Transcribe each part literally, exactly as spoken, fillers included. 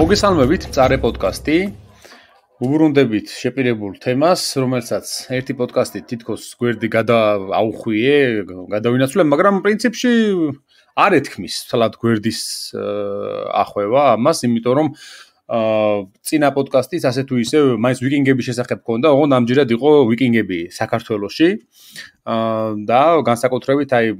მოგესალმებით, წარე პოდკასტი. უბრუნდებით შეპირებულ თემას, რომელსაც ერთი პოდკასტით თითქოს გვერდი გადააუხვიე, გადავინაცვლე, მაგრამ პრინციპში არ ეთქმის თლად გვერდის ახვევა ამას, იმიტომ რომ წინა პოდკასტის ასე თუ ისე მაინც ვიკინგების შესახებ ქონდა, ოღონდ ამჯერად იყო ვიკინგები საქართველოში. და განსაკუთრებით აი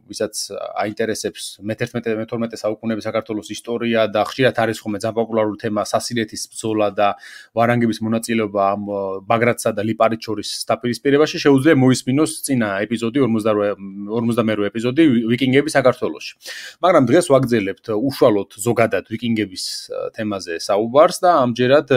ვისაც აინტერესებს მეთერთმეტე მეთორმეტე საუკუნეების საქართველოს ისტორია და ხშირად არის ხოლმე ძალიან პოპულარული თემა სასირეთის ბრძოლა და ვარანგების მონაწილეობა ამ ბაგრატსა და ლიპარიტ შორის დაპირისპირებაში, შეუძლია მოისმინოს წინა ეპიზოდი ორმოცდამერვე ეპიზოდი ვიკინგები საქართველოში. მაგრამ დღეს ვაგრძელებთ უშუალოდ ზოგადად ვიკინგების თემაზე საუბარს და ამჯერად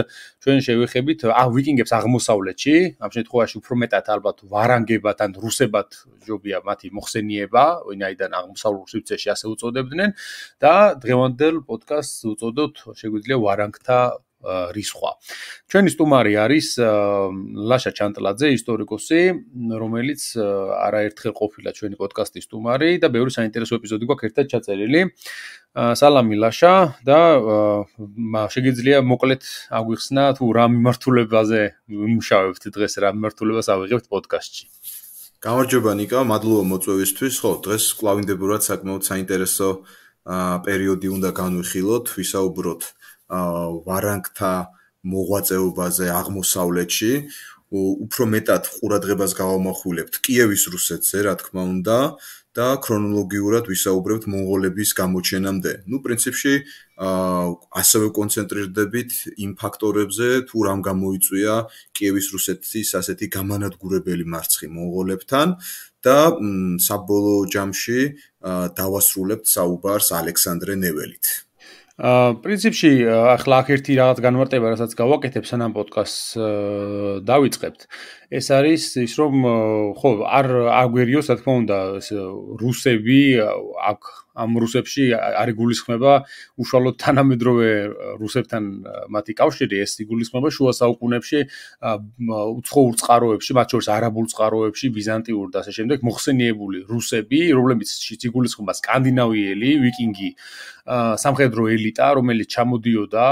ჩვენ შევეხებით ა ვიკინგებს აღმოსავლეთში, ამ შემთხვევაში უფრო მეტად ალბათ ვარანგებად ან რუსებად ჯობია მათი მოხსენიება, ვინაიდან აღმოსავლურ სივრცეში ასე უწოდებდნენ და დღევანდელ პოდკასტს უწოდოთ შეგვიძლია ვარანგთა რისხვა. ჩვენი სტუმარი არის ლაშა ჩანტლაძე, ისტორიკოსი, რომელიც არაერთხელ ყოფილა ჩვენი პოდკასტის სტუმარი და ბევრი საინტერესო ეპიზოდი გვაქვს ერთად ჩაწერილი. სალამი ლაშა და შეგიძლია მოკლედ აგვიხსნა თუ რა მიმართულებაზე ვიმუშავებთ დღეს, რა მიმართულებას ავიღებთ პოდკასტში. გამარჯობა ნიკა, მადლობა მოწვევისთვის. ხო, დღეს კლავინდებურად საკმაოდ საინტერესო პერიოდი უნდა განვიხილოთ, ვისაუბროთ ვარანგთა მოღვაწეობაზე აღმოსავლეთში, უფრო მეტად ყურადღებას გავამახვილებთ კიევის რუსეთზე, რა თქმა უნდა, და ქრონოლოგიურად ვისაუბრებთ მონღოლების გამოჩენამდე. ნუ პრინციპში ასევე კონცენტრირდებით იმ ფაქტორებზე, თუ რამ გამოიწვია კიევის რუსეთის ასეთი გამანადგურებელი მარცხი მონღოლებთან და საბოლოო ჯამში დავასრულებთ საუბარს ალექსანდრე ნეველით. პრინციპში ახლა აქ ერთი რაღაც განმარტება, რასაც გავაკეთებ სანამ პოდკასტს დავიწყებთ. ეს არის ის რომ ხო არ აგვერიოს, რა თქმა უნდა, რუსები აქ ამ რუსებში არ იგულისხმება უშუალოდ თანამედროვე რუსებთან მათი კავშირი, ეს იგულისხმება შუა საუკუნეებში უცხოურ წყაროებში, მათ შორის არაბულ წყაროებში, ბიზანტიურ და ასე შემდეგ მოხსენიებული რუსები, რომლებიც იგულისხმება სკანდინავიელი, ვიკინგი სამხედრო ელიტა, რომელიც ჩამოდიოდა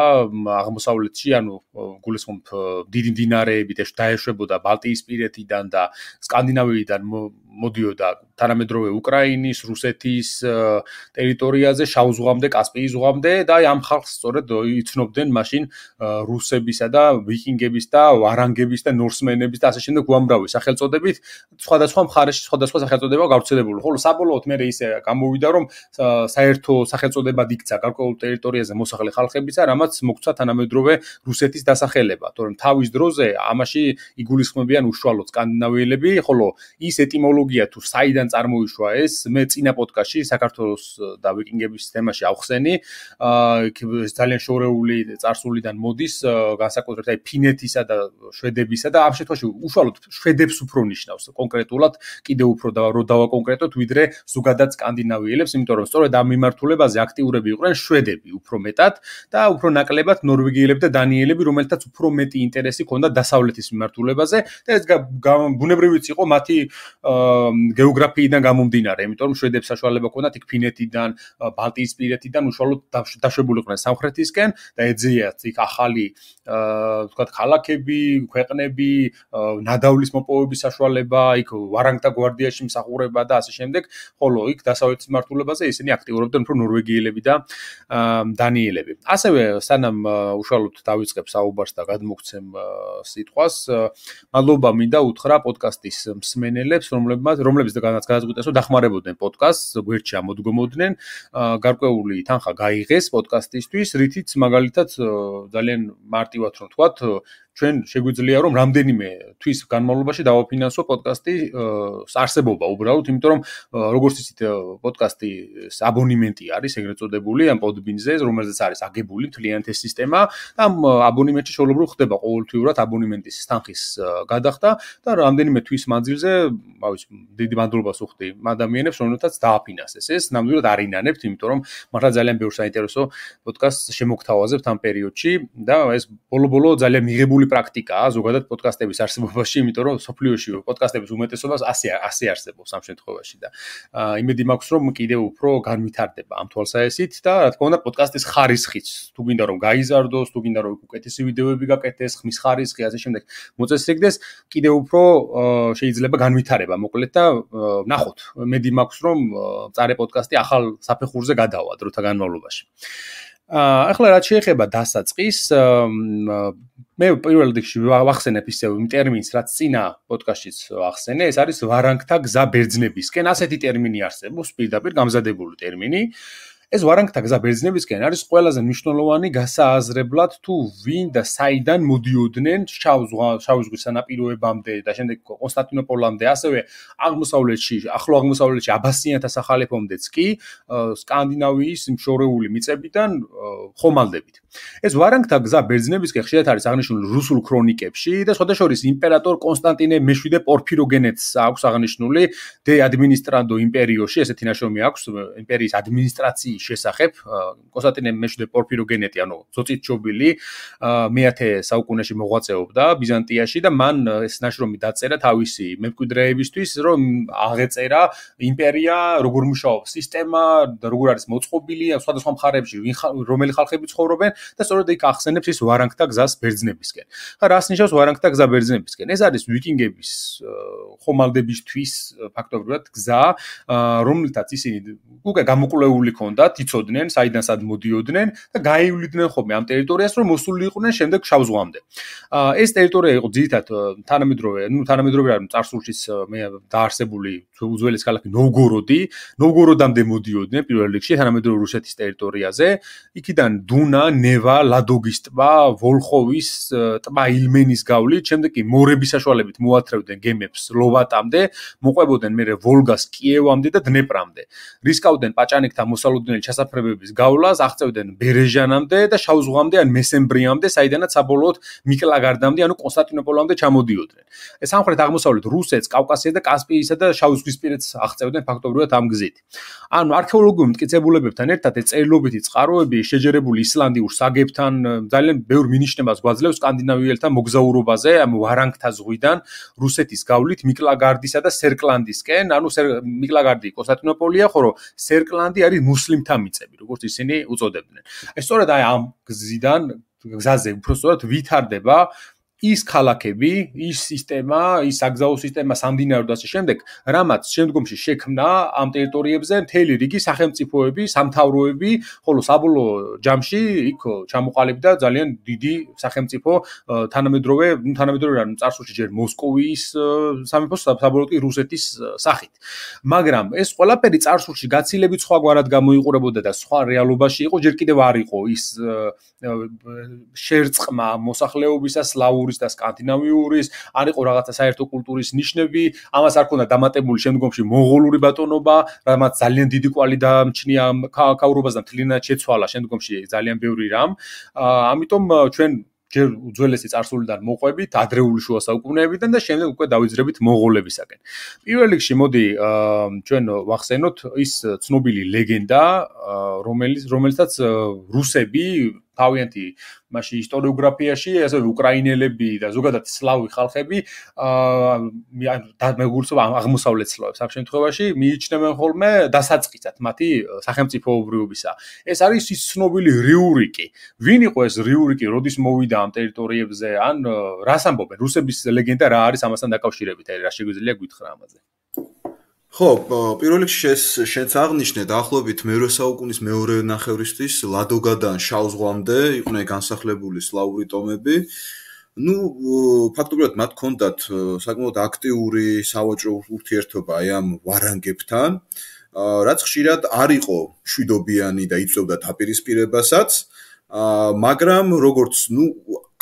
აღმოსავლეთში, ანუ გულისხმობ დიდი მდინარეებით დაეშვებოდა ბალტიისპირეთიდან და სკანდინავიიდან მოდიოდა თანამედროვე უკრაინის, რუსეთის ტერიტორიაზე, შავ ზღვამდე, კასპიის ზღვამდე და ამ ხალხს სწორედ იცნობდნენ მაშინ რუსებისა და ვიკინგების და ვარანგების და ნორსმენების და ასე შემდეგ უამრავი სახელწოდებით, სხვადასხვა მხარეში სხვადასხვა სახელწოდება გავრცელებული. ხოლო საბოლოოდ მე ისე გამოვიდა, რომ საერთო სახელწოდებად იქცა გარკვეულ ტერიტორიაზე მოსახლე ხალხებისა, რამაც მოგცა თანამედროვე რუსეთის დასახელება, თორემ თავის დროზე ამაში იგულისხმებიან უშუალოდ სკანდინავიელები, ხოლო ის ეტიმოლოგია თუ საიდან წარმოიშვა ეს, მე წინა პოდკასტში საქართველოს და ვიკინგების თემაში ავხსენი, ძალიან შორეული წარსულიდან მოდის, განსაკუთრებით აი ფინეთისა და შვედებისა და ამ შემთხვევაში უშუალოდ შვედებს უფრო ნიშნავს კონკრეტულად, კიდევ უფრო რო დავაკონკრეტოთ, ვიდრე ზოგადად სკანდინავიელებს, იმიტომ რომ სწორედ ამ მიმართულებაზე აქტიურები იყვნენ შვედები უფრო მეტად და უფრო ნაკლებად ნორვეგიელები და დანიელები, რომელთაც უფრო მეტი ინტერესი ჰქონდა დასავლეთის მიმართულებაზე და ეს ბუნებრივიც იყო მათი გეოგრაფიიდან გამომდინარე, იმიტომ რომ შვედებს საშუალება ჰქონდათ იქ ფინეთიდან, ბალტიისპირეთიდან უშუალოდ დაშვებულიყვნენ სამხრეთისკენ და ეძიათ იქ ახალი ვთქვათ ქალაქები, ქვეყნები, ნადავლის მოპოვების საშუალება, იქ ვარანგთა გვარდიაში მსახურება და ასე შემდეგ, ხოლო იქ დასავლეთის მიმართულებაზე ისინი აქტიურობდნენ უფრო ნორვეგიელები და დანიელები. ასევე სანამ უშუალოდ დავიწყებ საუბარს და გადმოგცემ სიტყვას, მადლობა მინდა უთხრა პოდკასტის მსმენელებს, რომლებმაც რომლებიც განაცხადეს, რომ დახმარებოდნენ პოდკასტს, გვერდში ამოდგომოდნენ, გარკვეული თანხა გაიღეს პოდკასტისთვის, რითიც მაგალითად ძალიან მარტივად რომ ვთქვათ, ჩვენ შეგვიძლია რომ რამდენიმე თვის განმავლობაში დავაფინანსო პოდკასტის არსებობა უბრალოდ, იმიტომ რომ როგორც იცით პოდკასტის აბონემენტი არის ეგრეთ წოდებული ამ პოდბინზე, რომელზეც არის აგებული მთლიანად ეს სისტემა და ამ აბონემენტში შეუძლებლად ხდება ყოველთვიურად აბონემენტის თანხის გადახდა და რამდენიმე თვის მანძილზე, ავიც დიდი მადლობას ვუხდი ადამიანებს, რომელთაც დააფინანსეს ეს, ნამდვილად არ ინანებთ, იმიტომ რომ მართლა ძალიან ბევრ საინტერესო პოდკასტს შემოგთავაზებთ ამ პერიოდში და ეს ბოლო-ბოლო ძალიან მიღებული ნორმალური პრაქტიკაა ზოგადად პოდკასტების არსებობაში, იმიტომ რომ სოფლიოში პოდკასტების უმეტესობას ასე ასე არსებობს ამ შემთხვევაში და იმედი მაქვს რომ კიდევ უფრო განვითარდება ამ თვალსაჩინით და რა თქმა უნდა პოდკასტის ხარისხიც თუ გინდა რომ გაიზარდოს, თუ გინდა რომ უკეთესი ვიდეოები გაკეთდეს, ხმის ხარისხი ასე შემდეგ მოწესრიგდეს, კიდევ უფრო შეიძლება განვითარება მოკლედ და ნახოთ. მედი მაქვს რომ წარე პოდკასტი ახალ საფეხურზე გადავა დროთა განმავლობაში. აა ახლა რაც შეეხება დასაწყის, მე პირველ რიგში ვახსენებ ისევ იმ ტერმინს, რაც წინა პოდკასტშიც ვახსენე, ეს არის ვარანგთა გზა ბერძნებისკენ. ასეთი ტერმინი არსებობს, პირდაპირ გამზადებული ტერმინი. ეს ვარანგთა გზა ბერძნებისკენ არის ყველაზე მნიშვნელოვანი გასააზრებლად თუ ვინ და საიდან მოდიოდნენ შავი ზღვის სანაპიროებამდე და შემდეგ კონსტანტინოპოლამდე, ასევე აღმოსავლეთში, ახლო აღმოსავლეთში აბასიანთა სახალიფომდეც კი სკანდინავიის შორეული მიწებიდან ხომალდებით. ეს ვარანგთა გზა ბერძნებისკენ ხშირად არის აღნიშნული რუსულ ქრონიკებში და სხვადასხვა იმპერატორ კონსტანტინე მეშვიდე პორფიროგენეთს აქვს აღნიშნული de administrando imperioshi, ესეთი ნაშრომი აქვს იმპერიის ადმინისტრაციის შესახებ. კონსტანტინე მეშვიდე პორფიროგენეთი, ანუ ზოწით ჩობილი, მეათე საუკუნეში მოღვაწეობდა ბიზანტიაში და მან ეს ნაშრომი დაწერა თავისი მემკვიდრეებისთვის, რომ აღეწერა იმპერია, როგორ მუშაობს სისტემა და როგორ არის მოწყობილი სხვადასხვა მხარეებში, რომელი ხალხები ცხოვრობენ და სწორედ იქ ახსენებს ის ვარანგთა გზას ბერძნებისკენ. ხა რას ნიშნავს ვარანგთა გზა ბერძნებისკენ? ეს არის ვიკინგების ხომალდებისთვის ფაქტობრივად გზა, რომლითაც ისინი უკვე გამოკვლეული ჰქონდათ, იცოდნენ, საიდან სად მოდიოდნენ და გაივლიდნენ ხოლმე ამ ტერიტორიას, რომ მოსულიყვნენ შემდეგ შავ ზღვამდე. ეს ტერიტორია იყო ძირითადად თანამედროვე, ნუ თანამედროვე არ წარსულშიც მე დაარსებული უძველეს ქალაქი ნოვგოროდი, ნოვგოროდამდე მოდიოდნენ პირველ რიგში თანამედროვე რუსეთის ტერიტორიაზე. იქიდან დუნა, ნევა, ლადოგის ტბა, ვოლხოვის ტბა ილმენის გავლით, შემდეგ კი მორების საშუალებით მოათრევდნენ გემებს ლოვატამდე, მოყვებოდნენ მერე ვოლგას კიევამდე და დნეპრამდე. რისკავდნენ პაჭანიკთა მოსალოდნელი ჩასაფრებების გავლას, აღწევდნენ ბერეჟანამდე და შავ ზღვამდე ან მესემბრიამდე, საიდანაც საბოლოოდ მიკლაგარდამდე, ანუ კონსტანტინოპოლამდე ჩამოდიოდნენ. ეს სამხრეთ აღმოსავლეთ რუსეთს, კავკასიას და კასპიისა და შავ ზღვისპირეთს აღწევდნენ ფაქტობრივად ამ გზით. ანუ არქეოლოგიურ მტკიცებულებებთან ერთად ეს წერილობითი წყაროები შეჯერებული ისლანდიურ საგებთან ძალიან ბევრ მინიშნებას გვაძლევს სკანდინავიელთა მოგზაურობაზე ამ ვარანგთა ზღვიდან რუსეთის გავლით მიკლაგარდისა და სერკლანდისკენ, ანუ მიკლაგარდი კონსტანტინოპოლია, ხოლო სერკლანდი არის მუსლიმთა მიწები, როგორც ისინი უწოდებდნენ. ეს სწორედ აი ამ გზიდან, გზაზე უბრალოდ ვითარდება ის ქალაქები, ის სისტემა, ის საგზაო სისტემა, სამდინარო და ასე შემდეგ, რამაც შემდგომში შექმნა ამ ტერიტორიებზე მთელი რიგი სახელმწიფოები, სამთავროები, ხოლო საბოლოო ჯამში იქ ჩამოყალიბდა ძალიან დიდი სახელმწიფო თანამედროვე, თანამედროვე რა, წარსულში ჯერ მოსკოვის სამეფო, საბოლოოდ კი რუსეთის სახით. მაგრამ ეს ყველაფერი წარსულში გაცილებით სხვაგვარად გამოიყურებოდა და სხვა რეალობაში იყო, ჯერ კიდევ არ იყო ის შერწყმა მოსახლეობისა სლავური და სკანდინავიურის, არ იყო რაღაცა საერთო კულტურის ნიშნები, ამას არ ქონდა დამატებული შემდგომში მონღოლური ბატონობა, რამაც ძალიან დიდი კვალი დაამჩნია ქაურობას და მთლიანად შეცვალა შემდგომში ძალიან ბევრი რამ. ამიტომ ჩვენ ჯერ უძველესი წარსულიდან მოყვებით ადრეული შუა საუკუნეებიდან და შემდეგ უკვე დავიძრებით მონღოლებისაკენ. პირველ რიგში მოდი ჩვენ ვახსენოთ ის ცნობილი ლეგენდა, რომელიც რომელსაც რუსები თავიანთი მასში ისტორიოგრაფიაში, ასევე უკრაინელები და ზოგადად სლავი ხალხები, აა მეგულწობა აღმოსავლეთ სლავებს ამ შემთხვევაში მიიჩნევენ ხოლმე დასაწყისად მათი სახელმწიფოებრიობისა. ეს არის ის ცნობილი რიურიკი. ვინ იყო ეს რიურიკი, როდის მოვიდა ამ ტერიტორიებზე, ან რას ამბობენ? რუსების ლეგენდა რა არის ამასთან დაკავშირებით, რა შეგვიძლია გითხრა ამაზე? ხო, პირველ რიგში შენც აღნიშნე დაახლოებით მერვე საუკუნის მეორე ნახევრისთვის ლადოგადან შავ ზღვამდე იყვნენ განსახლებული სლავური ტომები. ნუ ფაქტობრივად მათ ჰქონდათ საკმაოდ აქტიური სავაჭრო ურთიერთობა აი ამ ვარანგებთან, რაც ხშირად არ იყო მშვიდობიანი და იწვევდა დაპირისპირებასაც, მაგრამ როგორც ნუ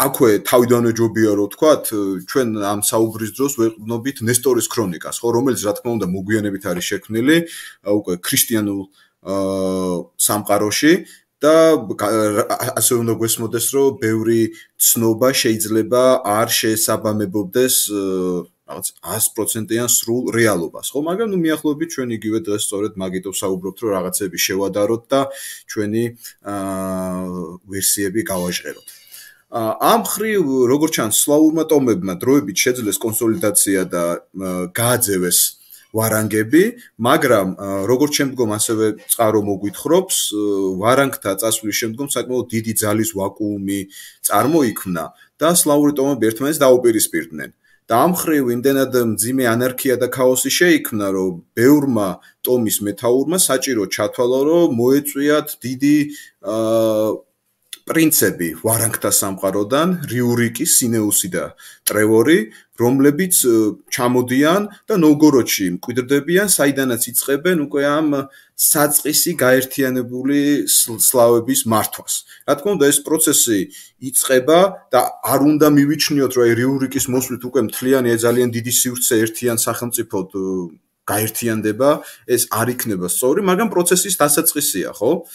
აქვე თავიდანვე ჯობია რომ ვთქვათ, ჩვენ ამ საუბრის დროს ვეყვნობით ნესტორის ქრონიკას, ხო, რომელიც რა თქმა უნდა მოგვიანებით არის შექმნილი უკვე ქრისტიანულ სამყაროში და ასე უნდა გვესმოდეს, რომ ბევრი ცნობა შეიძლება არ შეესაბამებოდეს რაღაც ას პროცენტიან სრულ რეალობას, ხო, მაგრამ ნუ მიახლოებით ჩვენ იგივე დღეს სწორედ მაგითო საუბრობთ, რომ რაღაცები შევადაროთ და ჩვენი ვერსიები გავაჟღეროთ. ამ მხრივ როგორც ჩანს სლავურმა ტომებმა დროებით შეძლეს კონსოლიდაცია და გააძევეს ვარანგები, მაგრამ როგორც შემდგომ ასევე წყარო მოგვითხრობს, ვარანგთა წასვლის შემდგომ საკმაოდ დიდი ძალის ვაკუუმი წარმოიქმნა და სლავური ტომები ერთმანეთს დაუპირისპირდნენ. და ამ მხრივ იმდენად მძიმე ანარქია და ქაოსი შეიქმნა, რომ ბევრმა ტომის მეთაურმა საჭირო ჩათვალა, რომ მოეწვიათ დიდი პრინცები ვარანგთა სამყაროდან, რიურიკი, სინეუსი და ტრევორი, რომლებიც ჩამოდიან და ნოვგოროდში მკვიდრდებიან, საიდანაც იწყებენ უკვე ამ საწყისი გაერთიანებული სლავების მართვას. რა თქმა უნდა, ეს პროცესი იწყება და არ უნდა მივიჩნიოთ, რომ რიურიკის მოსვლით უკვე მთლიანი ძალიან დიდი სივრცე ერთიან სახელმწიფოდ გაერთიანდება, ეს არ იქნება სწორი, მაგრამ პროცესის დასაწყისია, ხო?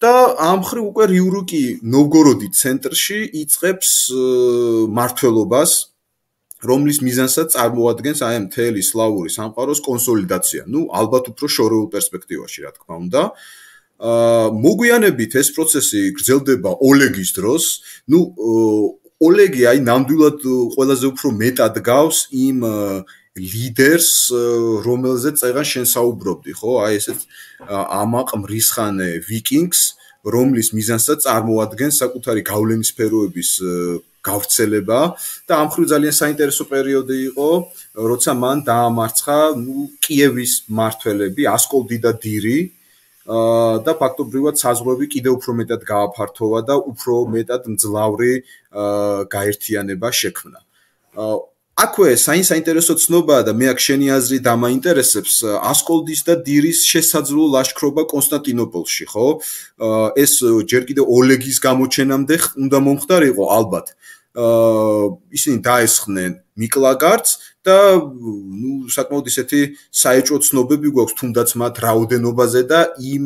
და ამ მხრივ უკვე რიურიკი ნოვგოროდის ცენტრში იწყებს მმართველობას, რომლის მიზანსაც წარმოადგენს აი ამ მთელი სლავური სამყაროს კონსოლიდაცია. ნუ ალბათ უფრო შორეულ პერსპექტივაში, რა თქმა უნდა. აა მოგვიანებით ეს პროცესი გრძელდება ოლეგის დროს. ნუ ოლეგი აი ნამდვილად ყველაზე უფრო მეტად გავს იმ ლიდერს, რომელზეც წეგან შენ საუბრობდი, ხო? აი ესეც ამაყ მრისხანე ვიკინგს, რომლის მიზანსაც წარმოადგენს საკუთარი გავლენის სფეროების გავრცელება და ამ მხრივ ძალიან საინტერესო პერიოდი იყო, როცა მან დაამარცხა, ნუ კიევის მმართველები, ასკოლდი და დირი და ფაქტობრივად საზღვრები კიდევ უფრო მეტად გააფართოვა და უფრო მეტად მძლავრი გაერთიანება შექმნა. აქვე საინტერესო ცნობაა და მე აქ შენი აზრი დამაინტერესებს ასკოლდის და დირის შესაძლო ლაშქრობა კონსტანტინოპოლში, ხო? ეს ჯერ კიდევ ოლეგის გამოჩენამდე უნდა მომხდარიყო ალბათ. ისინი დაესხნენ მიკლაგარდს და ნუ საკმაოდ ისეთი საეჭვო ცნობები გვაქვს თუნდაც მათ რაოდენობაზე და იმ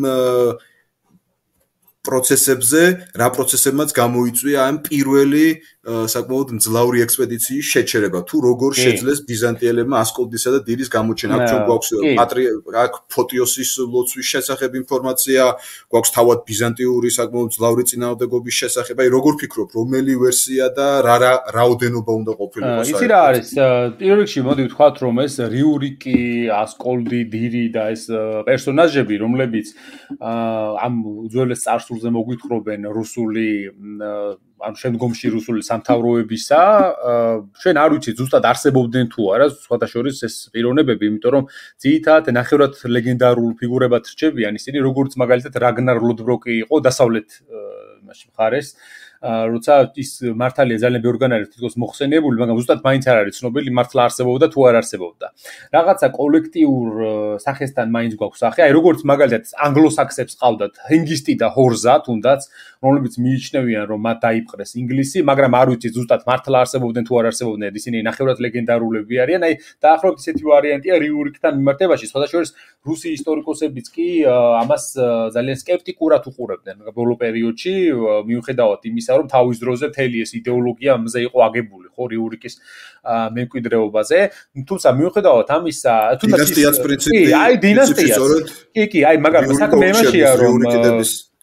პროცესებზე, რა პროცესებმაც გამოიწვია ამ პირველი საკმაოდ მძლავრი ექსპედიციის შეჩერება. თუ როგორ შეძლეს ბიზანტიელებმა ასკოლდისა და დირის გამოჩენა. აქ ჩვენ გვაქვს აქ ფოტიოსის ლოცვის შესახებ ინფორმაცია, გვაქვს თავად ბიზანტიური საკმაოდ მძლავრი წინააღმდეგობის შესახებ. აი როგორ ფიქრობ, რომელი ვერსია და რა რა რაოდენობა უნდა ყოფილიყო საერთოდ? იცი რა არის? პირველ რიგში მოდი ვთქვათ, რომ ეს რიურიკი, ასკოლდი, დირი და ეს პერსონაჟები, რომლებიც ამ უძველეს წარსულზე მოგვითხრობენ რუსული ან შემდგომში რუსული სამთავროებისა, ჩვენ არ ვიცით ზუსტად არსებობდნენ თუ არა, სხვათა შორის ეს პიროვნებები, იმიტომ რომ ძირითადად ნახევრად ლეგენდარულ ფიგურებად რჩებიან ისინი, როგორც მაგალითად რაგნარ ლოდბროკი იყო დასავლეთ მაშინ მხარეს, როცა ის მართალია ძალიან ბევრგან არის თითქოს მოხსენიებული, მაგრამ ზუსტად მაინც არ არის ცნობილი მართლა არსებობდა თუ არ არსებობდა. რაღაცა კოლექტიურ სახესთან მაინც გვაქვს სახე, აი როგორც მაგალითად ანგლოსაქსებს ყავდათ ჰენგისტი და ჰორზა თუნდაც, რომლებიც მიიჩნევიან რომ მათ დაიპყრეს ინგლისი, მაგრამ არ ვიცით ზუსტად მართლა არსებობდნენ თუ არ არსებობდნენ, ისინი ნახევრად ლეგენდარულები არიან, აი დაახლოებით ისეთი ვარიანტია რიურიკთან მიმართებაში, სხვათა შორის რუსი ისტორიკოსებიც კი ამას ძალიან სკეპტიკურად უყურებდნენ ბოლო პერიოდში, მიუხედავად იმისა, რომ თავის დროზე მთელი ეს იდეოლოგია ამაზე იყო აგებული, ხო, რიურიკის მემკვიდრეობაზე. თუმცა მიუხედავად ამისა, თუნდაც დინასტიაც პრინციპი, აი დინასტია. კი, კი, აი მაგრამ საქმე იმაშია, რომ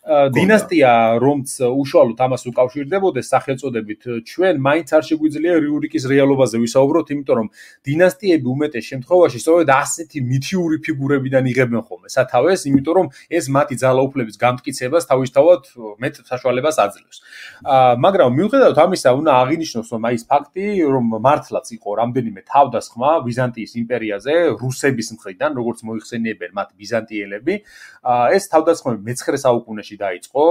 დინასტია, რომც უშუალოდ ამას უკავშირდებოდეს სახელწოდებით, ჩვენ მაინც არ შეგვიძლია რიურიკის რეალობაზე ვისაუბროთ, იმიტომ რომ დინასტიები უმეტეს შემთხვევაში სწორედ ასეთი მითიური ფიგურებიდან იღებენ ხოლმე სათავეს, იმიტომ რომ ეს მათი ძალაუფლების გამტკიცებას თავისთავად მეტ საშუალებას აძლევს. მაგრამ მიუხედავად ამისა, უნდა აღინიშნოს, რომ აი ეს ფაქტი, რომ მართლაც იყო რამდენიმე თავდასხმა ბიზანტიის იმპერიაზე რუსების მხრიდან, როგორც მოიხსენიებენ მათ ბიზანტიელები, ეს თავდასხმები მეცხრე საუკუნეში დაიწყო,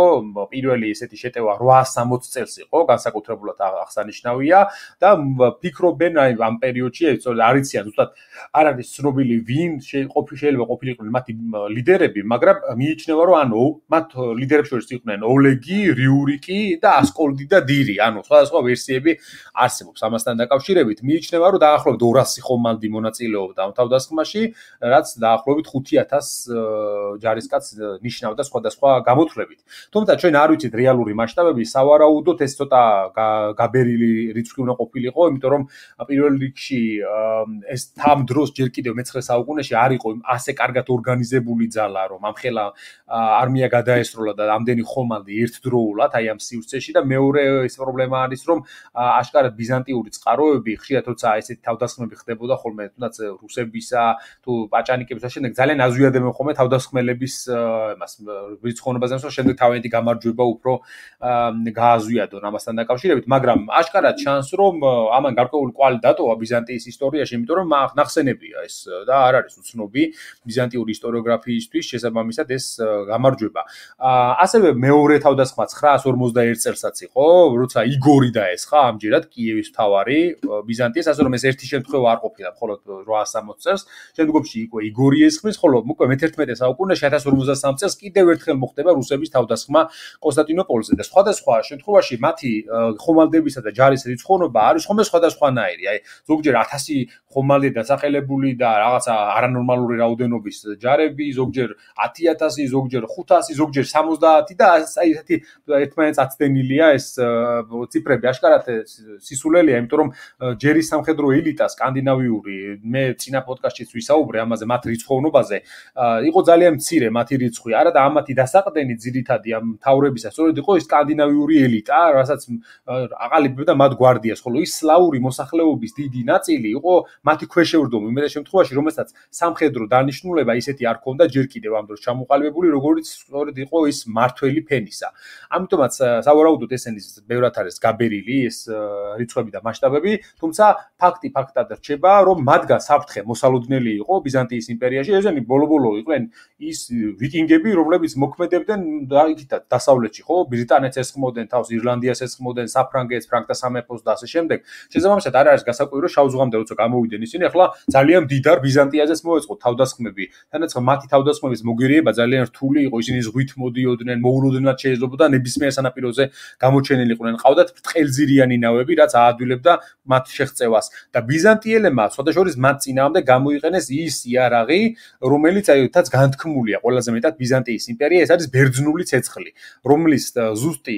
პირველი ესეთი შეტევა რვაას სამოცი წელს იყო, განსაკუთრებულად აღსანიშნავია და ფიქრობენ აი ამ პერიოდში, არ იციან ზუსტად არ არის ცნობილი ვინ შეიძლება ყოფილიყვნენ მათი ლიდერები, მაგრამ მიიჩნევა რომ ანუ მათ ლიდერებს შორის იყვნენ ოლეგი, რიურიკი და ასკოლდი და დირი, ანუ სხვადასხვა ვერსიები არსებობს ამასთან დაკავშირებით. მიიჩნევა რომ დაახლოებით ორასი ხომალდი მონაწილეობდა ამ თავდასხმაში, რაც დაახლოებით ხუთი ათას ჯარისკაცს ნიშნავდა სხვადასხვა გამოთვლებით. განაუთლებით. თუმცა ჩვენ არ ვიცით რეალური მასშტაბები, სავარაუდოდ ეს ცოტა გაბერილი რიცხვი უნდა ყოფილიყო, იმიტომ რომ პირველ რიგში ეს თამ დროს ჯერ კიდევ მეცხრე საუკუნეში არ იყო ასე კარგად ორგანიზებული ძალა, რომ ამხელა არმია გადაესროლა და ამდენი ხომალდი ერთდროულად აი ამ სივრცეში და მეორე ეს პრობლემა არის, რომ აშკარად ბიზანტიური წყაროები ხშირად როცა ესეთი თავდასხმები ხდებოდა ხოლმე თუნდაც რუსებისა თუ პაჭანიკების და შემდეგ ძალიან აზვიადებენ ხოლმე თავდასხმელების იმას რიცხოვნობაზე, რომ შემდეგ თავიანთი გამარჯვება უფრო გააზვიადონ ამასთან დაკავშირებით, მაგრამ აშკარად ჩანს, რომ ამან გარკვეული კვალი დატოვა ბიზანტიის ისტორიაში, იმიტომ რომ ნახსენებია ეს და არ არის უცნობი ბიზანტიური ისტორიოგრაფიისთვის შესაბამისად ეს გამარჯვება. ასევე მეორე თავდასხმა ცხრაას ორმოცდაერთ წელსაც იყო, როცა იგორი დაესხა ამჯერად კიევის მთავარი ბიზანტიის, ასე რომ ეს ერთი შემთხვევა არ ყოფილა მხოლოდ რვაას სამოცდ წელს, შემდგომში იყო იგორი ესხმის, ხოლო უკვე მეთერთმეტე საუკუნეში ათას ორმოცდასამ წელს კიდევ ერთხელ მოხდება რუსების თავდასხმა კონსტანტინოპოლზე და სხვადასხვა შემთხვევაში მათი ხომალდებისა და ჯარის რიცხოვნობა არის ხოლმე სხვადასხვანაირი. აი ზოგჯერ ათასი ხომალდი დასახელებული და რაღაცა არანორმალური რაოდენობის ჯარები, ზოგჯერ ათი ათასი, ზოგჯერ ხუთასი, ზოგჯერ სამოცდაათი და აი ესეთი ერთმანეთს აცდენილია ეს ციფრები აშკარად სისულელია, იმიტომ რომ ჯერის სამხედრო ელიტა სკანდინავიური, მე წინა პოდკასტშიც ვისაუბრე ამაზე, მათ რიცხოვნობაზე, იყო ძალიან მცირე მათი რიცხვი, არა და ამათი დასაყრდენი ძირითადი ამ მთავრებისა სწორედ იყო ის სკანდინავიური ელიტა, რასაც აყალიბებდა მათ გვარდიას, ხოლო ის სლავური მოსახლეობის დიდი ნაწილი იყო მათი ქვეშევრდომი, უმეტეს შემთხვევაში, რომელსაც სამხედრო დანიშნულება ისეთი არ ქონდა ჯერ კიდევ ამ დროს ჩამოყალიბებული, როგორც სწორედ იყო ის მართველი ფენისა. ამიტომაც სავარაუდოდ ესენი ბევრად არის გაბერილი ეს რიცხვები და მასშტაბები, თუმცა ფაქტი ფაქტად რჩება, რომ მათგან საფრთხე მოსალოდნელი იყო ბიზანტიის იმპერიაში, ესენი ბოლო-ბოლო იყვნენ ის ვიკინგები, რომლებიც მოქმედებდნენ იქითაც დასავლეთში, ხო, ბრიტანეთს ესხმოდნენ, თავს ირლანდიას ესხმოდნენ, საფრანგეთს, ფრანკთა სამეფოს და ასე შემდეგ. შესაბამისად არ არის გასაკვირი, რომ შავ ზღვამდე როცა გამოვიდნენ ისინი, ახლა ძალიან მდიდარ ბიზანტიაზეც მოეწყო თავდასხმები. თანაც მათი თავდასხმების მოგერიება ძალიან რთული იყო, ისინი ზღვით მოდიოდნენ, მოულოდნელად შეიძლებოდა ნებისმიერ სანაპიროზე გამოჩენილიყვნენ. ყავდათ ბრტყელძირიანი ნავები, რაც აადვილებდა მათ შეღწევას და ბიზანტიელებმა სხვადასხვა მათ წინააღმდეგ გამოიყენეს ის იარაღი, რომელიც აითაც განთქმულია ყველაზე მეტად ბიზანტიის იმპერია, ეს არის ბერძნული ცეცხლი, რომლის ზუსტი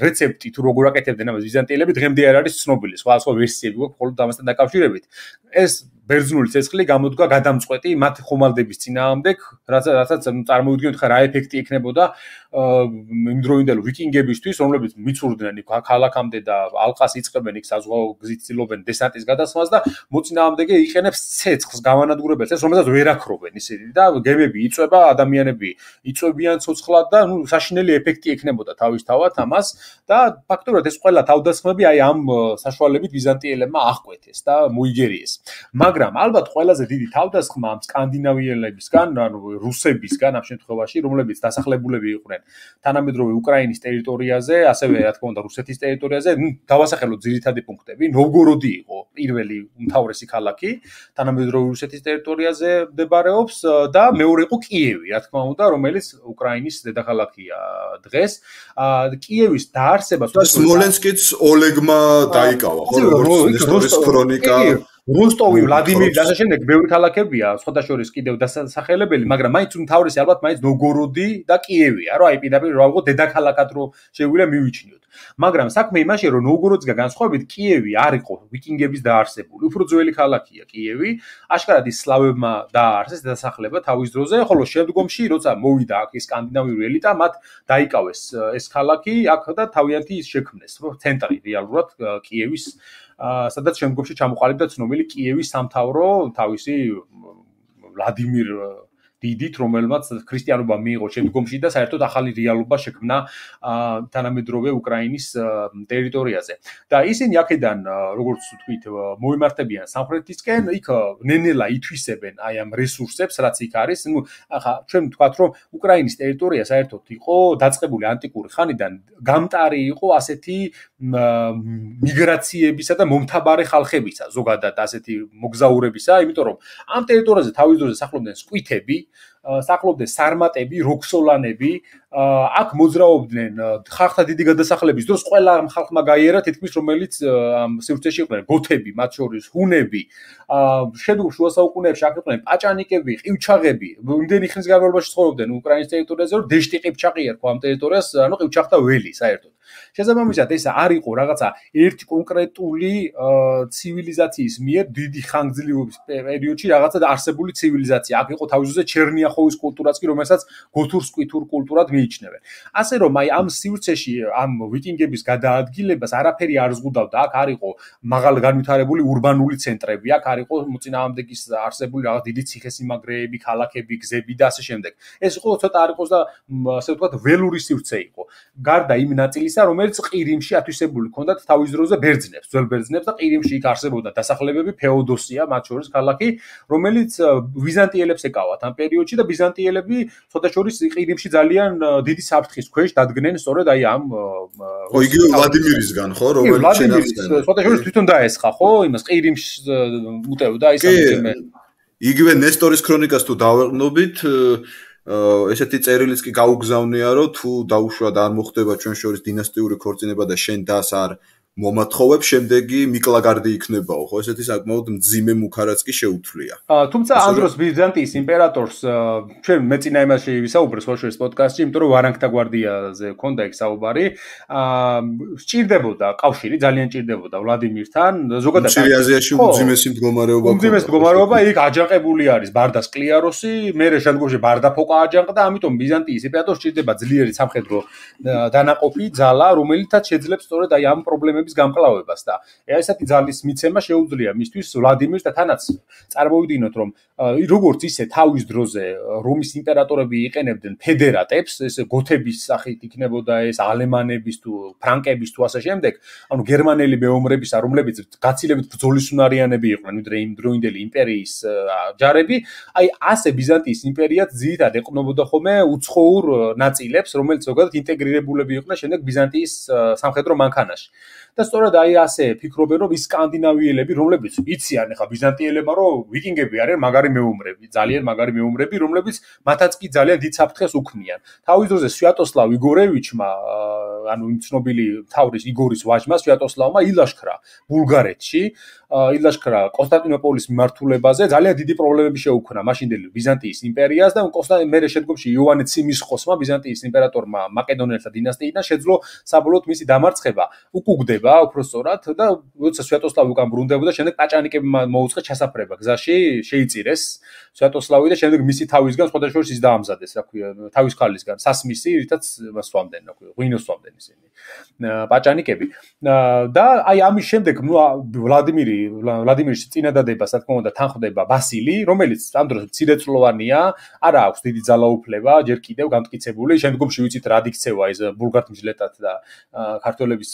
რეცეპტი თუ როგორ აკეთებდნენ ამას ბიზანტიელები დღემდე არ არის ცნობილი. სხვა სხვა ვერსიები გვაქვს მხოლოდ ამასთან დაკავშირებით. ეს ბერძნული ცეცხლი გამოდგა გადამწყვეტი მათ ხომალდების წინააღმდეგ, რასაც წარმოვიდგინოთ ხა რა ეფექტი ექნებოდა იმდროინდელ ვიკინგებისთვის, რომლებიც მიცურდნენ იქ ქალაქამდე და ალყას იწყებენ იქ საზღვაო გზით ცდილობენ დესანტის გადასვლას და მოწინააღმდეგე იყენებს ცეცხლს გამანადგურებელ ცეცხლს, რომელსაც ვერ აქრობენ ისინი და გემები იწვება, ადამიანები იწვებიან ცოცხლად და ნუ საშინელი ეფექტი ექნებოდა თავისთავად ამას და ფაქტობრივად ეს ყველა თავდასხმები აი ამ საშუალებით ბიზანტიელებმა აღკვეთეს და მოიგერიეს. მაგრამ ალბათ ყველაზე დიდი თავდასხმა ამ სკანდინავიელებისგან, ანუ რუსებისგან ამ შემთხვევაში, რომლებიც დასახლებულები იყვნენ თანამედროვე უკრაინის ტერიტორიაზე, ასევე რა თქმა უნდა რუსეთის ტერიტორიაზე, ნუ დავასახელოთ ძირითადი პუნქტები. ნოვგოროდი იყო პირველი უმთავრესი ქალაქი, თანამედროვე რუსეთის ტერიტორიაზე მდებარეობს და მეორე იყო კიევი, რა თქმა უნდა, რომელიც უკრაინის დედაქალაქია დღეს. კიევის დაარსება სმოლენსკიც ოლეგმა დაიკავა, ხო, როგორც ისტორიის ქრონიკა როსტოვი, ვლადიმირი და ასე შემდეგ ბევრი ქალაქებია, სხვადასხვა კიდევ დასახელებელი, მაგრამ მაინც უმთავრესი ალბათ მაინც ნოვგოროდი და კიევია, რომ აი პირდაპირ რა ვიყო დედაქალაქად რო შეგვიძლია მივიჩნიოთ. მაგრამ საქმე იმაშია, რომ ნოვგოროდისგან განსხვავებით კიევი არ იყო ვიკინგების დაარსებული, უფრო ძველი ქალაქია კიევი, აშკარად ის სლავებმა დააარსეს დასახლება თავის დროზე, ხოლო შემდგომში როცა მოვიდა აქ ის სკანდინავიური ელიტა, მათ დაიკავეს ეს ქალაქი, აქ და თავიანთი ის შექმნეს, ცენტრი რეალურად კიევის სადაც შემდგომში ჩამოყალიბდა ცნობილი კიევის სამთავრო თავისი ვლადიმირ დიდით, რომელმაც ქრისტიანობა მიიღო შემდგომში და საერთოდ ახალი რეალობა შექმნა თანამედროვე უკრაინის ტერიტორიაზე. და ისინი აქედან, როგორც ვთქვით, მოემართებიან სამხრეთისკენ, იქ ნენელა ითვისებენ აი ამ რესურსებს, რაც იქ არის. ნუ ახლა ჩვენ ვთქვათ, რომ უკრაინის ტერიტორია საერთოდ იყო დაწყებული ანტიკური ხანიდან, გამტარი იყო ასეთი მიგრაციებისა და მომთაბარე ხალხებისა, ზოგადად ასეთი მოგზაურებისა, იმიტომ რომ ამ ტერიტორიაზე თავის დროზე სახლობდნენ სკვითები, საკლობდნენ სარმატები, როქსოლანები, აქ მოძრაობდნენ ხალხთა დიდი გადასახლების დროს ყველა ხალხმა გაიარა თითქმის რომელიც სივრცეში იყვნენ გოთები, მათ შორის ჰუნები, შემდგომ შუა საუკუნეებში აქ იყვნენ პაჭანიკები, ყივჩაღები, იმდენი ხნის განმავლობაში ცხოვრობდნენ უკრაინის ტერიტორიაზე, რომ დეშტი ყივჩაღი ერქვა ამ ტერიტორიას, ანუ ყივჩაღთა ველი საერთოდ. შესაბამისად ეს არ იყო რაღაცა ერთი კონკრეტული ცივილიზაციის მიერ დიდი ხანგრძლივობის პერიოდში რაღაცა არსებული ცივილიზაცია. აქ იყო თავისუფლად ჩერნიახოვის კულტურაც კი, რომელსაც გოთურ-სკვითურ კულტურად მიიჩნევენ. ასე რომ აი ამ სივრცეში ამ ვიკინგების გადაადგილებას არაფერი არ ზღუდავდა. აქ არ იყო მაღალ განვითარებული ურბანული ცენტრები, აქ არ იყო მოწინააღმდეგის არსებული რაღაც დიდი ციხესიმაგრეები, ქალაქები, გზები და ასე შემდეგ. ეს იყო ცოტა არ იყოს და ასე ვთქვათ ველური სივრცე იყო. გარდა იმ ნაწილისა, რომელიც ყირიმში ათვისებული ჰქონდათ თავის დროზე ბერძნებს, ძველ ბერძნებს და ყირიმში იქ არსებობდა დასახლებები ფეოდოსია, მათ შორის ქალაქი, რომელიც ბიზანტიელებს ეკავათ ამ პერიოდში და ბიზანტიელები ცოტა შორის ყირიმში ძალიან დიდი საფრთხის ქვეშ დადგნენ სწორედ აი ამ ხო იგივე ვლადიმირისგან ხო რომელიც შენახდნენ ცოტა შორის თვითონ დაესხა ხო იმას ყირიმში უტევდა ის ამბები იგივე ნესტორის ქრონიკას თუ დავეყნობით ესეთი წერილიც კი გაუგზავნია რომ თუ დაუშვათ არ მოხდება ჩვენ შორის დინასტიური ქორწინება და შენ დას არ მომათხოვებ შემდეგი მიკლაგარდი იქნებაო ხო ესეთი საკმაოდ მძიმე მუქარაც კი შეუთვლია თუმცა ამ დროს ბიზანტიის იმპერატორს ჩვენ მეწინა იმაში ვისაუბრეს ხოშორის პოდკასტში იმიტომ რომ ვარანგთა გვარდიაზე ქონდა იქ საუბარი სჭირდებოდა კავშირი ძალიან სჭირდებოდა ვლადიმირთან ზოგადად მცირე აზიაში უმძიმესი მდგომარეობა უმძიმესი მდგომარეობა იქ აჯანყებული არის ბარდას კლიაროსი მერე შემდგომში ბარდა ფოკა აჯანყდა ამიტომ ბიზანტიის იმპერატორს სჭირდება ძლიერი სამხედრო დანაყოფი ძალა რომელიცაც შეძლებს სწორედ აი ამ პრობლემებს გამკლავებას და ესეთი ძალის მიცემა შეუძლია მისთვის ვლადიმირს და თანაც წარმოვიდგინოთ რომ როგორც ისე თავის დროზე რომის იმპერატორები იყენებდნენ ფედერატებს ეს გოთების სახით იქნებოდა ეს ალემანების თუ ფრანკების თუ ასე შემდეგ ანუ გერმანელი მეომრებისა რომლებიც გაცილებით ბრძოლისუნარიანები იყვნენ ვიდრე იმ დროინდელი იმპერიის ჯარები აი ასე ბიზანტიის იმპერიაც ძირითადად ეყნობოდა ხოლმე უცხოურ ნაწილებს რომელიც ზოგადად ინტეგრირებულები იყვნენ შემდეგ ბიზანტიის სამხედრო მანქანაში და სწორედ აი ასე ფიქრობენ რომ ის სკანდინავიელები რომლებიც იციან ახლა ბიზანტიელებმა რომ ვიკინგები არიან მაგარი მეომრები ძალიან მაგარი მეომრები რომლებიც მათაც კი ძალიან დიდ საფრთხეს უქმნიან თავის დროზე სვიატოსლავ იგორევიჩმა ანუ იმ ცნობილი თავრის იგორის ვაჟმა სვიატოსლავმა ილაშქრა ბულგარეთში ილაშქრა კონსტანტინოპოლის მიმართულებაზე ძალიან დიდი პრობლემები შეუქმნა მაშინდელი ბიზანტიის იმპერიას და კონსტანტინე მერე შემდგომში იოანე ციმისხოსმა ბიზანტიის იმპერატორმა მაკედონელთა დინასტიიდან შეძლო საბოლოოდ მისი დამარცხება უკუგდება უпростоრად და როცა სვიატოსლავი უკან ბრუნდებოდა შემდეგ პაჭანიკებმა მოუწყეს ჩასაფრება გზაში შეიწირეს სვიატოსლავი და შემდეგ მისი თავისგან სხვადასხვა ის დაამზადეს რა ქვია თავის ქალისგან სასმისი რითაც მასვამდნენ რა ქვია ღვინოს სვამდნენ ისინი პაჭანიკები და აი ამის შემდეგ ვლადიმირი ვლადიმირის წინადადებას რა თქმა უნდა თანხმდება ბასილი რომელიც ამ დროს მცირეწლოვანია არა აქვს დიდი ძალაუფლება ჯერ კიდევ გამტკიცებული შემდგომში ვიცით რა იქცევა ეს ბულგართმჟლეტად და ქართველების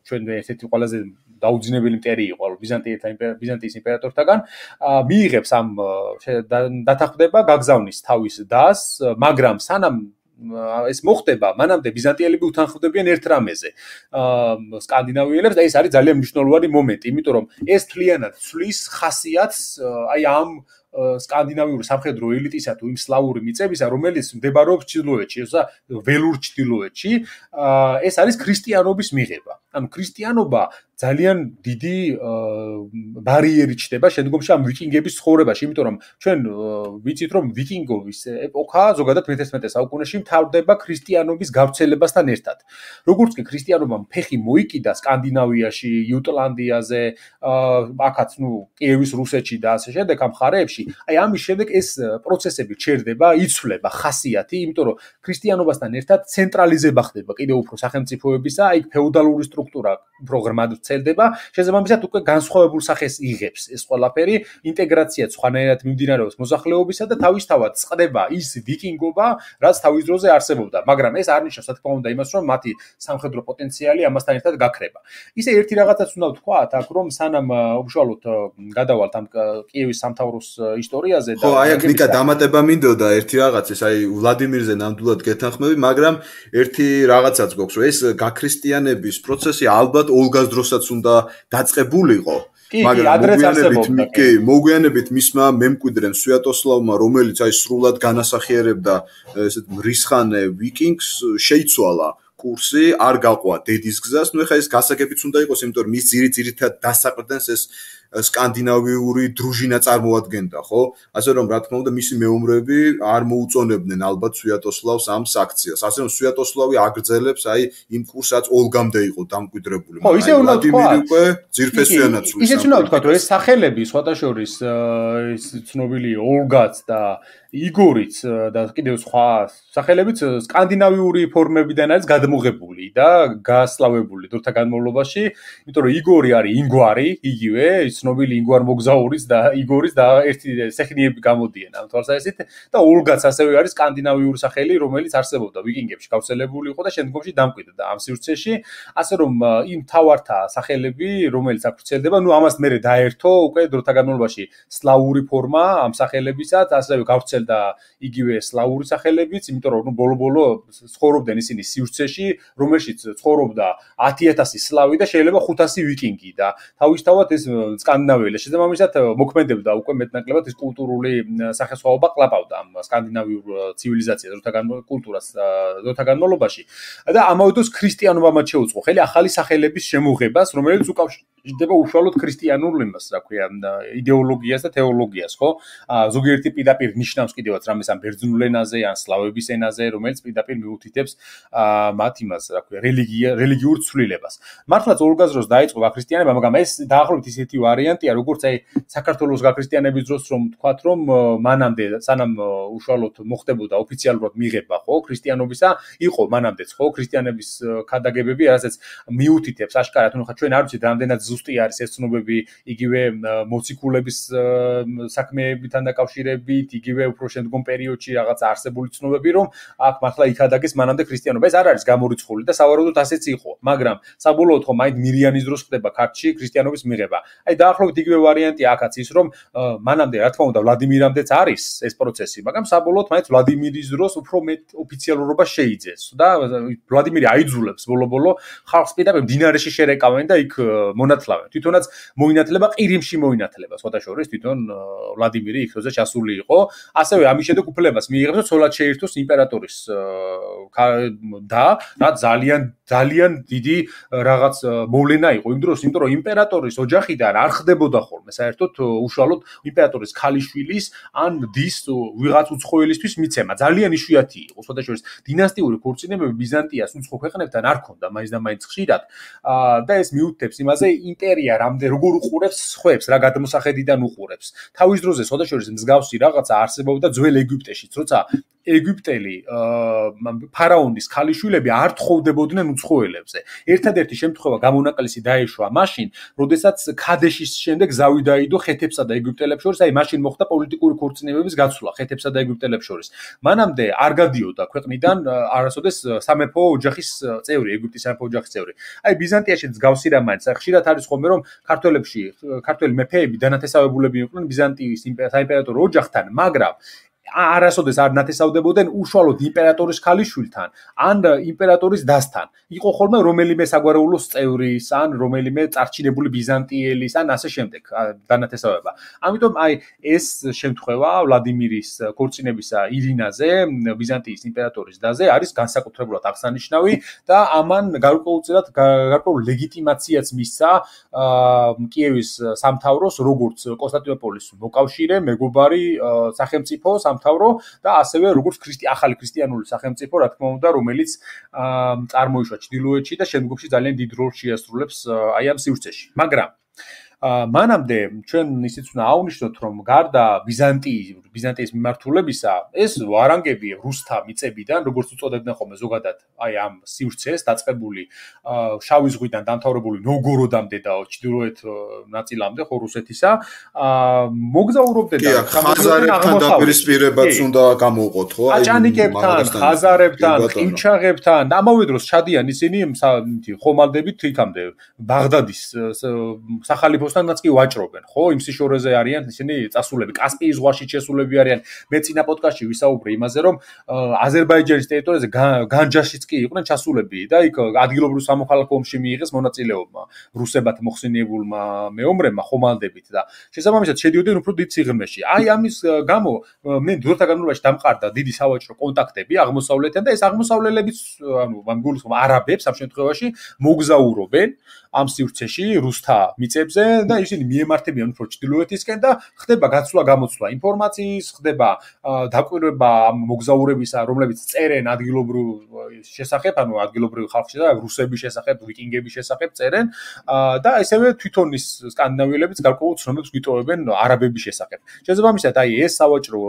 ჩვენ ერთ-ერთი ყველაზე დაუძინებელი მტერი იყო ბიზანტიელთა ბიზანტიის იმპერატორთაგან მიიღებს ამ დათანხმდება გაგზავნის თავის დას მაგრამ სანამ ეს მოხდება მანამდე ბიზანტიელები უთანხმდებიან ერთ რამეზე სკანდინავიელებს და ეს არის ძალიან მნიშვნელოვანი მომენტი იმიტომ რომ ეს თლიანად ცვლის ხასიათს აი ამ სკანდინავიური სამხედრო ელიტისა თუ იმ სლავური მიწებისა რომელიც მდებარეობს ჩრდილოეთში ესა ველურ ჩრდილოეთში ეს არის ქრისტიანობის მიღება ანუ ქრისტიანობა ძალიან დიდი ბარიერი ჩნდება შემდგომში ამ ვიკინგების ცხოვრებაში იმიტომ რომ ჩვენ ვიცით რომ ვიკინგობის ეპოქა ზოგადად მეთერთმეტე საუკუნეში მთავრდება ქრისტიანობის გავრცელებასთან ერთად როგორც კი ქრისტიანობამ ფეხი მოიკიდა სკანდინავიაში იუტლანდიაზე აქაც ნუ კიევის რუსეთში და ასე შემდეგ ამ მხარეებში აი ამის შემდეგ ეს პროცესები ჩერდება იცვლება ხასიათი იმიტომ რომ ქრისტიანობასთან ერთად ცენტრალიზება ხდება კიდევ უფრო სახელმწიფოებისა აი ფეოდალური სტრუქტურა უფრო ღრმად ვრცელდება შესაბამისად უკვე განსხვავებულ სახეს იღებს ეს ყველაფერი ინტეგრაცია სხვანაირად მიმდინარეობს მოსახლეობისა და თავისთავად წყდება ის ვიკინგობა რაც თავის დროზე არსებობდა მაგრამ ეს არ ნიშნავს რა თქმა უნდა იმას რომ მათი სამხედრო პოტენციალი ამასთან ერთად გაქრება ისე ერთი რაღაცაც უნდა ვთქვათ აქ რომ სანამ უშუალოდ გადავალთ ამ კიევის სამთავროს ისტორიაზე და ხო აი აქ ნიკა დამატება მინდოდა ერთი რაღაცის აი ვლადიმირზე ნამდვილად გეთანხმები მაგრამ ერთი რაღაცაც გვაქვს რომ ეს გაქრისტიანების პროცესი ალბათ ოლგას დროსაც უნდა დაწყებულიყო მაგრამ კი მოგვიანებით მისმა მემკვიდრემ სვიატოსლავმა, რომელიც აი სრულად განასახიერებდა ესეთ მრისხანე ვიკინგს, შეიცვალა კურსი, არ გაყვა დედის გზას. ნუ ეხლა ეს გასაგებიც უნდა იყოს, იმიტომ რომ მის ძირითადად დასაყრდენს ეს სკანდინავიური დრუჟინა წარმოადგენდა, ხო? ასე რომ რა თქმა უნდა მისი მეომრები არ მოუწონებდნენ ალბათ სვიატოსლავს ამ საქციელს. ასე რომ სვიატოსლავი აგრძელებს აი იმ კურსს, რაც ოლგამდე იყო დამკვიდრებული. ხო, ისე უნდა თქვა. უკვე ძირფესვიანად სულის. ისე უნდა თქვა, რომ ეს სახელები სხვათა შორის ეს ცნობილი ოლგაც და იგორიც და კიდევ სხვა სახელებიც სკანდინავიური ფორმებიდან არის გადმოღებული და გასლავებული დროთა განმავლობაში, იმიტომ რომ იგორი არის ინგვარი, იგივე ცნობილი ინგვარ მოგზაურის და იგორის და ერთი სეხნიები გამოდიან ამ თვალსაზრისით და ოლგაც ასევე არის სკანდინავიური სახელი, რომელიც არსებობდა ვიკინგებში გავრცელებული იყო და შემდგომში დამკვიდრდა ამ სივრცეში, ასე რომ იმ თავართა სახელები, რომელიც აქ ვრცელდება, ნუ ამას მერე დაერთო უკვე დროთა განმავლობაში სლავური ფორმა ამ სახელებისაც, ასევე გავრცელდა იგივე სლავური სახელებიც, იმიტომ რომ ნუ ბოლო-ბოლო ცხოვრობდნენ ისინი სივრცეში, რომელშიც ცხოვრობდა ათი ათასი სლავი და შეიძლება ხუთასი ვიკინგი და თავისთავად ეს სკანდინავიელი შესაბამისად მოქმედებდა უკვე მეტნაკლებად ეს კულტურული სახესხვაობა ყლაპავდა ამ სკანდინავიურ ცივილიზაციას დროთა კულტურას დროთა განმავლობაში და ამავე დროს ქრისტიანობა მათ შეუწყო ხელი ახალი სახელების შემოღებას, რომელიც უკავშირდება უშუალოდ ქრისტიანულ იმას, რა ქვია, იდეოლოგიას და თეოლოგიას, ხო? ზოგიერთი პირდაპირ ნიშნავს კიდევაც რამეს ამ ბერძნულ ენაზე ან სლავების ენაზე, რომელიც პირდაპირ მიუთითებს მათ იმას, რა ქვია, რელიგია, რელიგიურ ცვლილებას. მართლაც ოლგას დროს დაიწყო გაქრისტიანება, მაგრამ ეს დაახლოებით ისეთი ვარიანტია, როგორც აი საქართველოს გაქრისტიანების დროს რომ თქვათ, რომ მანამდე სანამ უშუალოდ მოხდებოდა ოფიციალურად მიღება, ხო, ქრისტიანობისა, იყო მანამდეც, ხო, ქრისტიანების ქადაგებები, რასაც მიუთითებს აშკარად, ნუ ხა ჩვენ არ ვიცით რამდენად ზუსტი არის ეს ცნობები, იგივე მოციქულების საქმეებთან დაკავშირებით, იგივე უფრო შემდგომ პერიოდში რაღაც არსებული ცნობები, რომ აქ მართლა იქადაგეს მანამდე ქრისტიანობა. ეს არ არის გამორიცხული და სავარაუდოდ ასეც იყო, მაგრამ საბოლოოდ ხო მაინც მირიანის დროს ხდება ქართლში ქრისტიანობის მიღება. აი დაახლოებით იგივე ვარიანტია აქაც ის, რომ მანამდე რა თქმა უნდა ვლადიმირამდეც არის ეს პროცესი, მაგრამ საბოლოოდ მაინც ვლადიმირის დროს უფრო მეტ ოფიციალურობა შეიძეს და ვლადიმირი აიძულებს ბოლო-ბოლო ხალხს პირდაპირ მდინარეში შერეკავენ და იქ მონათლავენ. თვითონაც მოინათლება ყირიმში მოინათლება, სხვათა შორის თვითონ ვლადიმირი იქროზე ჩასული იყო. ასევე ამის შემდეგ უფლებას მიიღებს, რომ ცოლად შეირთოს იმპერატორის და რა ძალიან ძალიან დიდი რაღაც მოვლენა იყო იმ დროს, იმიტომ რომ იმპერატორის ოჯახიდან არ ხდებოდა ხოლმე საერთოდ უშუალოდ იმპერატორის ქალიშვილის ან დის ვიღაც უცხოელისთვის მიცემა. ძალიან იშვიათი იყო, სხვათა შორის დინასტიური ქორწინებები ბიზანტიას უცხო ქვეყნებთან არ ჰქონდა მაინც და მაინც ხშირად და ეს მიუთითებს იმაზე იმპერია რამდენ როგორ უყურებს სხვებს, რა გადმოსახედიდან უყურებს. თავის დროზე სხვათა შორის მსგავსი რაღაცა არსებობდა ძველ ეგვიპტეშიც, როცა ეგვიპტელი ფარაონის ქალიშვილები არ თხოვდებოდნენ უცხოელებზე. ერთადერთი შემთხვევა გამონაკლისი დაეშვა მაშინ, როდესაც ქადეშის შემდეგ ზავი დაიდო ხეთებსა და ეგვიპტელებს შორის, აი მაშინ მოხდა პოლიტიკური ქორწინებების გაცვლა ხეთებსა და ეგვიპტელებს შორის. მანამდე არ გადიოდა ქვეყნიდან არასოდეს სამეფო ოჯახის წევრი, ეგვიპტის სამეფო ოჯახის წევრი. აი ბიზანტიაშიც გავსი რა მაინც, ხშირად არის ხოლმე რომ ქართველებში, ქართველი მეფეები დანათესავებულები იყვნენ ბიზანტიის საიმპერატორო ოჯახთან, მაგრამ არასოდეს არ ნათესავდებოდნენ უშუალოდ იმპერატორის ქალიშვილთან ან იმპერატორის დასთან. იყო ხოლმე რომელიმე საგვარეულოს წევრის ან რომელიმე წარჩინებული ბიზანტიელის ან ასე შემდეგ დანათესავება. ამიტომ აი ეს შემთხვევა ვლადიმირის ქორწინებისა ირინაზე, ბიზანტიის იმპერატორის დაზე არის განსაკუთრებულად აღსანიშნავი და ამან გარკვეულწილად გარკვეულ ლეგიტიმაციაც მისცა კიევის სამთავროს როგორც კონსტანტინოპოლის მოკავშირე, მეგობარი სახელმწიფო სამთავრო და ასევე როგორც ქრისტი ახალი ქრისტიანული სახელმწიფო, რა თქმა უნდა, რომელიც წარმოიშვა ჩრდილოეთში და შემდგომში ძალიან დიდ როლს შეასრულებს აი ამ სივრცეში. მაგრამ მანამდე ჩვენ ისიც უნდა აღვნიშნოთ, რომ გარდა ბიზანტიის ბიზანტიის მიმართულებისა, ეს ვარანგები რუსთა მიწებიდან, როგორც უწოდებდნენ ხოლმე ზოგადად, აი ამ სივრცეს დაწყებული შავი ზღვიდან დამთავრებული ნოვგოროდამდე და ჩრდილოეთ ნაწილამდე, ხო რუსეთისა, მოგზაურობდნენ და ხაზარებთან დაპირისპირებაც უნდა გამოვყოთ, ხო? აჭანიკებთან, ხაზარებთან, ყივჩაღებთან, ამავე დროს ჩადიან ისინი ხომალდებით იქამდე ბაღდადის სახალიფო ამბოსთანაც კი ვაჭრობენ, ხო? იმ სიშორეზე არიან ისინი წასულები, კასპიის ზღვაში შესულები არიან. მე წინა პოდკასტში ვისაუბრე იმაზე, რომ აზერბაიჯანის ტერიტორიაზე განჯაშიც კი იყვნენ ჩასულები და იქ ადგილობრივ სამოქალაქო ომში მიიღეს მონაწილეობა რუსებად მოხსენიებულმა მეომრებმა ხომალდებით და შესაბამისად შედიოდნენ უფრო დიდ სიღრმეში. აი ამის გამო მე დროთა განმავლობაში დამყარდა დიდი სავაჭრო კონტაქტები აღმოსავლეთთან და ეს აღმოსავლელებიც ანუ ამ გულისხმობ არაბებს ამ შემთხვევაში მოგზაურობენ ამ სივრცეში რუსთა მიწებზე და ისინი მიემართებიან უფრო ჩრდილოეთისკენ და ხდება გაცვლა გამოცვლა ინფორმაციის, ხდება დაკვირვება ამ მოგზაურებისა, რომლებიც წერენ ადგილობრივ შესახებ, ანუ ადგილობრივ ხალხის შესახებ, რუსების შესახებ, ვიკინგების შესახებ წერენ და ესევე თვითონ ის სკანდინავიელებიც გარკვეულ ცნობებს გვიტოვებენ არაბების შესახებ. შესაბამისად, აი ეს სავაჭრო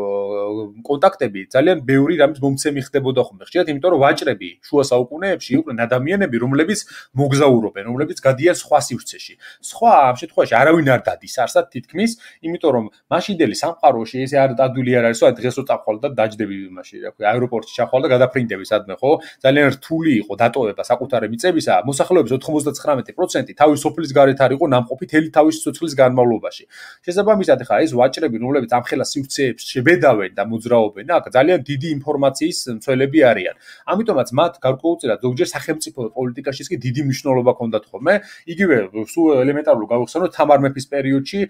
კონტაქტები ძალიან ბევრი რამის მომცემი ხდებოდა ხოლმე. ხშირად იმიტომ რომ ვაჭრები შუა საუკუნეებში იყვნენ ადამიანები, რომლებიც მოგზაურობენ, რომლებიც გადიან სხვა სივრცეში. სხვა ამ შემთხვევაში არავინ არ დადის არსად თითქმის, იმიტომ რომ მაშინდელი სამყაროში ესე არ დადული არ არის, რომ დღეს რო წახვალ და დაჯდები იმაში, რა ქვია, აეროპორტში ჩახვალ და გადაფრინდები სადმე, ხო? ძალიან რთული იყო დატოვება საკუთარი მიწებისა, მოსახლეობის ოთხმოცდათხრამეტი პროცენტი თავის სოფლის გარეთ არ იყო ნამყოფი თელი თავის სიცოცხლის განმავლობაში. შესაბამისად, ხა ეს ვაჭრები, რომლებიც ამ ხელა სივრცეებს შებედავენ და მოძრაობენ, აქ ძალიან დიდი ინფორმაციის მცველები არიან. ამიტომაც მათ გარკვეულწილად ზოგჯერ სახელმწიფო პოლიტიკაშიც კი დიდი მნიშვნელობა ჰქონდათ ხოლმე. იგივე სულ ელემენტარულად გავიხსენოთ თამარ მეფის პერიოდში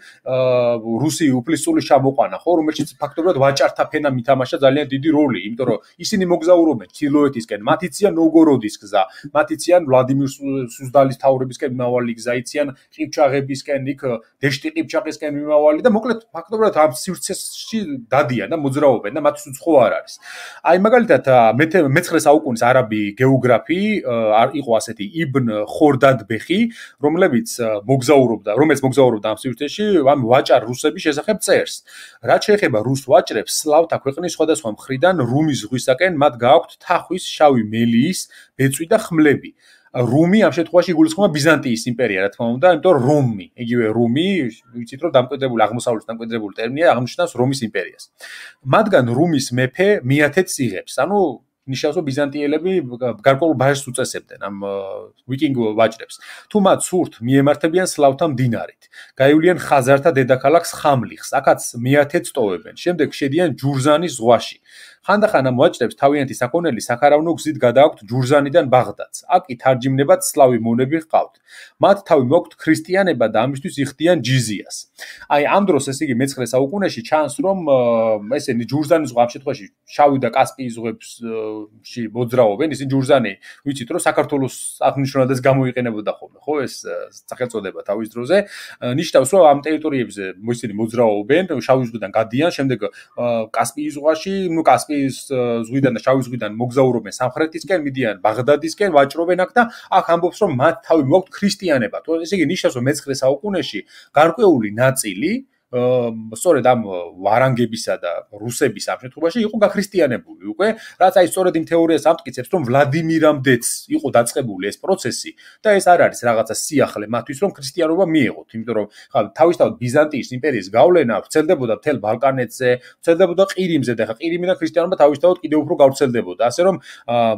რუსი უფლისწულის ჩამოყვანა, ხო, რომელშიც ფაქტობრივად ვაჭართა ფენა მითამაშა ძალიან დიდი როლი, იმიტომ რომ ისინი მოგზაურობენ ჩრდილოეთისკენ, მათ იციან ნოვგოროდის გზა, მათ იციან ვლადიმირ სუზდალის თავრებისკენ მიმავალი გზა, იციან ყიფჩაღებისკენ, იქ დეშტი ყიფჩაღისკენ მიმავალი და მოკლედ ფაქტობრივად ამ სივრცეში დადიან და მოძრაობენ და მათთვის უცხო არ არის. აი მაგალითად მეცხრე საუკუნის არაბი გეოგრაფი იყო ასეთი იბნ ხორდადბეხი, რომლებიც მოგზაურობდა, რომელიც მოგზაურობდა ამ სივრცეში, ამ ვაჭარ რუსების შესახებ წერს. რაც შეეხება რუს ვაჭრებს, სლავთა ქვეყნის სხვადასხვა მხრიდან რუმის ზღვისაკენ მათ გააქვთ თახვის, შავი მელიის, ბეწვი და ხმლები. რუმი ამ შემთხვევაში იგულისხმება ბიზანტიის იმპერია, რა თქმა უნდა, იმიტომ რომ რომი, იგივე რუმი, ვიცით რომ დამკვიდრებული აღმოსავლეთის დამკვიდრებული ტერმინია, აღნიშნავს რომის იმპერიას. მათგან რუმის მეფე მიათეთს იღებს, ანუ ნიშნავს რომ ბიზანტიელები გარკვეულ ბაჟს უწესებდნენ ამ ვიკინგ ვაჭრებს. თუ მათ სურთ მიემართებიან სლავთა მდინარით. გაივლიან ხაზართა დედაქალაქს ხამლიხს, აქაც მიათეთს ტოვებენ. შემდეგ შედიან ჯურზანის ზღვაში. ხანდახან ამ ვაჭრებს თავიანთი საქონელი საქარავნო გზით გადააქვთ ჯურზანიდან ბაღდადს. აქ კი თარჯიმნებად სლავი მონები ჰყავთ. მათ თავი მოაქვთ ქრისტიანება და ამისთვის იხდიან ჯიზიას. აი ამ დროს ეს იგი მეცხრე საუკუნეში ჩანს რომ ესენი ჯურზანის ზღვა ამ შემთხვევაში შავი და კასპიის ზღვებში მოძრაობენ. ისინი ჯურზანი ვიცით რომ საქართველოს აღნიშნულადაც გამოიყენებოდა ხოლმე, ხო ეს სახელწოდება თავის დროზე. ნიშნავს რომ ამ ტერიტორიებზე ისინი მოძრაობენ, შავი ზღვიდან გადიან, შემდეგ კასპიის ზღვაში, ნუ კასპიის ზღვიდან და შავი ზღვიდან მოგზაურობენ სამხრეთისკენ, მიდიან ბაღდადისკენ, ვაჭრობენ აქ და აქ ამბობს რომ მათ თავი მოაქვთ ქრისტიანება. ესე იგი ნიშნავს რომ მეცხრე საუკუნეში გარკვეული ნაწილი სწორედ ამ ვარანგებისა და რუსების ამ შემთხვევაში იყო გაქრისტიანებული უკვე, რაც აი სწორედ იმ თეორიას ამტკიცებს, რომ ვლადიმირამდეც იყო დაწყებული ეს პროცესი და ეს არ არის რაღაცა სიახლე მათთვის, რომ ქრისტიანობა მიეღოთ, იმიტომ რომ ხა თავისთავად ბიზანტიის იმპერიის გავლენა ვრცელდებოდა მთელ ბალკანეთზე, ვრცელდებოდა ყირიმზე და ხა ყირიმიდან ქრისტიანობა თავისთავად კიდევ უფრო გავრცელდებოდა, ასე რომ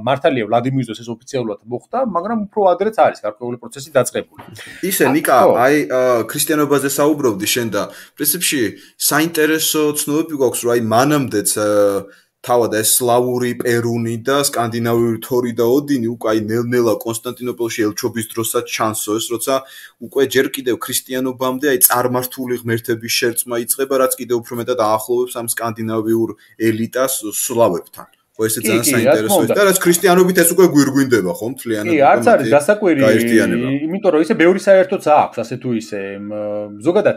მართალია ვლადიმირის დროს ეს ოფიციალურად მოხდა, მაგრამ უფრო ადრეც არის გარკვეული პროცესი დაწყებული. ისე ნიკა, აი ქრისტიანობაზე საუბრობდი შენ და პრინციპში საინტერესო ცნობები გვაქვს, რომ აი მანამდეც თავად ეს სლავური პერუნი და სკანდინავიური თორი და ოდინი უკვე აი ნელ-ნელა კონსტანტინოპოლში ელჩობის დროსაც ჩანსო ეს, როცა უკვე ჯერ კიდევ ქრისტიანობამდე აი წარმართული ღმერთების შერწყმა იწყება, რაც კიდევ უფრო მეტად აახლოვებს ამ სკანდინავიურ ელიტას სლავებთან. ხო ესე ძალიან საინტერესოა და რაც ქრისტიანობით ეს უკვე გვირგვინდება ხო მთლიანად. კი, არც არის დასაკვირი, იმიტომ რომ ისე ბევრი საერთოც აქვს, ასე თუ ისე ზოგადად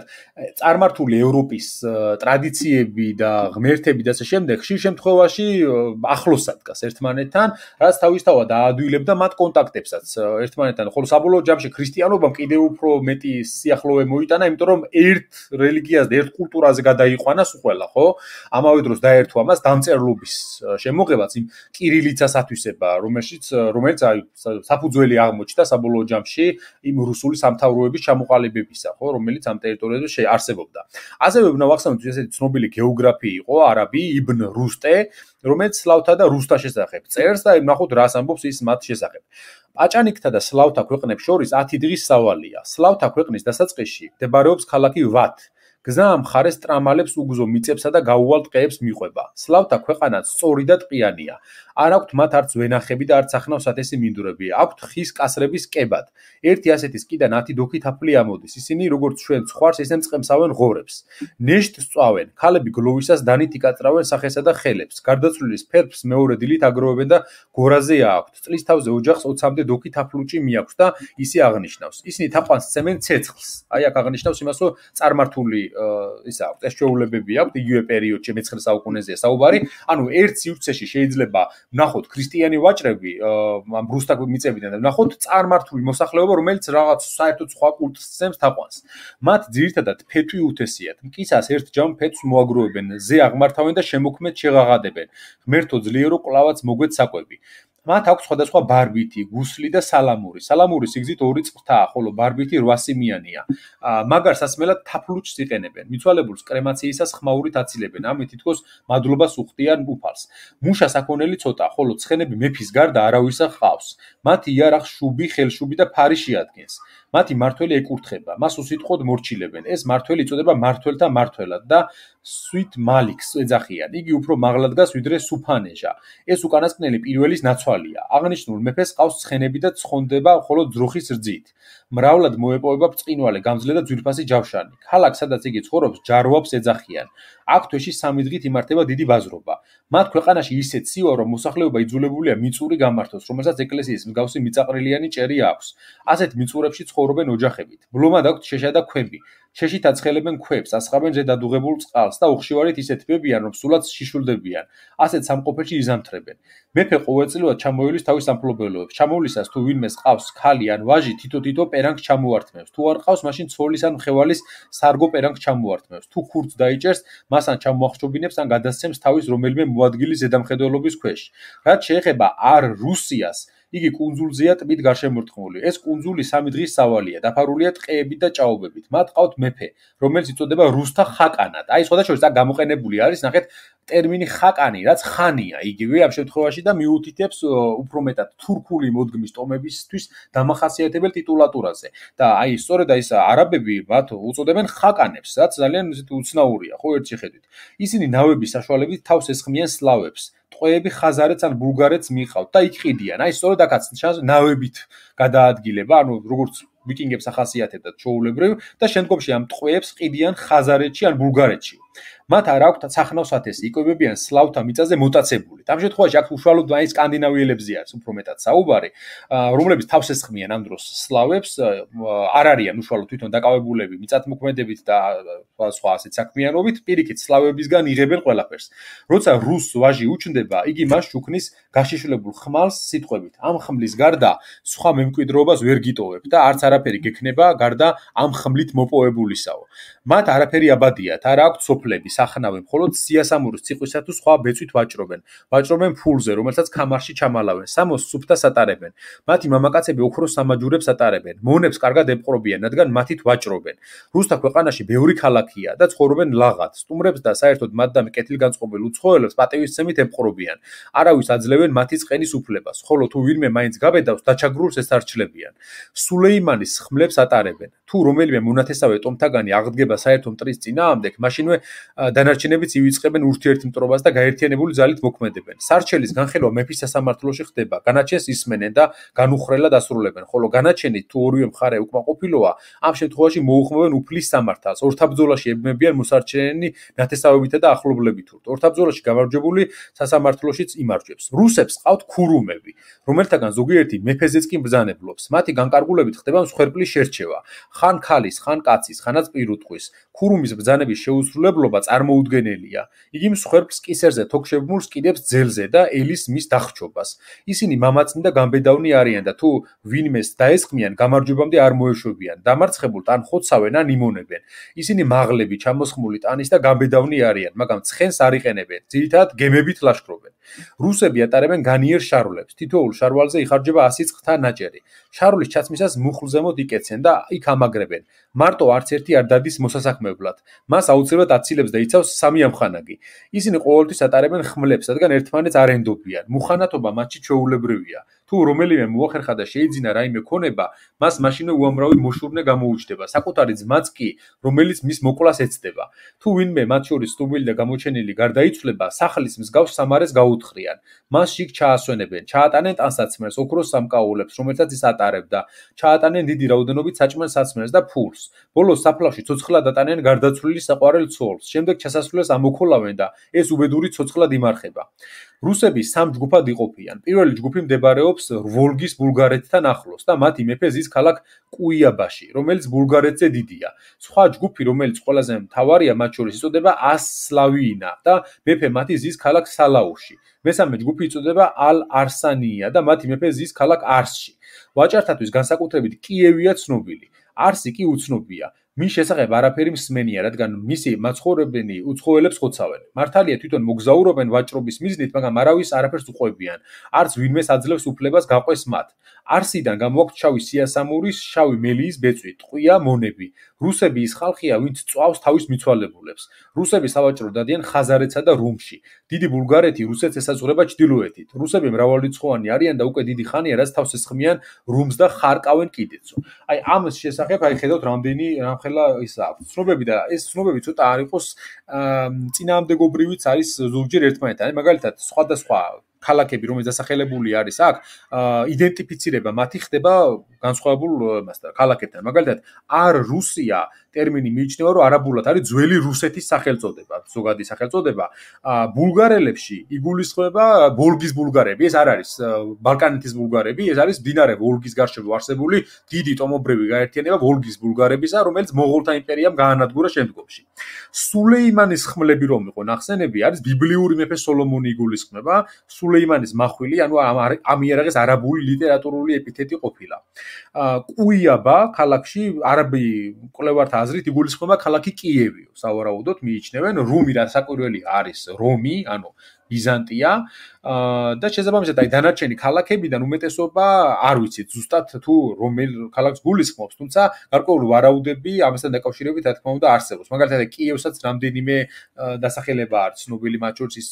წარმართული ევროპის ტრადიციები და ღმერთები და ასე შემდეგ ხშირ შემთხვევაში ახლოსად დგას ერთმანეთთან, რაც თავისთავად აადვილებდა მათ კონტაქტებსაც ერთმანეთთან, ხოლო საბოლოო ჯამში ქრისტიანობამ კიდევ უფრო მეტი სიახლოვე მოიტანა, იმიტომ რომ ერთ რელიგიას და ერთ კულტურაზე გადაიყვანა ყველა, ხო? ამავე დროს დაერთვა მას დამწერლობის შემოღება შეუძლებაც იმ კირილიცას ათვისება, რომელშიც რომელიც აი საფუძველი აღმოჩნდა საბოლოო ჯამში იმ რუსული სამთავროების ჩამოყალიბებისა, ხო, რომელიც ამ ტერიტორიაზე არსებობდა. ასევე უნდა ვახსენოთ, ესეთი ცნობილი გეოგრაფი იყო არაბი იბნ რუსტე, რომელიც სლავთა და რუსთა შესახებ წერს და ნახოთ რას ამბობს ის მათ შესახებ. პაჭანიკთა და სლავთა ქვეყნებს შორის ათი დღის სავალია. სლავთა ქვეყნის დასაწყისში მდებარეობს ქალაქი ვათ. გზა ამ მხარეს ტრამალებს უგზო მიწებსა და გაუვალ ტყეებს მიყვება. სლავთა ქვეყანაც სწორი და ტყიანია. არ აქვთ მათ არც ვენახები და არც ახნავ სათესი მინდვრები. აქვთ ხის კასრების კებად. ერთი ასეთი სკიდან ათი დოქი თაფლი ამოდის. ისინი როგორც ჩვენ ცხვარს, ისე მწყემსავენ ღორებს. ნეშტს წვავენ. ქალები გლოვისას დანით იკაწრავენ სახესა და ხელებს. გარდაცვლილის ფერფს მეორე დილით აგროვებენ და გორაზე აქვთ. წლის თავზე ოჯახს ოცამდე დოქი თაფლუჭი მიაქვს და ისე აღნიშნავს. ისინი თაყვანს ცემენ ცეცხლს. აი აქ აღნიშნავს იმას, რომ წარმართული ისა აქვს, ეს შეულებები აქვს იგივე პერიოდში მეცხრე საუკუნეზეა საუბარი. ანუ ერთ სივრცეში შეიძლება ვნახოთ ქრისტიანი ვაჭრები ამ რუსთა მიწებიდან და ვნახოთ წარმართული მოსახლეობა, რომელიც რაღაც საერთოდ სხვა კულტს ცემს თაყვანს. მათ ძირითადად ფეტვი უთესიათ. მკისას ერთ ჯამ ფეტვს მოაგროვებენ, ზე აღმართავენ და შემოქმედ შეღაღადებენ. ღმერთო ძლიერო კლავაც მოგვეც საკვები. მათ აქვს სხვადასხვა ბარბითი, გუსლი და სალამური. სალამური სიგრძით ორი წრთაა, ხოლო ბარბითი რვა სიმიანია. მაგარ სასმელად თაფლუჭს იყენებენ. მიცვალებულს კრემაციისას ხმაურით აცილებენ. ამით თითქოს მადლობას უხდიან უფალს. მუშა საქონელი ცოტა, ხოლო ცხენები მეფის გარდა არავისა ჰყავს. მათი იარაღს შუბი, ხელშუბი და ფარი შეადგენს. მათი მართველი ეკურთხება, მას უსიტყვოდ მორჩილებენ. ეს მართველი იწოდება მართველთა მართველად და სვით მალიქს ეძახიან. იგი უფრო მაღლა დგას ვიდრე სუფანეჟა. ეს უკანასკნელი პირველის ნაცვალია. აღნიშნულ მეფეს ყავს ცხენები და ცხონდება მხოლოდ ძროხის რძით. მრავლად მოეპოვება ბრწყინვალე, გამძლე და ძვირფასი ჯავშანი. ქალაქ, სადაც იგი ცხოვრობს, ჯარვაბს ეძახიან. აქ თვეში სამი დღით იმართება დიდი ბაზრობა. მათ ქვეყანაში ისეთ სივა, რომ მოსახლეობა იძულებულია მიწური გამართოს, რომელსაც ეკლესიის მსგავსი მიწაყრილიანი ჭერი აქვს. ასეთ მიწურებში ცხოვრობენ ოჯახებით. ბლომად აქვთ შეშა და ქვები. შეშით აცხელებენ ქვებს, ასხამენ ზედ ადუღებულ წყალს და უხშირად ისე თბებიან, რომ სულაც შიშულდებიან. ასეთ სამყოფელში იზამთრებენ. მეფე ყოველწლიურად ჩამოივლის თავის სამფლობელოებს. ჩამოვლისას თუ ვინმეს ყავს ქალი ან ვაჟი, თითო-თითო პერანგს ჩამოართმევს. თუ არ ყავს, მაშინ ცოლის ან მხევალის სარგო პერანგს ჩამოართმევს. თუ ხურდს დაიჭერს, მას ან ჩამოახშობინებს, ან გადასცემს თავის რომელიმე მოადგილის ზედამხედველობის ქვეშ. რაც შეეხება არ რუსიას, იგი კუნძულზეა ტბით გარშემორტყმული. ეს კუნძული სამი დღის სავალია, დაფარულია ტყეებით და ჭაობებით. მათ ყავთ მეფე, რომელიც იწოდება რუსთა ხაკანად. აი, სხვადასხვა აქ გამოყენებული არის, ნახეთ, ტერმინი ხაკანი, რაც ხანია, იგივე ამ შემთხვევაში და მიუთითებს უფრო მეტად თურქული მოდგმის ტომებისთვის დამახასიათებელ ტიტულატურაზე. და აი, სწორედ აი ეს არაბები მათ უწოდებენ ხაკანებს, რაც ძალიან უცნაურია, ხო, ერთ შეხედვით. ისინი ნავების საშუალებით თავს ესხმიან სლავებს. ტყვეები ხაზარეთს ან ბულგარეთს მიყავთ და იქ ყიდიან. აი, სწორედ აქაც ნავებით გადაადგილება, ანუ როგორც ვიკინგებს ახასიათებდათ ჩოულებრივ და შემდგომში ამ ტყვეებს ყიდიან ხაზარეთში ან ბულგარეთში. მათ არ აქვთ სახნავ სათესი, იკვებებიან სლავთა მიწაზე მოტაცებულით. ამ შემთხვევაში აქ უშუალოდ აი სკანდინავიელებზე არის უფრო მეტად საუბარი, რომლებიც თავს ესხმიან ამ დროს სლავებს, არ არიან უშუალოდ თვითონ დაკავებულები მიწათმოქმედებით და სხვა ასეთ საქმიანობით, პირიქით სლავებისგან იღებენ ყველაფერს. როცა რუს ვაჟი უჩნდება, იგი მას შუქნის გაშიშვლებულ ხმალს სიტყვებით. ამ ხმლის გარდა სხვა მემკვიდრეობას ვერ გიტოვებ და არც არაფერი გექნება გარდა ამ ხმლით მოპოვებულისაო. მათ არაფერი აბადიათ, არ აქვთ სოფლები, სახნავი, მხოლოდ სიასამურის ციყვისა თუ სხვა ბეწვით ვაჭრობენ. ვაჭრობენ ფულზე, რომელსაც ქამარში ჩამალავენ, სამოს სუფთას ატარებენ. მათი მამაკაცები ოქროს სამაჯურებს ატარებენ. მონებს კარგად ემყრობიან, რადგან მათით ვაჭრობენ. რუსთა ქვეყანაში ბევრი ქალაქია და ცხოვრობენ ლაღად. სტუმრებს და საერთოდ მათ და კეთილგანწყობილ უცხოელებს პატივისცემით ემყრობიან. არავის აძლევენ მათი წყენის უფლებას, ხოლო თუ ვინმე მაინც გაბედავს, დაჩაგრულს ესარჩლებიან. სულეიმანის ხმლებს ატარებენ. თუ რომელიმე მონათესავე ტომთაგანი აღდგება საერთო მტრის წინააღმდეგ, მაშინვე დანარჩენებიც ივიწყებენ ურთიერთმტრობას და გაერთიანებული ძალით მოქმედებენ. სარჩელის განხილვა მეფის სასამართლოში ხდება. განაჩენს ისმენენ და განუხრელად ასრულებენ, ხოლო განაჩენით თუ ორივე მხარე უკმაყოფილოა, ამ შემთხვევაში მოუხმოვენ უფლის სამართალს. ორთაბრძოლაში ებმებიან მოსარჩენი ნათესავებითა და ახლობლებით. ორთაბრძოლაში გამარჯვებული სასამართლოშიც იმარჯვებს. რუსებს ყავთ ქურუმები, რომელთაგან ზოგიერთი მეფეზეც კი ბრძანებლობს. მათი განკარგულებით ხდება მსხვერპლის შერჩევა. ხან ქალის, ხან კაცის, ხანაც პირუტყვის. ქურუმის ბრძანების შეუსრულებლობა მოციქულობა წარმოუდგენელია. იგი მსხვერპლს კისერზე თოქშებმულს კიდებს ძელზე და ელის მის დახჩობას. ისინი მამაცნი და გამბედავნი არიან და თუ ვინმეს დაესხმიან, გამარჯვებამდე არ მოეშვებიან. დამარცხებულთ ან ხოცავენ ან იმონებენ. ისინი მაღლები, ჩამოსხმული ტანის და გამბედავნი არიან, მაგრამ ცხენს არ იყენებენ. ძირითადად გემებით ლაშქრობენ. რუსები ატარებენ განიერ შარვლებს. თითოეულ შარვალზე იხარჯება ასი წყთა ნაჭერი. შარვლის ჩაცმისას მუხლზემოთ იკეცენ და იქ ამაგრებენ. მარტო არც ერთი არ დადის მოსასაქმებლად. მას აუცილებლად აცილებს და იცავს სამი ამხანაგი. ისინი ყოველთვის ატარებენ ხმლებს, რადგან ერთმანეთს არ ენდობიან. მუხანათობა მათში ჩვეულებრივია. თუ რომელიმე მოახერხა და შეიძინა რაიმე ქონება, მას მაშინვე უამრავი მოშურნე გამოუჩნდება. საკუთარი ძმაც კი, რომელიც მის მოკვლას ეცდება. თუ ვინმე მათ შორის სტუბილი და გამოჩენილი გარდაიცვლება, სახლის მსგავს სამარეს გაუთხრიან. მას შიგ ჩაასვენებენ, ჩაატანენ ტანსაცმელს, ოქროს სამკაულებს, რომელსაც ის ატარებდა. ჩაატანენ დიდი რაოდენობით საჭმელ საცმელს და ფულს. ბოლოს საფლავში ცოცხლად ატანენ გარდაცვლილი საყვარელ ცოლს. შემდეგ ჩასასვლელს ამოქოლავენ და ეს უბედური ცოცხლად იმარხება. რუსები სამ ჯგუფად იყოფიან. პირველი ჯგუფი მდებარეობს ვოლგის ბულგარეთთან ახლოს და მათი მეფე ზის ქალაქ კუიაბაში, რომელიც ბულგარეთზე დიდია. სხვა ჯგუფი, რომელიც ყველაზე მთავარია მათ შორის, იწოდება ასლავინა და მეფე მათი ზის ქალაქ სალაუში. მესამე ჯგუფი იწოდება ალ-არსანია და მათი მეფე ზის ქალაქ არსში. ვაჭართათვის განსაკუთრებით კიევია ცნობილი. არსი კი უცნობია. მის შესახებ არაფერი მსმენია, რადგან მისი მაცხოვრებელი უცხოელებს ხოცავენ. მართალია თვითონ მოგზაურობენ ვაჭრობის მიზნით, მაგრამ არავის არაფერს უყვებიან. არც ვინმეს აძლევს უფლებას გაყვეს მათ. არსიდან გამოაქვთ შავი სიასამურის, შავი მელიის ბეწვი, ტყვია მონები. რუსები ის ხალხია, ვინც წვავს თავის მიცვალებულებს. რუსები სავაჭრო დადიან ხაზარეთსა და რუმში. დიდი ბულგარეთი რუსეთს ესაზღვრება ჩრდილოეთით. რუსები მრავალრიცხოვანი არიან და უკვე დიდი ხანია, რაც თავს ესხმიან რუმს და ხარკავენ კიდეცო. აი ამ შესახებ აი ხედავთ რამდენი რამხელა ის აქვს ცნობები და ეს ცნობები ცოტა არ იყოს წინააღმდეგობრივიც არის ზოგჯერ ერთმანეთთან. აი მაგალითად სხვადასხვა ქალაქები, რომელიც დასახელებული არის აქ, იდენტიფიცირება მათი ხდება განსხვავებულ მასთან, ქალაქებთან. მაგალითად, არ რუსია ტერმინი მიიჩნევა, რომ არაბულად არის ძველი რუსეთის სახელწოდება, ზოგადი სახელწოდება. ბულგარელებში იგულისხმება ვოლგის ბულგარები, ეს არ არის ბალკანეთის ბულგარები, ეს არის მდინარე ვოლგის გარშემო არსებული დიდი ტომობრივი გაერთიანება ვოლგის ბულგარებისა, რომელიც მონღოლთა იმპერიამ გაანადგურა შემდგომში. სულეიმანის ხმლები რომ იყო ნახსენები, არის ბიბლიური მეფე სოლომონი იგულისხმება, სულეიმანის მახვილი, ანუ ამ იარაღის არაბული ლიტერატურული ეპითეტი ყოფილა. კუიაბა ქალაქში არაბი მკვლევართა აზრით იგულისხმება ქალაქი კიევი. სავარაუდოდ მიიჩნევენ რუმი რასაკვირველი არის რომი, ანუ ბიზანტია და შესაბამისად აი დანარჩენი ქალაქებიდან უმეტესობა არ ვიცით ზუსტად თუ რომელ ქალაქს გულისხმობს, თუმცა გარკვეული ვარაუდები ამასთან დაკავშირებით რა თქმა უნდა არსებობს. მაგალითად კიევსაც რამდენიმე დასახელება არის ცნობილი, მათ შორის ის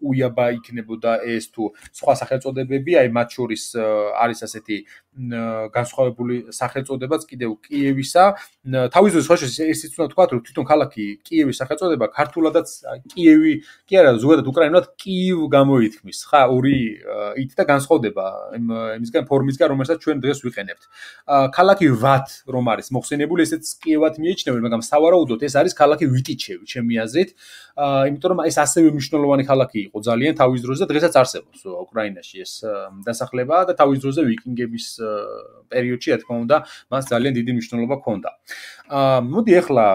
კუიაბა იქნებოდა ეს თუ სხვა სახელწოდებები, აი მათ შორის არის ასეთი განსხვავებული სახელწოდებაც კიდევ კიევისა. თავის დროზე სხვა ისიც უნდა თქვა, რომ თვითონ ქალაქი კიევის სახელწოდება ქართულადაც კიევი კი არა, ზოგადად უკრაინულად კიევ გამოითქმის. ხა ორი ით და განსხვავდება იმისგან ფორმისგან, რომელსაც ჩვენ დღეს ვიყენებთ. ქალაქი ვათ რომ არის მოხსენებული, ესეც კიევად მიიჩნევენ, მაგრამ სავარაუდოდ ეს არის ქალაქი ვიტიჩევი, ჩემი აზრით. იმიტომ რომ ეს ასევე მნიშვნელოვანი ქალაქი იყო ძალიან თავის დროზე და დღესაც არსებობს უკრაინაში ეს დასახლება და თავის დროზე ვიკინგების პერიოდში რა თქმა უნდა მას ძალიან დიდი მნიშვნელობა ჰქონდა. მოდი ახლა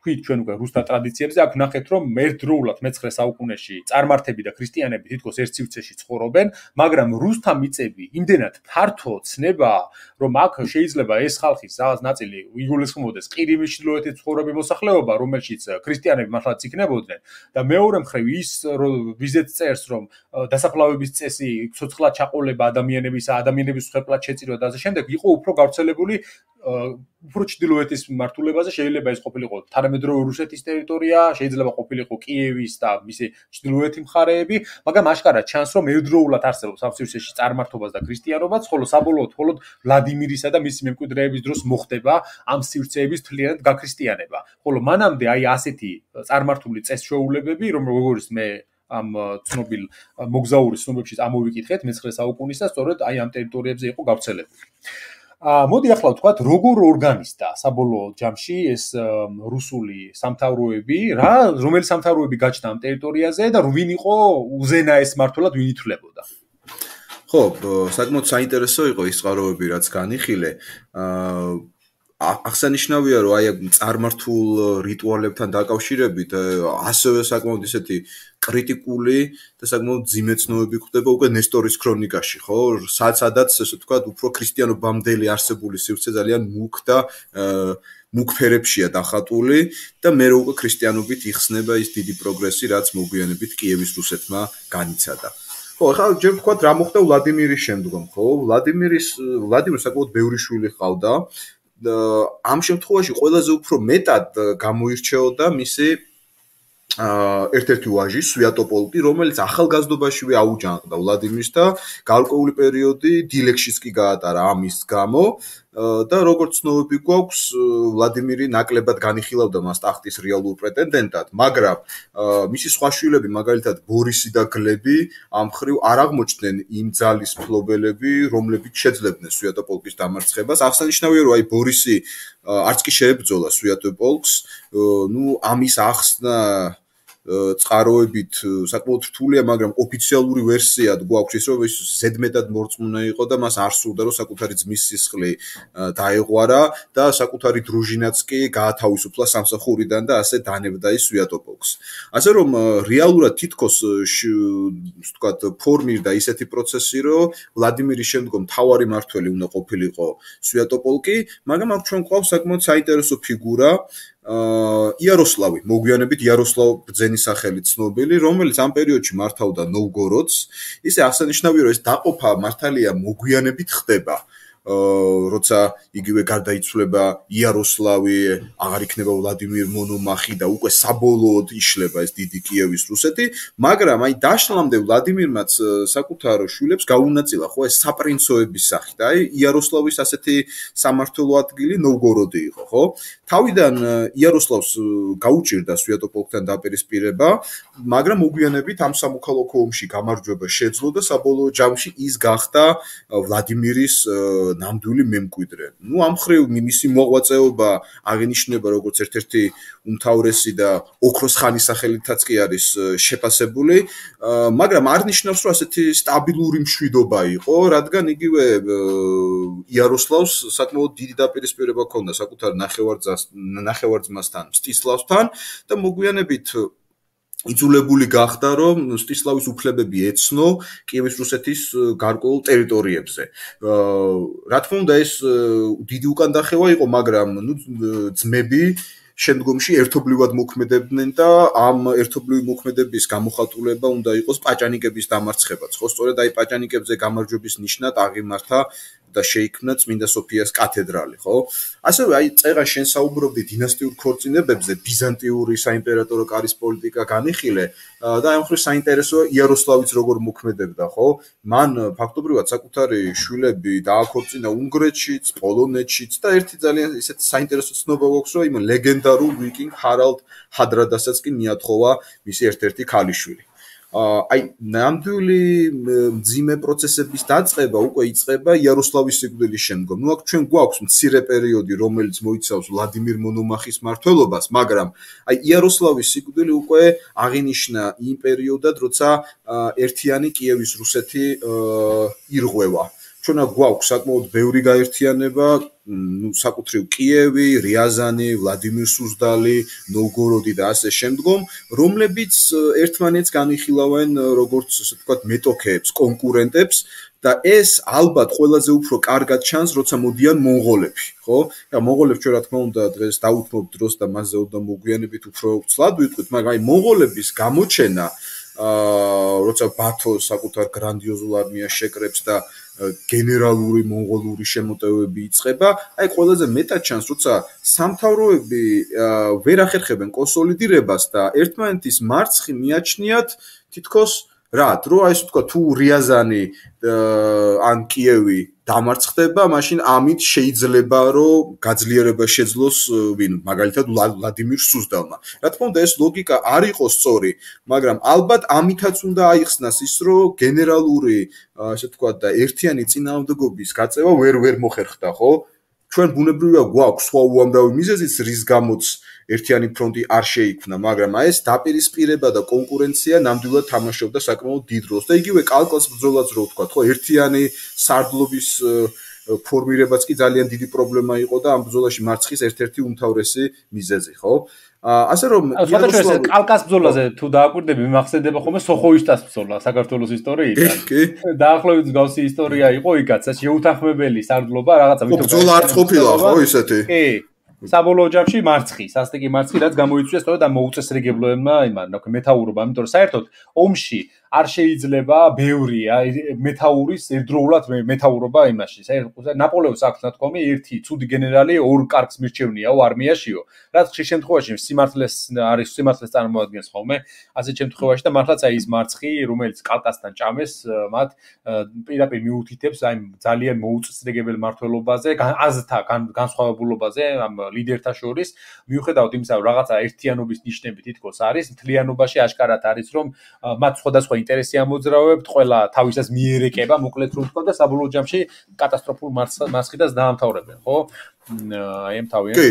თქვით ჩვენ უკვე რუსთა ტრადიციებზე, აქ ნახეთ რომ ერთდროულად მეცხრე საუკუნეში წარმართები და ქრისტიანები თითქოს ერთ სივრცეში ცხოვრობენ, მაგრამ რუსთა მიწები იმდენად ფართო ცნება, რომ აქ შეიძლება ეს ხალხის რაღაც ნაწილი იგულისხმობდეს ყირიმის ჩრდილოეთით ცხოვრები მოსახლეობა, რომელშიც ქრისტიანები მართლაც იქნებოდნენ და მეორე მხრივ ის ვიზეთ წერს, რომ დასაფლავების წესი, ცოცხლად ჩაყოლება ადამიანებისა, ადამიანების მსხვერპლად შეწირვა და ასე შემდეგ იყო უფრო გავრცელებული უფრო ჩრდილოეთის მიმართულებაზე, შეიძლება ეს ყოფილიყო თანამედროვე რუსეთის ტერიტორია, შეიძლება ყოფილიყო კიევის და მისი ჩრდილოეთი მხარეები, მაგრამ აშკარად ჩანს, რომ ერთდროულად არსებობს ამ სივრცეში წარმართობაც და ქრისტიანობაც, ხოლო საბოლოოდ მხოლოდ ვლადიმირისა და მისი მემკვიდრეების დროს მოხდება ამ სივრცეების მთლიანად გაქრისტიანება. ხოლო მანამდე აი ასეთი წარმართული წესჩვეულებები, რომ როგორც მე ამ ცნობილ მოგზაურის ცნობებში ამოვიკითხეთ მეცხრე საუკუნის და სწორედ აი ამ ტერიტორიებზე იყო გავრცელებული. მოდი ახლა ვთქვათ, როგორ ორგანიზდა საბოლოო ჯამში ეს რუსული სამთავროები, რა რომელი სამთავროები გაჩნდა ამ ტერიტორიაზე და ვინ იყო უზენაეს მმართველად, ვინ ითვლებოდა? ხო, საკმაოდ საინტერესო იყო ის წყაროები, რაც განიხილე. აღსანიშნავია რომ აი წარმართულ რიტუალებთან დაკავშირებით ასევე საკმაოდ ისეთი კრიტიკული და საკმაოდ ძიმე ცნობები გვხვდება უკვე ნესტორის ქრონიკაში, ხო? სადაც ესე ვთქვათ, უფრო ქრისტიანობამდელი არსებული სივრცე ძალიან მუქ და მუქ ფერებშია დახატული და მე რო უკვე ქრისტიანობით იხსნება ის დიდი პროგრესი, რაც მოგვიანებით კიევის რუსეთმა განიცადა. ხო, ახლა ჯერ ვთქვათ, რა მოხდა ვლადიმირის შემდგომ, ხო? ვლადიმირის ვლადიმირს საკმაოდ ბევრი შვილი ჰყავდა. ამ შემთხვევაში ყველაზე უფრო მეტად გამოირჩეოდა მისი ერთ-ერთი ვაჟი სვიატოპოლკი, რომელიც ახალგაზრდობაშივე აუჯანყდა ვლადიმირს და გარკვეული პერიოდი დილექშიც კი გაატარა ამის გამო და როგორც ცნობები გვაქვს, ვლადიმირი ნაკლებად განიხილავდა მას ტახტის რეალურ პრეტენდენტად, მაგრამ მისი სხვა შვილები, მაგალითად ბორისი და გლები, ამ ხრივ არ აღმოჩნდნენ იმ ძალის მფლობელები, რომლებიც შეძლებდნენ სვიატოპოლკის დამარცხებას. აღსანიშნავია, რომ აი ბორისი არც კი შეებრძოლა სვიატოპოლკს, ნუ ამის ახსნა წყაროებით საკმაოდ რთულია, მაგრამ ოფიციალური ვერსიად გვაქვს ის, რომ ის ზედმეტად მორწმუნე იყო და მას არ სურდა, რომ საკუთარი ძმის სისხლი დაეღვარა და საკუთარი დრუჟინაც კი გაათავისუფლა სამსახურიდან და ასე დანებდა ის სვიატოპოლკს. ასე რომ რეალურად თითქოს ვთქვათ, ფორმირდა ისეთი პროცესი, რომ ვლადიმირის შემდგომ მთავარი მმართველი უნდა ყოფილიყო სვიატოპოლკი, მაგრამ აქ ჩვენ გვყავს საკმაოდ საინტერესო ფიგურა იაროსლავი, მოგვიანებით იაროსლავ ბრძენის სახელით ცნობილი, რომელიც ამ პერიოდში მართავდა ნოვგოროდს. ისე აღსანიშნავია, რომ ეს დაყოფა მართალია მოგვიანებით ხდება. როცა იგივე გარდაიცვლება იაროსლავი, აღარ იქნება ვლადიმირ მონომახი და უკვე საბოლოოდ იშლება ეს დიდი კიევის რუსეთი, მაგრამ აი დაშლამდე ვლადიმირმაც საკუთარ შვილებს გაუნაწილა, ხო, ეს საპრინცოების სახით. აი იაროსლავის ასეთი სამმართველო ადგილი ნოვგოროდი იყო, ხო? თავიდან იაროსლავს გაუჭირდა სვიატოპოლკთან დაპირისპირება, მაგრამ მოგვიანებით ამ სამოქალაქო ომში გამარჯვება შეძლო და საბოლოო ჯამში ის გახდა ვლადიმირის ნამდვილი მემკვიდრე. ნუ ამ ხრივ მისი მოღვაწეობა აღინიშნება როგორც ერთ-ერთი უმთავრესი და ოქროს ხანის სახელითაც კი არის შეფასებული, მაგრამ არ ნიშნავს, რომ ასეთი სტაბილური მშვიდობა იყო, რადგან იგივე იაროსლავს საკმაოდ დიდი დაპირისპირება ჰქონდა საკუთარ ნახევარ-ძმასთან, მსტისლავსთან და მოგვიანებით იძულებული გახდა, რომ მსტისლავის უფლებები ეცნო კიევის რუსეთის გარკვეულ ტერიტორიებზე. რა თქმა უნდა, ეს დიდი უკანდახევა იყო, მაგრამ ნუ ძმები შემდგომში ერთობლივად მოქმედებდნენ და ამ ერთობლივი მოქმედების გამოხატულება უნდა იყოს პაჭანიკების დამარცხებაც. ხო, სწორედ აი პაჭანიკებზე გამარჯვების ნიშნად აღიმართა და შეიქმნა წმინდა სოფიას კათედრალი, ხო? ასევე აი წერა შენ საუბრობდი დინასტიურ ქორწინებებზე, ბიზანტიური საიმპერატორო კარის პოლიტიკა განიხილე და აი მხრივ საინტერესოა იაროსლავიც როგორ მოქმედებდა, ხო? მან ფაქტობრივად საკუთარი შვილები დააქორწინა უნგრეთშიც, პოლონეთშიც და ერთი ძალიან ისეთი საინტერესო ცნობა გვაქვს, რომ იმ ლეგენდარულ ვიკინგ ჰარალდ ჰადრადასაც კი მიათხოვა მისი ერთ-ერთი ქალიშვილი. აი ნამდვილი მძიმე პროცესების დაწყება უკვე იწყება იაროსლავის სიკვდილის შემდგომ. ნუ აქ ჩვენ გვაქვს მცირე პერიოდი, რომელიც მოიცავს ვლადიმირ მონომახის მმართველობას, მაგრამ აი იაროსლავის სიკვდილი უკვე აღინიშნა იმ პერიოდად, როცა ერთიანი კიევის რუსეთი ირღვევა. ჩვენ აქ გვაქვს საკმაოდ ბევრი გაერთიანება, ნუ საკუთრივ კიევი, რიაზანი, ვლადიმირ სუზდალი, ნოვგოროდი და ასე შემდგომ, რომლებიც ერთმანეთს განიხილავენ როგორც ასე ვთქვათ მეტოქეებს, კონკურენტებს და ეს ალბათ ყველაზე უფრო კარგად ჩანს, როცა მოდიან მონღოლები, ხო? და მონღოლებს ჩვენ რა თქმა უნდა დღეს დაუთმობთ დროს და მასზე უნდა მოგვიანებით უფრო ცლად ვიტყვით, მაგრამ აი მონღოლების გამოჩენა, როცა ბათო საკუთარ გრანდიოზულ არმიას შეკრებს და გენერალური მონღოლური შემოტევები იწყება, აი ყველაზე მეტად ჩანს, როცა სამთავროები ვერ ახერხებენ კონსოლიდირებას და ერთმანეთის მარცხი მიაჩნიათ თითქოს რა, რო აი ესე ვთქვა, თუ რიაზანი ან კიევი დამარცხდება, მაშინ ამით შეიძლება რომ გაძლიერება შეძლოს ვინ, მაგალითად ვლადიმირ სუზდალმა. რა თქმა უნდა, ეს ლოგიკა არ იყო სწორი, მაგრამ ალბათ ამითაც უნდა აიხსნას ის, რომ გენერალური, ასე ვთქვათ და ერთიანი წინააღმდეგობის გაწევა ვერ ვერ მოხერხდა, ხო? ჩვენ ბუნებრივია გვაქვს სხვა უამრავი მიზეზიც, რის გამოც ერთიანი ფრონტი არ შეიქმნა, მაგრამ აი ეს დაპირისპირება და კონკურენცია ნამდვილად თამაშობდა საკმაოდ დიდ როლს და იგივე კალკას ბრძოლაც რო ვთქვათ, ხო, ერთიანი სარდლობის ფორმირებაც კი ძალიან დიდი პრობლემა იყო და ამ ბრძოლაში მარცხის ერთ-ერთი უმთავრესი მიზეზი, ხო? ასე რომ იაროსლავი კალკას ბრძოლაზე თუ დააკვირდები, მახსენდება ხოლმე სოხოისტას ბრძოლა საქართველოს ისტორიიდან. დაახლოებით მსგავსი ისტორია იყო იქაც, შეუთანხმებელი სარდლობა, რაღაცა მითო ბრძოლა არ ყოფილა, ხო, ისეთი? კი. საბოლოო ჯამში მარცხი, სასტიკი მარცხი, რაც გამოიწვია სწორედ ამ მოუწესრიგებლოებმა იმან, მეთაურობა, იმიტომ რომ საერთოდ ომში არ შეიძლება ბევრი მეთაურის ერთდროულად მეთაურობა იმაში. საერთოდ ნაპოლეონს აქვს ნათქვამი ერთი ცუდი გენერალი ორ კარგს მირჩევნიაო არმიაშიო. რაც ხშირ შემთხვევაში სიმართლეს არის სიმართლეს წარმოადგენს ხოლმე. ასეთ შემთხვევაში და მართლაც აი ის მარცხი, რომელიც კალკასთან ჭამეს, მათ პირდაპირ მიუთითებს აი ძალიან მოუწესრიგებელ მართლობაზე, აზრთა განსხვავებულობაზე ამ ლიდერთა შორის, მიუხედავად იმისა, რომ რაღაცა ერთიანობის ნიშნები თითქოს არის, მთლიანობაში აშკარად არის, რომ მათ სხვადასხვა ინტერესი ამოძრავებთ, ყველა თავისას მიერეკება, მოკლედ რომ თქვა და საბოლოო ჯამში კატასტროფულ მარცხიდას დაამთავრებენ, ხო? აი ამ თავიანთ კი.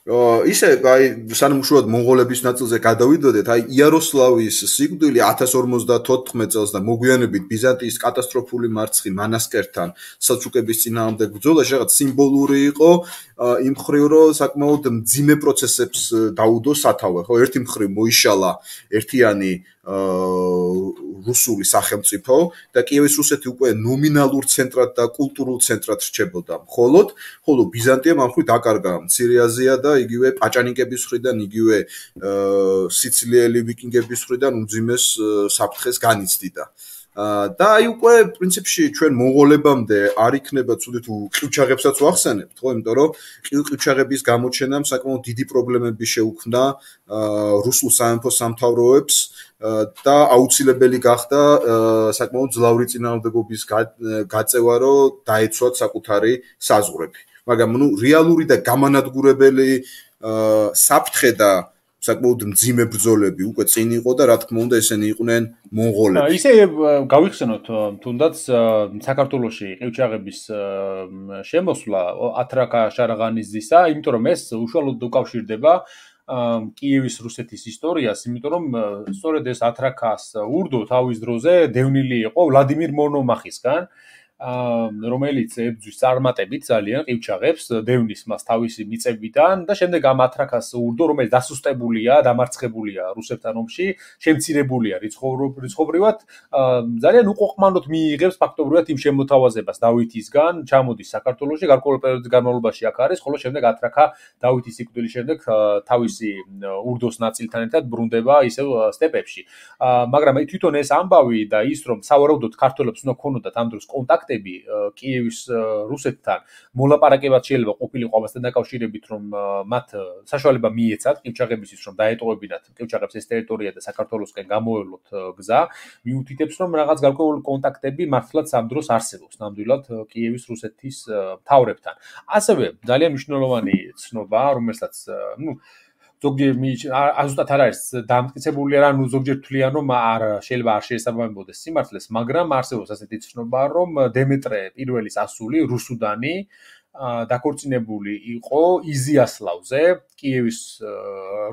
ისე აი სანამ უშუალოდ მონღოლების ნაწილზე გადავიდოდეთ, აი იაროსლავის სიკვდილი ათას ორმოცდათოთხმეტ წელს და მოგვიანებით ბიზანტიის კატასტროფული მარცხი მანასკერთან სელჩუკების წინააღმდეგ ბრძოლაში რაღაც სიმბოლური იყო იმ მხრივ, რომ საკმაოდ მძიმე პროცესებს დაუდო სათავე, ხო, ერთი მხრივ მოიშალა ერთიანი რუსული სახელმწიფო და კიევის რუსეთი უკვე ნომინალურ ცენტრად და კულტურულ ცენტრად რჩებოდა. მხოლოდ, ხოლო ბიზანტიამ ამ მხრივ დაკარგა მცირე აზია და იგივე პაჭანიკების მხრიდან, იგივე სიცილიელი ვიკინგების მხრიდან უმძიმეს საფრთხეს განიცდიდა. და აი უკვე პრინციპში ჩვენ მონღოლებამდე არ იქნება ცუდი თუ ყივჩაღებსაც ვახსენებთ, ხო, იმიტომ რომ ყივჩაღების გამოჩენამ საკმაოდ დიდი პრობლემები შეუქმნა რუსულ სამეფო სამთავროებს და აუცილებელი გახდა საკმაოდ ძლავრი წინააღმდეგობის გაწევა, რომ დაეცვათ საკუთარი საზღვრები. მაგრამ ნუ რეალური და გამანადგურებელი საფრთხე და საკმაოდ მძიმე ბრძოლები უკვე წინ იყო და რა თქმა უნდა ესენი იყვნენ მონღოლები. ისე გავიხსენოთ თუნდაც საქართველოში ყივჩაღების შემოსვლა ათრაკა შარაღანიძისა, იმიტომ რომ ეს უშუალოდ უკავშირდება კიევის რუსეთის ისტორიას, იმიტომ რომ სწორედ ეს ათრაკას ურდო თავის დროზე დევნილი იყო ვლადიმირ მონომახისგან, რომელიც ებრძვის წარმატებით ძალიან ყივჩაღებს, დევნის მას თავისი მიწებიდან და შემდეგ ამ ათრაკას ურდო, რომელიც დასუსტებულია, დამარცხებულია რუსებთან ომში, შემცირებულია რიცხობრივად, ძალიან უყოყმანოდ მიიღებს ფაქტობრივად იმ შემოთავაზებას დავითისგან, ჩამოდის საქართველოში, გარკვეული პერიოდის განმავლობაში აქ არის, ხოლო შემდეგ ათრაკა დავითის სიკვდილის შემდეგ თავისი ურდოს ნაწილთან ერთად ბრუნდება ისევ სტეპებში. მაგრამ თვითონ ეს ამბავი და ის რომ სავარაუდოდ ქართველებს უნდა ქონოდათ ამ დროს კონტაქტი კიევის რუსეთთან მოლაპარაკებად შეიძლება ყოფილიყო ამასთან დაკავშირებით, რომ მათ საშუალება მიეცათ ყივჩაღებისთვის, რომ დაეტოვებინათ ყივჩაღებს ეს ტერიტორია და საქართველოსკენ გამოევლოთ გზა, მიუთითებს, რომ რაღაც გარკვეული კონტაქტები მართლაც ამ დროს არსებობს ნამდვილად კიევის რუსეთის მთავრებთან. ასევე ძალიან მნიშვნელოვანი ცნობა, რომელსაც, ну, ზოგჯერ ზუსტად არ არის დამტკიცებული, ანუ ზოგჯერ თვლიან, რომ არ შეიძლება არ შეესაბამებოდეს სიმართლეს, მაგრამ არსებობს ასეთი ცნობა, რომ დემეტრე პირველის ასული რუსუდანი დაქორწინებული იყო იზიასლავზე, კიევის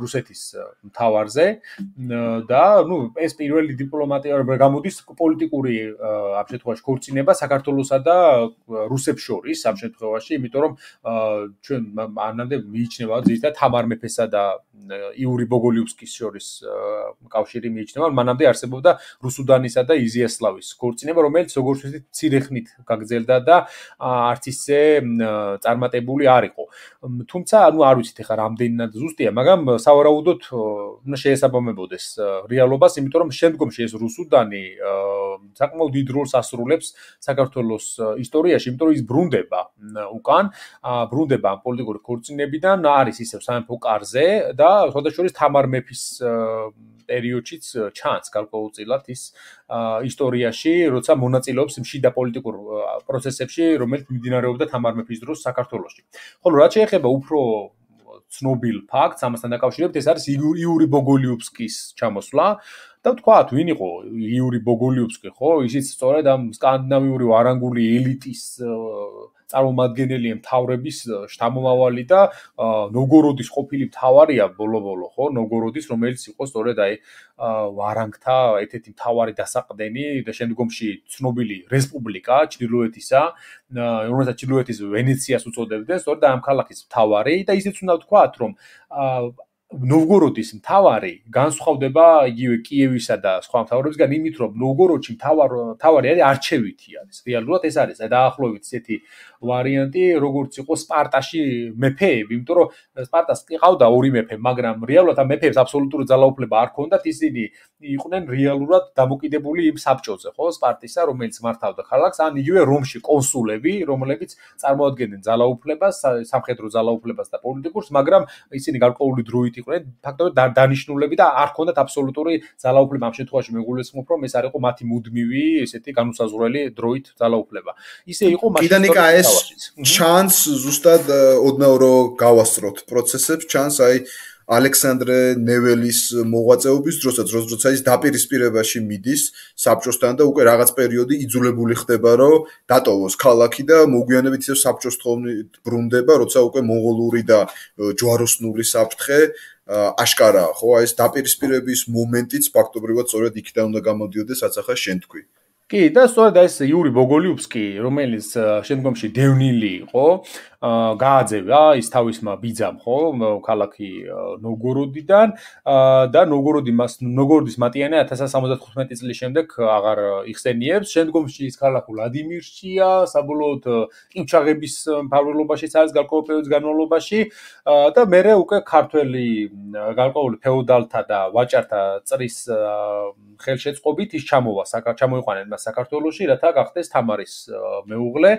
რუსეთის მთავარზე და ნუ ეს პირველი დიპლომატია გამოდის პოლიტიკური ამ შემთხვევაში ქორწინება საქართველოსა და რუსებს შორის ამ შემთხვევაში, იმიტომ რომ ჩვენ მანამდე მიიჩნევა ზუსტად თამარ მეფესა და იური ბოგოლიუსკის შორის კავშირი მიიჩნევა, მანამდე არსებობდა რუსუდანისა და იზიასლავის ქორწინება, რომელიც როგორც ვთქვით, მცირე ხნით გაგრძელდა და არც ისე წარმატებული არ იყო. თუმცა, ну, არ ვიცით ახლა რამდენად ზუსტია, მაგრამ სავარაუდოდ უნდა შეესაბამებოდეს რეალობას, იმიტომ რომ შემდგომში ეს რუსუდანი საკმაოდ დიდ როლს ასრულებს საქართველოს ისტორიაში, იმიტომ რომ ის ბრუნდება უკან, ბრუნდება ამ პოლიტიკური ქორწინებიდან, არის ისევ სამეფო კარზე და შესაძლოა თამარ მეფის პერიოდშიც ჩანს გარკვეულწილად ის ისტორიაში, როცა მონაწილეობს შიდა პოლიტიკურ პროცესებში, რომელიც მიმდინარეობდა თამარ მეფის დროს საქართველოში. ხოლო რაც შეეხება უფრო ცნობილ ფაქტს, ამასთან დაკავშირებით, ეს არის იური ბოგოლიუსკის ჩამოსვლა და ვთქვათ, ვინ იყო იური ბოგოლიუსკი, ხო? ისიც სწორედ ამ სკანდინავიური ვარანგული ელიტის წარმომადგენელი მთავრების შთამომავალი და ნოვგოროდის ყოფილი მთავარია ბოლო-ბოლო, ხო? ნოვგოროდის, რომელიც იყო სწორედ აი ვარანგთა ერთ-ერთი მთავარი დასაყრდენი და შემდგომში ცნობილი რესპუბლიკა ჩრდილოეთისა, რომელსაც ჩრდილოეთის ვენეციას უწოდებდნენ, სწორედ ამ ქალაქის მთავარი და ისიც უნდა ვთქვათ, რომ ნოვგოროდის მთავარი განსხვავდება იგივე კიევისა და სხვა მთავრებისგან იმით, რომ ნოვგოროდში მთავარი არის არჩევითი არის. რეალურად ეს არის დაახლოებით ესეთი ვარიანტი, როგორც იყო სპარტაში მეფეები, იმიტომ რომ სპარტას ყავდა ორი მეფე, მაგრამ რეალურად ამ მეფეებს აბსოლუტური ძალაუფლება არ ჰქონდათ, ისინი იყვნენ რეალურად დამოკიდებული იმ საბჭოზე, ხო, სპარტისა, რომელიც მართავდა ქალაქს, ან იგივე რომში კონსულები, რომლებიც წარმოადგენდნენ ძალაუფლებას, სამხედრო ძალაუფლებას და პოლიტიკურს, მაგრამ ისინი გარკვეული დროით იყვნენ ფაქტობრივად დანიშნულები და არ ჰქონდათ აბსოლუტური ძალაუფლება. ამ შემთხვევაში მეგვულისხმობ, რომ ეს არ იყო მათი მუდმივი, ესეთი განუსაზღვრელი დროით ძალაუფლება. ისე იყო მაშინ ჩანს ზუსტად ოდნავ რომ გავასწროთ პროცესებს, ჩანს აი ალექსანდრე ნეველის მოღვაწეობის დროსაც, როცა ის დაპირისპირებაში მიდის საბჭოსთან და უკვე რაღაც პერიოდი იძულებული ხდება, რომ დატოვოს ქალაქი და მოგვიანებით ისევ საბჭოს თხოვნით ბრუნდება, როცა უკვე მონღოლური და ჯვაროსნული საფრთხე აშკარაა, ხო? აი ეს დაპირისპირების მომენტიც ფაქტობრივად სწორედ იქიდან უნდა გამოდიოდეს, რაც ახლა შენ თქვი. კი, და სწორედ ეს იური ბოგოლიუბსკი, რომელიც შემდგომში დევნილი იყო, გააძევა ის თავისმა ბიძამ, ხო, ქალაქი ნოვგოროდიდან და ნოვგოროდი მას ნოვგოროდის მატიანე ათას ათას სამოცდათხუთმეტი წლის შემდეგ აღარ იხსენიებს. შემდგომში ის ქალაქ ვლადიმირშია, საბოლოოდ ყივჩაღების მფარველობაშიც არის გარკვეულ პერიოდის განმავლობაში და მერე უკვე ქართველი გარკვეული ფეოდალთა და ვაჭართა წრის ხელშეწყობით ის ჩამოვა, ჩამოიყვანენ მას საქართველოში, რათა გახდეს თამარის მეუღლე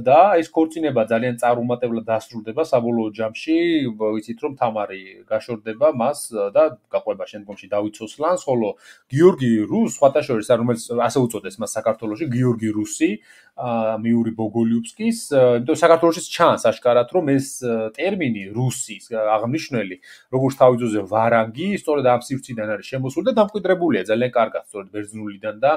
და ეს ქორწინება ძალიან წარუმატებლად დასრულდება საბოლოო ჯამში, ვიცით რომ თამარი გაშორდება მას და გაყვება შემდგომში დავით სოსლანს, ხოლო გიორგი რუს, სხვათა შორის, რომელიც ასე უწოდეს მას საქართველოში, გიორგი რუსი, მიური ბოგოლიუბსკის, იმიტომ საქართველოშიც ჩანს აშკარად, რომ ეს ტერმინი რუსის აღნიშნული, როგორც თავისუფლზე ვარანგი, სწორედ ამ სივრციდან არის შემოსული და დამკვიდრებულია ძალიან კარგად, სწორედ ბერძნულიდან და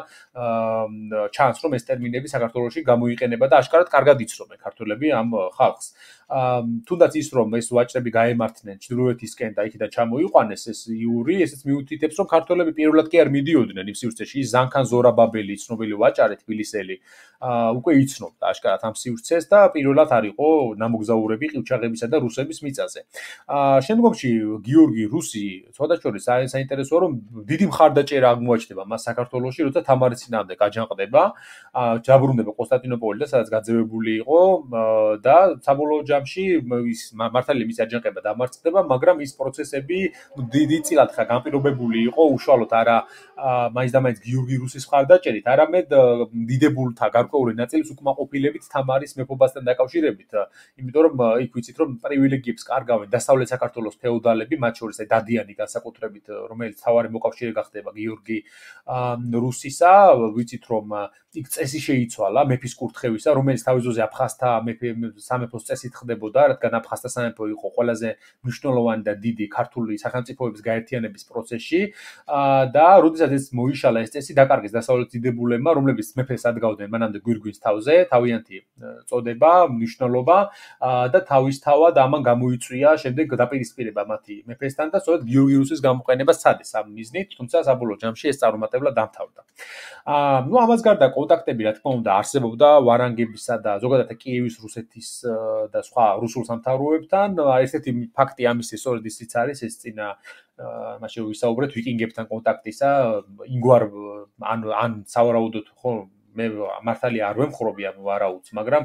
ჩანს, რომ ეს ტერმინები საქართველოში გამოიყენება და აშკარად კარგად იცნობენ ქართველები ამ ხალხს. თუნდაც ის რომ ეს ვაჭრები გაემართნენ ჩრდილოეთისკენ და იქიდან ჩამოიყვანეს ეს იური, ესეც მიუთითებს, რომ ქართველები პირველად კი არ მიდიოდნენ იმ სივრცეში. ის ზანქან ზორაბაბელი, ცნობილი ვაჭარი თბილისელი, უკვე იცნობდა აშკარად ამ სივრცეს და პირველად არ იყო ნამოგზაურები ყივჩაღებისა და რუსების მიწაზე. შემდგომში გიორგი რუსი, სხვადასხვა საინტერესოა, რომ დიდი მხარდაჭერა აღმოაჩნდება მას საქართველოში, როცა თამარის წინააღმდეგ აჯანყდება, ჯაბრუნდება კონსტანტინოპოლი და სადაც გაძევებული იყო და საბოლოო ჯამში ის მართალია მის აჯანყება დამარცხდება, მაგრამ ის პროცესები დიდი წილად ხა განპირობებული იყო უშუალოდ არა მაინც და მაინც გიორგი რუსის მხარდაჭერით, არამედ დიდებულთა გარკვეული ნაწილის უკმაყოფილებით თამარის მეფობასთან დაკავშირებით, იმიტომ რომ იქ ვიცით რომ პრივილეგიებს კარგავენ დასავლეთ საქართველოს ფეოდალები, მათ შორის დადიანი განსაკუთრებით, რომელიც თავარი მოკავშირე გახდება გიორგი რუსისა, ვიცით რომ იქ წესი შეიცვალა მეფის კურთხევისა, რომელიც თავისუფლზე აფხაზთა სამეფოს წესით ხდებოდა, რადგან აფხაზთა სამეფო იყო ყველაზე მნიშვნელოვანი და დიდი ქართული სახელმწიფოების გაერთიანების პროცესში და როდესაც ეს მოიშალა ეს წესი დაკარგეს დასავლეთის დიდებულებმა, რომლებიც მეფეს ადგავდნენ მანამდე გვირგვინს თავზე, თავიანთი წოდება, მნიშვნელობა და თავისთავად ამან გამოიწვია შემდეგ დაპირისპირება მათი მეფესთან და სწორედ გიორგი რუსის გამოყენება სცადეს ამ მიზნით, თუმცა საბოლოო ჯამში ეს წარუმატებლად დამთავრდა. აა ნუ ამას გარდა კონტაქტები რა თქმა უნდა არსებობდა ვარანგებისა და ზოგადად კიევის რუსეთის და სხვა რუსულ სამთავროებთან. ესეთი ფაქტი ამის სწორედ ისიც არის, ეს წინა მაშინ ვისაუბრეთ ვიკინგებთან კონტაქტისა, ინგვარ ან ან სავარაუდოდ ხო მე მართალია არ ვემხრობი ამ ვარაუდს, მაგრამ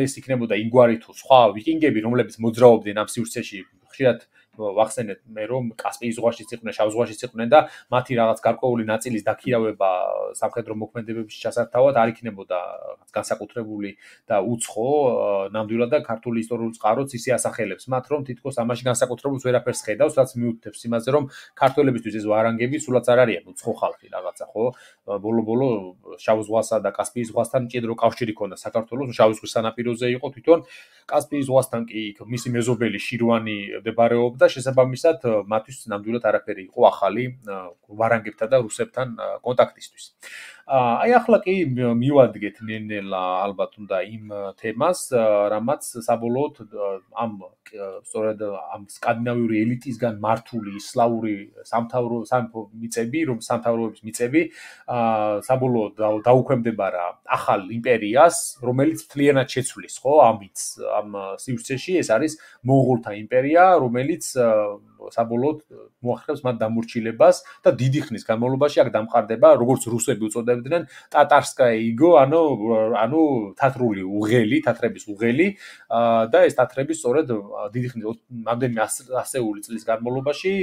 ეს იქნებოდა ინგვარი თუ სხვა ვიკინგები, რომლებიც მოძრაობდნენ ამ სივრცეში, ხშირად ვახსენეთ მე რომ კასპიის ზღვაშიც იყვნენ, შავ ზღვაშიც იყვნენ და მათი რაღაც გარკვეული ნაწილის დაქირავება სამხედრო მოქმედებებში ჩასართავად არ იქნებოდა განსაკუთრებული და უცხო, ნამდვილად და ქართული ისტორიული წყაროც ისე ასახელებს მათ, რომ თითქოს ამაში განსაკუთრებულს ვერაფერს ხედავს, რაც მიუთითებს იმაზე, რომ ქართველებისთვის ეს ვარანგები სულაც არ არიან უცხო ხალხი რაღაცა, ხო? ბოლო-ბოლო შავ ზღვასა და კასპიის ზღვასთან მჭიდრო კავშირი ჰქონდა საქართველოს, შავ ზღვის სანაპიროზე იყო თვითონ კასპიის ზღვასთან კი მისი მეზობელი შირვანი მდებარეობდა და შესაბამისად მათთვის ნამდვილად არაფერი იყო ახალი ვარანგებთან და რუსებთან კონტაქტისთვის. აი ახლა კი მივადგეთ ნელ-ნელა ალბათ უნდა იმ თემას, რამაც საბოლოოდ ამ სწორედ ამ სკანდინავიური ელიტისგან მართული ისლამური სამთავრო სამეფო მიწები, რომ სამთავროების მიწები საბოლოოდ დაუქვემდებარა ახალ იმპერიას, რომელიც მთლიანად შეცვლის, ხო, ამით ამ სივრცეში ეს არის მონღოლთა იმპერია, რომელიც საბოლოოდ მოახერხებს მათ დამორჩილებას და დიდი ხნის განმავლობაში აქ დამყარდება, როგორც რუსები უწოდებდნენ, ტატარსკაია იგო, ანუ ანუ თათრული უღელი, თათრების უღელი და ეს თათრები სწორედ დიდი ხნის რამდენიმე ასეული წლის განმავლობაში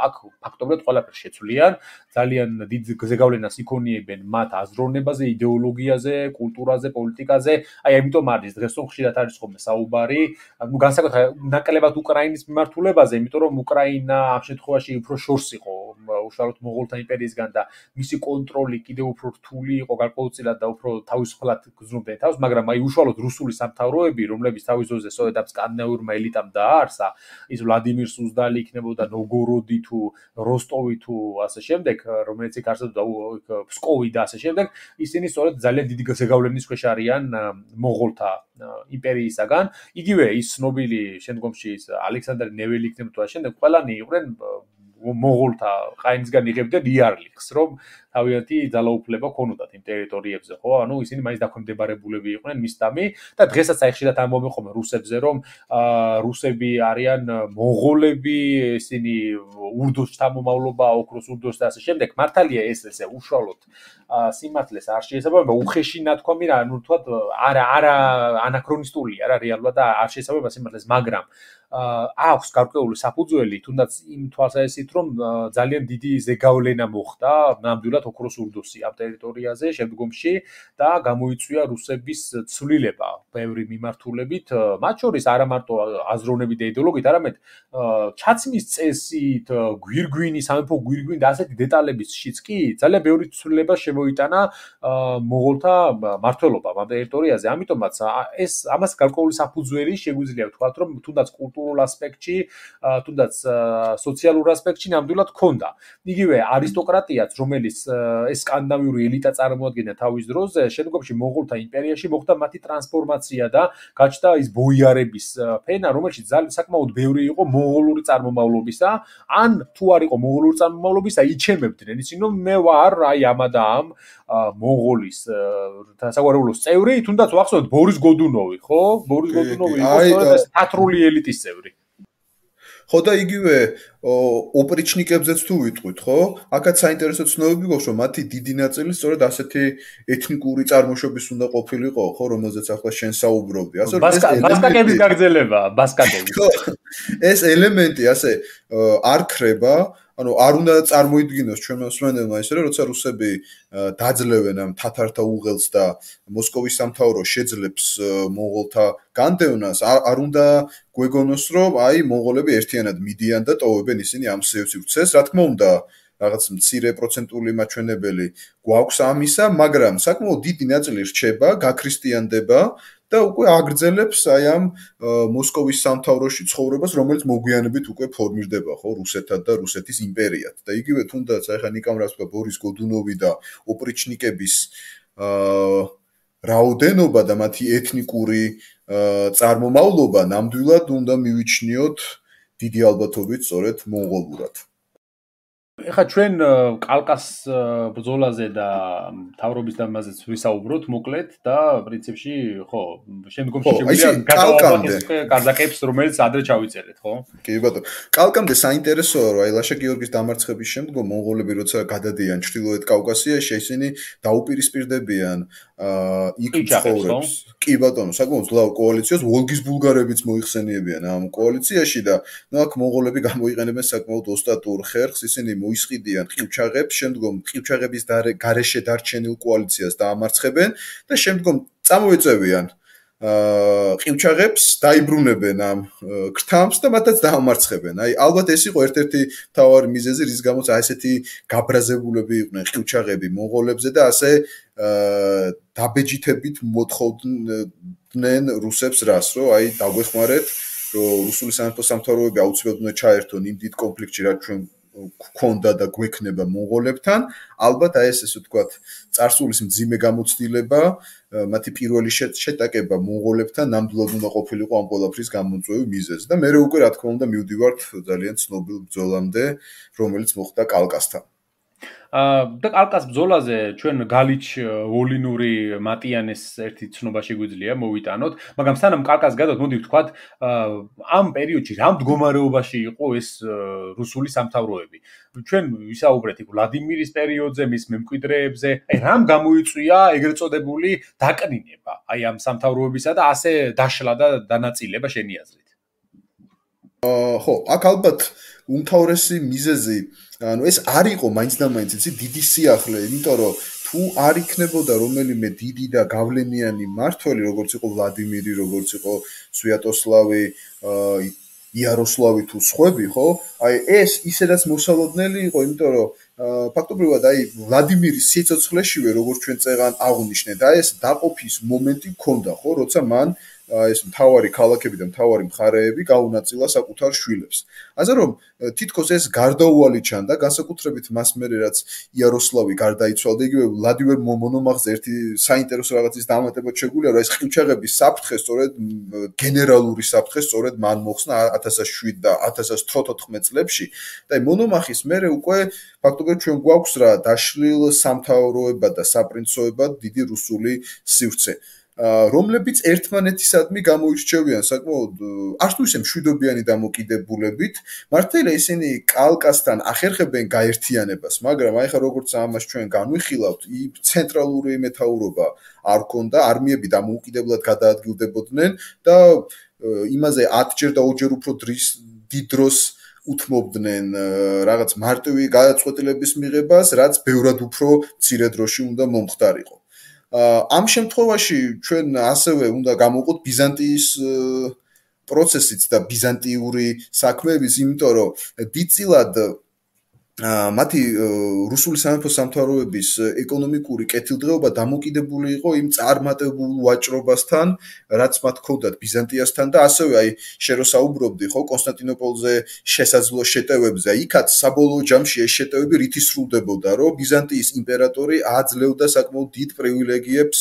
აქ ფაქტობრივად ყველაფერს შეცვლიან, ძალიან დიდ ზეგავლენას იქონიებენ მათ აზროვნებაზე, იდეოლოგიაზე, კულტურაზე, პოლიტიკაზე. აი ამიტომ არის დღეს რომ ხშირად არის ხოლმე საუბარი, ну განსაკუთრებით ნაკლებად უკრაინის მიმართულებაზე, იმიტომ რომ უკრაინა ამ შემთხვევაში უფრო შორს იყო უშუალოდ მონღოლთა იმპერიისგან და მისი კონტროლი კიდევ უფრო რთული იყო გარკვეულწილად და უფრო თავისუფლად გრძნობდნენ თავს, მაგრამ აი უშუალოდ რუსული სამთავროები, რომლებიც თავის ძროზე სწორედ ამ სკანდინავიურმა ელიტამ დააარსა, ის ვლადიმირ სუზდალი იქნებოდა ნოვგოროდი თუ როსტოვი თუ ასე შემდეგ, რომელიც იქ არსებობდა ფსკოვი და ასე შემდეგ, ისინი სწორედ ძალიან დიდი ზეგავლენის ქვეშ არიან მონღოლთა იმპერიისაგან. იგივე ის ცნობილი შემდგომში ის ალექსანდრე ნეველი იქნებოდა და შემდეგ ყველანი იყვნენ მონღოლთა ყაინისგან იღებდნენ იარლიხს, რომ თავიანთი ძალაუფლება ქონოდათ იმ ტერიტორიებზე, ხო? ანუ ისინი მაინც დაქვემდებარებულები იყვნენ მისდამი და დღესაც აი ხშირად ამბობენ ხოლმე რუსებზე, რომ რუსები არიან მონღოლები, ისინი ურდოს შთამომავლობა, ოქროს ურდოს და ასე შემდეგ. მართალია ეს ესე უშუალოდ სიმართლეს არ შეესაბამება, უხეში ნათქვამი რა, ანუ თქვათ არა არა ანაქრონისტულია რა რეალურად და არ შეესაბამება სიმართლეს, მაგრამ აქვს გარკვეული საფუძველი, თუნდაც იმ თვალსაზრისით, რომ ძალიან დიდი ზეგავლენა მოხდა ნამდვილად ოქროს ურდოსი ამ ტერიტორიაზე შემდგომში და გამოიწვია რუსების ცვლილება ბევრი მიმართულებით, მათ შორის არა მარტო აზროვნებით და იდეოლოგიით, არამედ ჩაცმის წესით, გვირგვინი, სამეფო გვირგვინი და ასეთი დეტალებისშიც კი ძალიან ბევრი ცვლილება შემოიტანა მონღოლთა მმართველობამ ამ ტერიტორიაზე. ამიტომაც ეს ამას გარკვეული საფუძველი შეგვიძლია ვთქვათ, რომ თუნდაც კულტურულ ასპექტში, თუნდაც სოციალურ ასპექტში ნამდვილად ჰქონდა. იგივე არისტოკრატიაც, რომელიც ეს სკანდინავიური ელიტა წარმოადგენდა თავის დროზე, შემდგომში მონღოლთა იმპერიაში მოხდა მათი ტრანსფორმაცია და გაჩნდა ის ბოიარების ფენა, რომელშიც ძალიან საკმაოდ ბევრი იყო მონღოლური წარმომავლობისა, ან თუ არ იყო მონღოლური წარმომავლობისა, იჩემებდნენ ისინი, რომ მე ვარ აი ამა და ამ მონღოლის საგვარეულოს წევრი, თუნდაც ვახსოვთ ბორის გოდუნოვი, ხო? ბორის გოდუნოვი იყო სწორედ თათრული ელიტის წევრი. ხო და იგივე ოპრიჩნიკებზეც თუ ვიტყვით, ხო? აქაც საინტერესო ცნობები გვაქვს, რომ მათი დიდი ნაწილი სწორედ ასეთი ეთნიკური წარმოშობის უნდა ყოფილიყო, ხო, რომელზეც ახლა შენ საუბრობდი. ასე რომ ეს ბასკაკების გაგრძელება, ბასკაკების. ეს ელემენტი ასე არ ხრება, ანუ არ უნდა წარმოიდგინოს ჩვენ მოსმენელმა ისე რომ როცა რუსები დაძლევენ ამ თათართა უღელს და მოსკოვის სამთავრო შეძლებს მონღოლთა განდევნას, არ უნდა გვეგონოს რომ აი მონღოლები ერთიანად მიდიან და ტოვებენ ისინი ამ სივრცეს, რა თქმა უნდა რაღაც მცირე პროცენტული მაჩვენებელი გვაქვს ამისა, მაგრამ საკმაოდ დიდი ნაწილი რჩება, გაქრისტიანდება და უკვე აგრძელებს აი ამ მოსკოვის სამთავროში ცხოვრებას, რომელიც მოგვიანებით უკვე ფორმირდება, ხო, რუსეთად და რუსეთის იმპერიად. და იგივე თუნდაც აი ხა ნიკამ რას თქვა ბორის გოდუნოვი და ოპრიჩნიკების აა რაოდენობა და მათი ეთნიკური წარმომავლობა ნამდვილად უნდა მივიჩნიოთ დიდი ალბათობით სწორედ მონღოლურად. ეხლა ჩვენ კალკას ბრძოლაზე და თავრობის დამაზეც ვისაუბროთ მოკლედ და პრინციპში ხო შემდგომში შეგვიძლია გადავაბახოთ კაზაკებს რომელიც ადრე ჩავიწერეთ ხო? კი ბატონო. კალკამდე საინტერესოა რომ აი ლაშა გიორგის დამარცხების შემდგომ მონღოლები როცა გადადიან ჩრდილოეთ კავკასიაში ისინი დაუპირისპირდებიან იქ ცხოვრებს. კი ბატონო, საკმაოდ ძლავა კოალიციას ვოლგის ბულგარებიც მოიხსენიებიან ამ კოალიციაში და ნუ აქ მონღოლები გამოიყენებენ საკმაოდ ოსტატურ ხერხს, ისინი მოისყიდიან ყივჩაღებს, შემდგომ ყივჩაღების გარეშე დარჩენილ კოალიციას დაამარცხებენ და შემდგომ წამოეწევიან აა ყივჩაღებს, დაიბრუნებენ ამ ქრთამს და მათაც დაამარცხებენ. აი ალბათ ეს იყო ერთ-ერთი მთავარი მიზეზი, რის გამოც აი ესეთი გაბრაზებულები იყვნენ ყივჩაღები მონღოლებზე და ასე აა დაბეჯითებით მოთხოვდნენ რუსებს რას, რომ აი დაგვეხმარეთ, რომ რუსული სამეფო სამთავროები აუცილებლად უნდა ჩაერთონ იმ დიდ კონფლიქტში, რაც ჩვენ გქონდა და გვექნება მონღოლებთან, ალბათ აი ეს ესე ვთქვათ, წარსულის მძიმე გამოცდილება, მათი პირველი შეტაკება მონღოლებთან ნამდვილად უნდა ყოფილიყო ამ ყველაფრის გამომწვევი მიზეზი და მეორე უკვე რა თქმა უნდა მივდივართ ძალიან ცნობილ ბრძოლამდე, რომელიც მოხდა კალკასთან. და კალკას ბრძოლაზე ჩვენ გალიჩ ვოლინური მატიანეს ერთი ცნობა შეგვიძლია მოვიტანოთ, მაგრამ სანამ კალკას გადავთ, მოდი ვთქვათ, ამ პერიოდში რა მდგომარეობაში იყო ეს რუსული სამთავროები. ჩვენ ვისაუბრეთ იქ ვლადიმირის პერიოდზე, მის მემკვიდრეებზე, აი რამ გამოიწვია ეგრეთ წოდებული დაკნინება, აი ამ სამთავროებისა და ასე დაშლა და დანაწილება შენი აზრით. აა ხო, აქ ალბათ უმთავრესი მიზეზი, ანუ ეს არ იყო მაინც და მაინც იცი დიდი სიახლე, იმიტომ რომ თუ არ იქნებოდა რომელიმე დიდი და გავლენიანი მმართველი, როგორც იყო ვლადიმირი, როგორც იყო სვიატოსლავი, აა იაროსლავი თუ სხვები, ხო? აი ეს ისედაც მოსალოდნელი იყო, იმიტომ რომ ფაქტობრივად აი ვლადიმირის სიცოცხლეშივე როგორც ჩვენ წეგან აღვნიშნეთ, აი ეს დაყოფის მომენტი ჰქონდა, ხო, როცა მან ეს მთავარი ქალაქები და მთავარი მხარეები გაუნაწილა საკუთარ შვილებს. ასე რომ თითქოს ეს გარდაუვალი ჩანდა, განსაკუთრებით მას მერე რაც იაროსლავი გარდაიცვალა, იგივე ვლადიმერ მონომახზე ერთი საინტერესო რაღაცის დამატებად შეგვიძლია, რომ ეს ყივჩაღების საფრთხე სწორედ გენერალური საფრთხე სწორედ მან მოხსნა ათას შვიდ და ათას თოთხმეტ წლებში და მონომახის მერე უკვე ფაქტობრივად ჩვენ გვაქვს რა დაშლილ სამთავროებად და საპრინცოებად დიდი რუსული სივრცე. რომლებიც ერთმანეთისადმი გამოირჩევიან საკმაოდ არც თუ ისე მშვიდობიანი დამოკიდებულებით, მართალია ისინი კალკასთან ახერხებენ გაერთიანებას, მაგრამ აი ხა როგორც ამას ჩვენ განვიხილავთ, ცენტრალური მეთაურობა არ ქონდა, არმიები დამოუკიდებლად გადაადგილდებოდნენ და იმაზე ათჯერ და ორჯერ უფრო დიდ დროს უთმობდნენ რაღაც მარტივი გადაწყვეტილების მიღებას, რაც ბევრად უფრო მცირე დროში უნდა მომხდარიყო. ამ შემთხვევაში ჩვენ ასევე უნდა გამოვყოთ ბიზანტიის პროცესიც და ბიზანტიური საქმეების, იმიტომ რომ დიდწილად მათი რუსული სამეფო სამთავროების ეკონომიკური კეთილდღეობა დამოკიდებული იყო იმ წარმატებულ ვაჭრობასთან, რაც მათ ჰქონდათ ბიზანტიასთან და ასევე აი შენ რო საუბრობდი, ხო, კონსტანტინოპოლზე შესაძლო შეტევებზე, იქაც საბოლოო ჯამში ეს შეტევები რითი სრულდებოდა, რომ ბიზანტიის იმპერატორი აძლევდა საკმაოდ დიდ პრივილეგიებს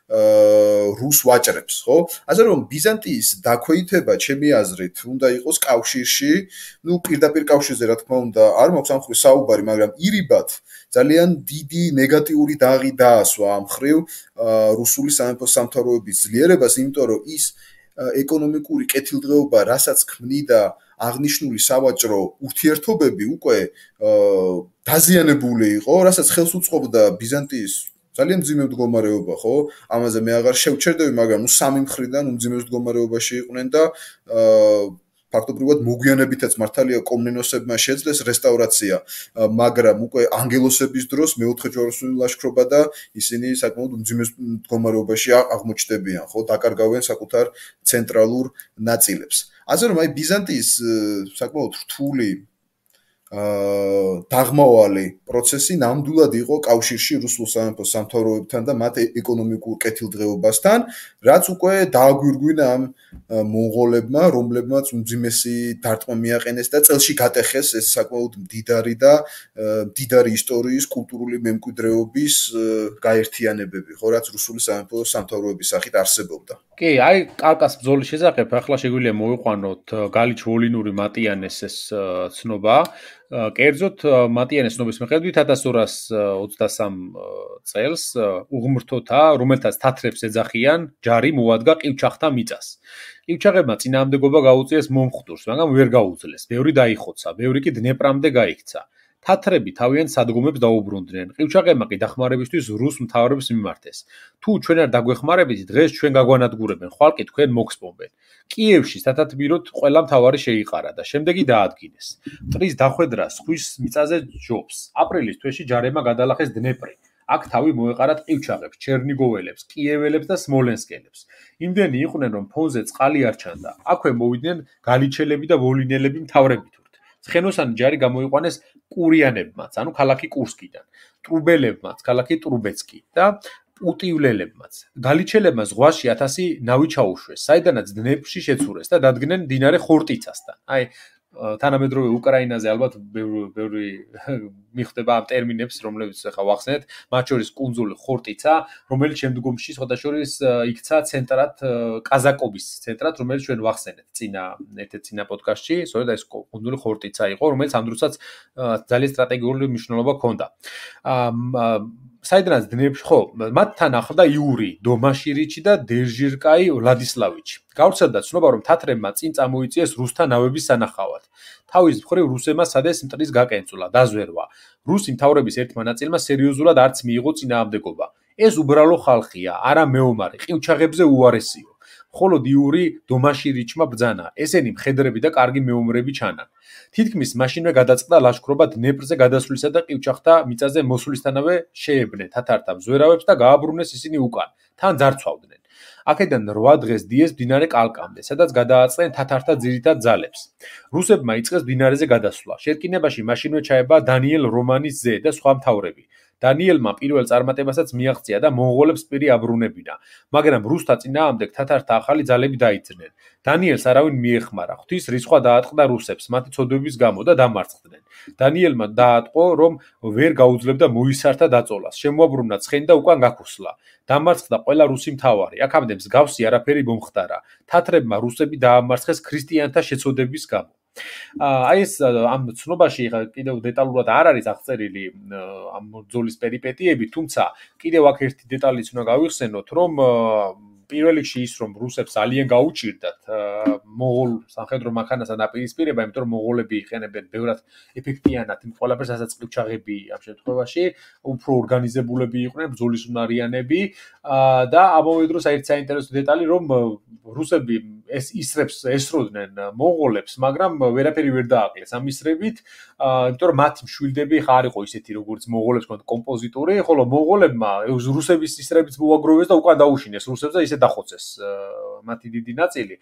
რუს ვაჭრებს, ხო? ასე რომ ბიზანტიის დაქვეითება, ჩემი აზრით, უნდა იყოს კავშირში, ну, პირდაპირ კავშირზე, რა თქმა უნდა, არ მაქვს ამ ხრივ საუბარი, მაგრამ ირიბად ძალიან დიდი ნეგატიური დაღი დაასვა ამ ხრივ რუსული სამეფო სამთავროების ძლიერებას, იმიტომ რომ ის ეკონომიკური კეთილდღეობა, რასაც ქმნიდა აღნიშნული სავაჭრო ურთიერთობები, უკვე დაზიანებული იყო, რასაც ხელს უწყობდა ბიზანტიის ძალიან მძიმე მდგომარეობა, ხო? ამაზე მე აღარ შევჩერდები, მაგრამ ნუ სამი მხრიდან მძიმე მდგომარეობაში იყვნენ და ფაქტობრივად მოგვიანებითაც მართალია კომნენოსებმა შეძლეს რესტავრაცია, მაგრამ უკვე ანგელოსების დროს მეოთხე ჯვაროსნული ლაშქრობა და ისინი საკმაოდ მძიმე მდგომარეობაში აღმოჩნდებიან, ხო? დაკარგავენ საკუთარ ცენტრალურ ნაწილებს. ასე რომ აი ბიზანტიის საკმაოდ რთული აა დაღმავალი პროცესი ნამდვილად იყო კავშირში რუსულ სამეფო სამთავროებთან და მათ ეკონომიკურ კეთილდღეობასთან, რაც უკვე დააგვირგვინა ამ მონღოლებმა, რომლებმაც უმძიმესი დარტყმა მიაყენეს და წელში გატეხეს ეს საკმაოდ მდიდარი და მდიდარი ისტორიის, კულტურული მემკვიდრეობის გაერთიანებები, ხო, რაც რუსული სამეფო სამთავროების სახით არსებობდა. კი, აი კალკას ბრძოლის შესახებ ახლა შეგვიძლია მოვიყვანოთ გალიჩ ვოლინური მატიანეს ეს ცნობა. კერძოდ მატიანეს ცნობის მიხედვით ათას ორას ოცდასამ წელს უღმრთოთა, რომელთაც თათრებს ეძახიან, ჯარი მოადგა ყივჩაღთა მიწას. ყივჩაღებმა წინააღმდეგობა გაუწიეს მომხდურს, მაგრამ ვერ გაუძლეს. ბევრი დაიხოცა, ბევრი კი დნეპრამდე გაიქცა. თათრები თავიანთ სადგომებს დაუბრუნდნენ. ყივჩაღებმა კი დახმარებისთვის რუს მთავრებს მიმართეს. თუ ჩვენ არ დაგვეხმარებით, დღეს ჩვენ გაგვანადგურებენ, ხვალ კი თქვენ მოგსპობენ. კიევში სათათბიროდ ყველა მთავარი შეიყარა და შემდეგი დაადგინეს. მტრის დახვედრა სხვის მიწაზე ჯობს. აპრილის თვეში ჯარებმა გადალახეს დნეპრი. აქ თავი მოეყარათ ყივჩაღებს, ჩერნიგოველებს, კიეველებს და სმოლენსკელებს. იმდენი იყვნენ, რომ ფონზე წყალი არ ჩანდა. აქვე მოვიდნენ გალიჩელები და ვოლინელები მთავრებით. ცხენოსანი ჯარი გამოიყვანეს კურიანებმაც, ანუ ქალაქი კურსკიდან, ტრუბელებმაც, ქალაქი ტრუბეცკი და პუტივლელებმაც. გალიჩელებმა ზღვაში ათასი ნავი ჩაუშვეს, საიდანაც დნეპრში შეცურეს და დადგნენ მდინარე ხორტიცასთან. აი, თანამედროვე უკრაინაზე ალბათ ბევრი მიხვდება ამ ტერმინებს, რომლებიც ახლა ვახსენეთ, მათ შორის კუნძული ხორტიცა, რომელიც შემდგომში სხვადასხვის იქცა ცენტრად კაზაკობის ცენტრად, რომელიც ჩვენ ვახსენეთ წინა ერთ-ერთ წინა პოდკასტში, სწორედ ეს კუნძული ხორტიცა იყო, რომელიც ამ დროსაც ძალიან სტრატეგიული მნიშვნელობა ჰქონდა. საიდანაც დნეპრში, ხო, მათთან ახლდა იური დომაშირიჩი და დერჟირკაი ვლადისლავიჩი. გავრცელდა ცნობა, რომ თათრებმა წინ წამოიწიეს რუსთა ნავების სანახავად. თავის მხრივ რუსებმა სადეს მტრის გაკენწულა, დაზვერვა. რუსი მთავრობის ერთმა ნაწილმა სერიოზულად არც მიიღო წინააღმდეგობა. ეს უბრალო ხალხია, არა მეომარი, ყივჩაღებზე უარესიო. მხოლოდ იური დომაშირიჩმა ბრძანა. ესენი მხედრები და კარგი მეომრები ჩანან. თითქმის მაშინვე გადაწყდა ლაშქრობა დნეპრზე გადასვლისა და ყივჩახთა მიწაზე მოსვლისთანავე შეებნენ თათართა მზვერავებს და გააბრუნეს ისინი უკან, თან ძარცვავდნენ. აქედან რვა დღეს დიეს მდინარე კალკამდე, სადაც გადააწყდნენ თათართა ძირითად ძალებს. რუსებმა იწყეს მდინარეზე გადასვლა. შერკინებაში მაშინვე ჩაება დანიელ რომანის ძე და სხვა მთავრები. დანიელმა პირველ წარმატებასაც მიაღწია და მონღოლებს პირი აბრუნებინა, მაგრამ რუსთა წინააღმდეგ თათართა ახალი ძალები დაიძრნენ. დანიელს არავინ მიეხმარა, ღვთის რისხვა დაატყდა რუსებს მათი ცოდვების გამო და დამარცხდნენ. დანიელმა დაატყო, რომ ვერ გაუძლებდა მოისართა დაწოლას, შემოაბრუნა ცხენი და უკან გაქუსლა. დამარცხდა ყველა რუსი მთავარი. აქამდე მსგავსი არაფერი მომხდარა. თათრებმა რუსები დაამარცხეს ქრისტიანთა შეცოდების გამო. აი ეს ამ ცნობაში კიდევ დეტალურად არ არის აღწერილი ამ ბრძოლის პერიპეტიები, თუმცა კიდევ აქ ერთი დეტალიც უნდა გავიხსენოთ, რომ პირველ რიგში ის რომ რუსებს ძალიან გაუჭირდათ მონღოლ სამხედრო მანქანასთან დაპირისპირება, იმიტომ რომ მონღოლები იყენებენ ბევრად ეფექტიანად იმ ყველაფერს, რასაც ყივჩაღები ამ შემთხვევაში უფრო ორგანიზებულები იყვნენ, ბრძოლის უნარიანები და ამავე დროს აი ერთი საინტერესო დეტალი, რომ რუსები ეს ისრებს ესროდნენ მონღოლებს, მაგრამ ვერაფერი ვერ დააკლეს ამ ისრებით, იმიტომ რომ მათი მშვილდები ხა არ იყო ისეთი როგორც მონღოლებს ჰქონდათ კომპოზიტორი, ხოლო მონღოლებმა რუსების ისრებიც მოაგროვეს და უკან დაუშინეს რუსებს და ისე დახოცეს მათი დიდი ნაწილი.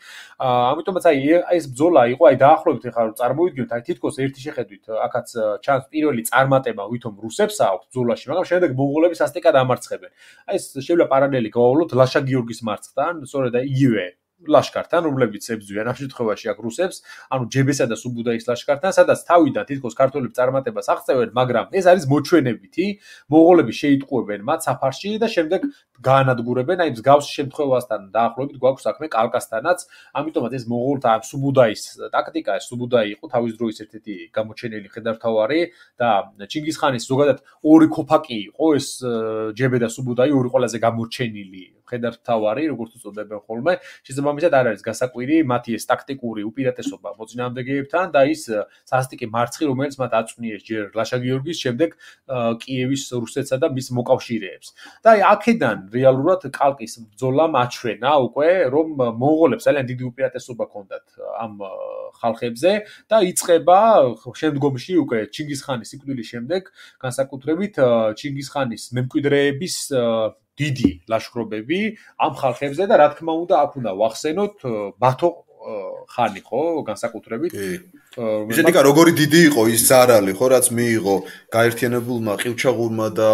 ამიტომაც აი ეს ბრძოლა იყო, აი დაახლოებით ხა წარმოვიდგინოთ, აი თითქოს ერთი შეხედვით აქაც ჩანს პირველი წარმატება ვითომ რუსებს აქვს ბრძოლაში, მაგრამ შემდეგ მონღოლები სასტიკად ამარცხებენ. აი ეს შეიძლება პარალელი გავავლოთ ლაშა გიორგის მარცხთან, სწორედ იგივე ლაშქართან, რომლებიც ებრძვიან ამ შემთხვევაში აქ რუსებს, ანუ ჯებესა და სუბუდაის ლაშქართან, სადაც თავიდან თითქოს ქართველები წარმატებას აღწევენ, მაგრამ ეს არის მოჩვენებითი, მონღოლები შეიტყუებენ მათ საფარში და შემდეგ გაანადგურებენ, აი მსგავს შემთხვევასთან დაახლოებით გვაქვს საქმე კალკასთანაც, ამიტომაც ეს მონღოლთა სუბუდაის ტაქტიკა, ეს სუბუდაი იყო თავის დროის ერთ-ერთი გამოჩენილი მხედართმთავარი და ჩინგისხანის ზოგადად ორი ქოფაკი იყო ეს ჯებე და სუბუდაი, ორი ყველაზე გამორჩენილი მხედართმთავარი, როგორც უწოდებენ ხოლმე, შესაბამისად არ არის გასაკვირი მათი ეს ტაქტიკური უპირატესობა მოწინააღმდეგეებთან და ის სასტიკი მარცხი, რომელიც მათ აწვნიეს ჯერ ლაშა გიორგის, შემდეგ კიევის რუსეთსა და მის მოკავშირეებს. და აი აქედან რეალურად კალკის ბრძოლამ აჩვენა უკვე, რომ მონღოლებს ძალიან დიდი უპირატესობა ჰქონდათ ამ ხალხებზე და იწყება შემდგომში უკვე ჩინგისხანის სიკვდილის შემდეგ, განსაკუთრებით ჩინგისხანის მემკვიდრეების დიდი ლაშქრობები ამ ხალხებზე და რა თქმა უნდა აქ უნდა ვახსენოთ ბათო ხანი ხო განსაკუთრებით ისეთიკა როგორი დიდი იყო ის ზარალი ხო რაც მიიღო გაერთიანებულმა ყივჩაღურმა და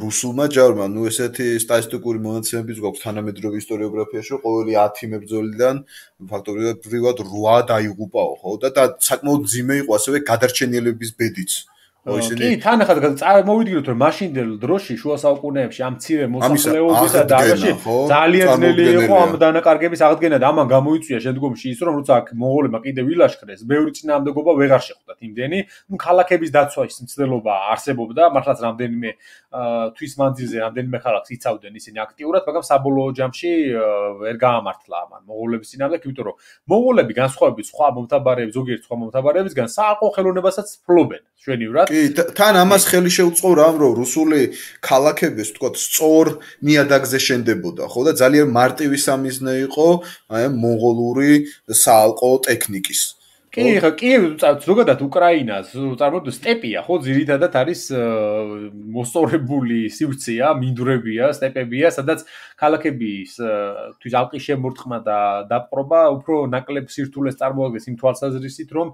რუსულმა ჯარმა ნუ ესეთი სტატისტიკური მონაცემებიც გვაქვს თანამედროვე ისტორიოგრაფიაში რომ ყოველი ათი მებრძოლიდან ფაქტობრივად რვა დაიღუპაო ხო და საკმაოდ ძიმე იყო ასევე გადარჩენილების ბედიც კი, თან ახლა წარმოვიდგინოთ, რომ მაშინდელ დროში შუა საუკუნეებში ამ მცირე მოსახლეობისა და ამაში ძალიან ძნელი იყო ამ დანაკარგების აღდგენა და ამან გამოიწვია შემდგომში ის, რომ როცა მონღოლებმა კიდევ ილაშქრეს, ბევრი წინააღმდეგობა ვეღარ შეხვდათ იმდენი, ნუ ქალაქების დაცვის მცდელობა არსებობდა, მართლაც რამდენიმე თვის მანძილზე რამდენიმე ქალაქს იცავდნენ ისინი აქტიურად, მაგრამ საბოლოო ჯამში ვერ გაამართლა ამან მონღოლების წინააღმდეგ, იმიტომ რომ მონღოლები განსხვავებით სხვა მომთაბარეებს, ზოგიერთ სხვა მომთაბარეებისგან საყო ხელოვნებასაც ფლობენ ჩვენივრად. თან ამას ხელი შეუწყო რამ რომ რუსული ქალაქების თქო სწორ ნიადაგზე შენდებოდა ხო და ძალიან მარტივი სამიზნე იყო აი მონღოლური საალყო ტექნიკის კი ხა კიევი ზოგადად უკრაინას წარმოიდგინეთ სტეპია ხო ძირითადად არის მოსწორებული სივრცეა მინდვრებია სტეპებია სადაც ქალაქების თვის ალყის შემორტყმა და დაპყრობა უფრო ნაკლებ სირთულეს წარმოადგენს იმ თვალსაზრისით რომ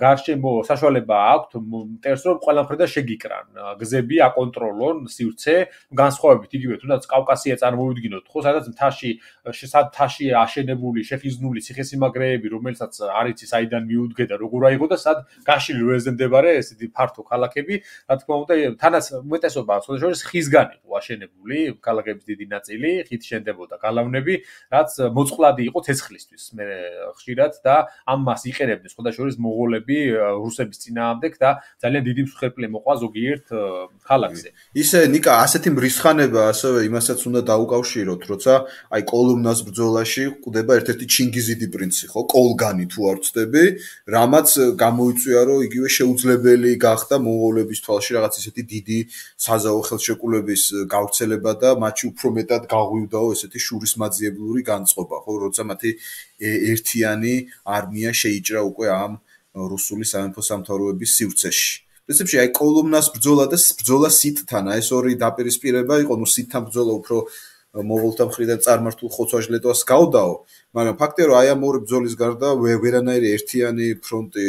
გარშემო საშუალება აქვთ მტერს რომ ყველა მხრიდან შეგიკრან გზები აკონტროლონ სივრცე განსხვავებით იგივე თუნდაც კავკასია წარმოვიდგინოთ ხო სადაც მთაში მთაში აშენებული შეხიზნული ციხესიმაგრეები რომელსაც არ იცის აიდან მიუდგე და როგორ აიღო და სად გაშლილ ველზე მდებარე ესეთი ფართო ქალაქები, რა თქმა უნდა, თანაც უმეტესობა სხვადასხვა ხისგან იყო აშენებული, ქალაქების დიდი ნაწილი, ხით შენდებოდა გალავნები, რაც მოწყვლადი იყო ცეცხლისთვის. მე ხშირად და ამას იყენებდნენ სხვადასხვა მონღოლები რუსების წინააღმდეგ და ძალიან დიდი მსხვერპლი მოყვა ზოგიერთ ქალაქზე. ისე ნიკა ასეთი მრისხანება ასევე იმასაც უნდა დაუკავშიროთ, როცა აი კოლუმნას ბრძოლაში ყვდება ერთ-ერთი ჩინგიზიდი პრინცი, ხო, კოლგანი თუ არ ვცდები, რამაც გამოიწვია, რომ იგივე შეუძლებელი გახდა მონღოლების თვალში რაღაც ისეთი დიდი საზავო ხელშეკრულების გავრცელება და მათი უფრო მეტად გაღვივდაო ესეთი შურისმაძიებლური განწყობა, ხო, როცა მათი ერთიანი არმია შეიჭრა უკვე ამ რუსული სამეფო სამთავროების სივრცეში. პრინციპში აი კოლუმნას ბრძოლა და ბრძოლა სიტთან, ეს ორი დაპირისპირება იყო, ნუ სიტთან ბრძოლა უფრო მონღოლთა მხრიდან წარმართულ ხოცვა-ჟლეტვას გავდაო, მაგრამ ფაქტია რომ აი ამ ორი ბრძოლის გარდა ვერანაირი ერთიანი ფრონტი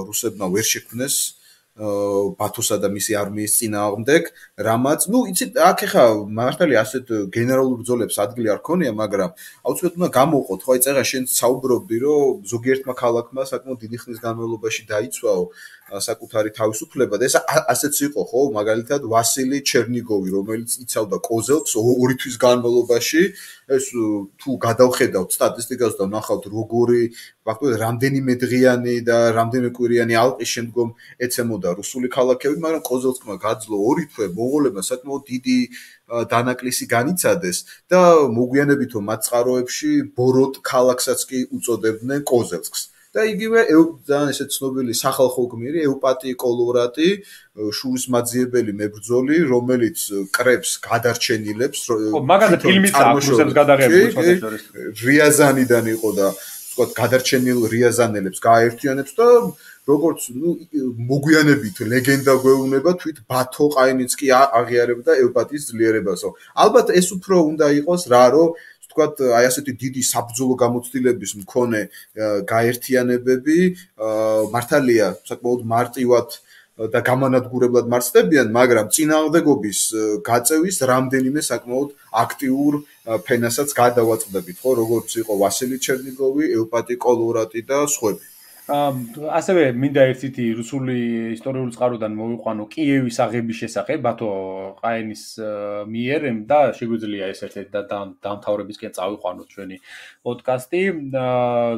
რუსებმა ვერ შექმნეს ბათოსა და მისი არმიის წინააღმდეგ, რამაც, ნუ იცით, აქ ეხა მართალია ასეთ გენერალურ ბრძოლებს ადგილი არ ქონია, მაგრამ აუცილებლად უნდა გამოყოთ, ხო, აი წერა შენ საუბრობდი, რომ ზოგიერთმა ქალაქმა საკმაოდ დიდი ხნის განმავლობაში დაიცვაო საკუთარი თავისუფლება და ეს ასეც იყო, ხო, მაგალითად ვასილი ჩერნიგოვი, რომელიც იცავდა კოზელკს ორი თვის განმავლობაში, ეს თუ გადავხედავთ სტატისტიკას და ვნახავთ როგორი ფაქტობრივად რამდენიმე დღიანი და რამდენიმე კვირიანი ალყის შემდგომ ეცემოდა რუსული ქალაქები, მაგრამ კოზელკმა გაძლო ორი თვე, მონღოლებმა საკმაოდ დიდი დანაკლისი განიცადეს და მოგვიანებით მათ წყაროებში ბოროტ ქალაქსაც კი უწოდებდნენ კოზელკს. და იგივე ძალიან ესეთ ცნობილი სახალხო გმირი ევპატი კოლორატი, შურისმაძიებელი მებრძოლი, რომელიც კრებს გადარჩენილებს, მაგალითად ფილმიც აქვს რუსებს გადაღებული შესაძლოა. რიაზანიდან იყო და ვთქვათ გადარჩენილ რიაზანელებს გააერთიანებს და როგორც ნუ მოგვიანებით ლეგენდა გვეუბნება თვით ბათო ყაინიცკი აღიარებდა ევპატის ძლიერებასო. ალბათ ეს უფრო უნდა იყოს რა, რომ ვთქვათ, აი ასეთი დიდი საბრძოლო გამოცდილების მქონე გაერთიანებები მართალია საკმაოდ მარტივად და გამანადგურებლად მარცხდებიან, მაგრამ წინააღმდეგობის გაწევის რამდენიმე საკმაოდ აქტიურ ფენასაც გადავაწყდებით, ხო, როგორც იყო ვასილი ჩერნიგოვი, ევპატი კოლორატი და სხვები. ასევე მინდა ერთი რუსული ისტორიული წყაროდან მოვიყვანო კიევის აღების შესახებ ბათო ყაენის მიერ და შეგვიძლია ეს ერთ-ერთი დამთავრებისკენ წავიყვანოთ ჩვენი პოდკასტი,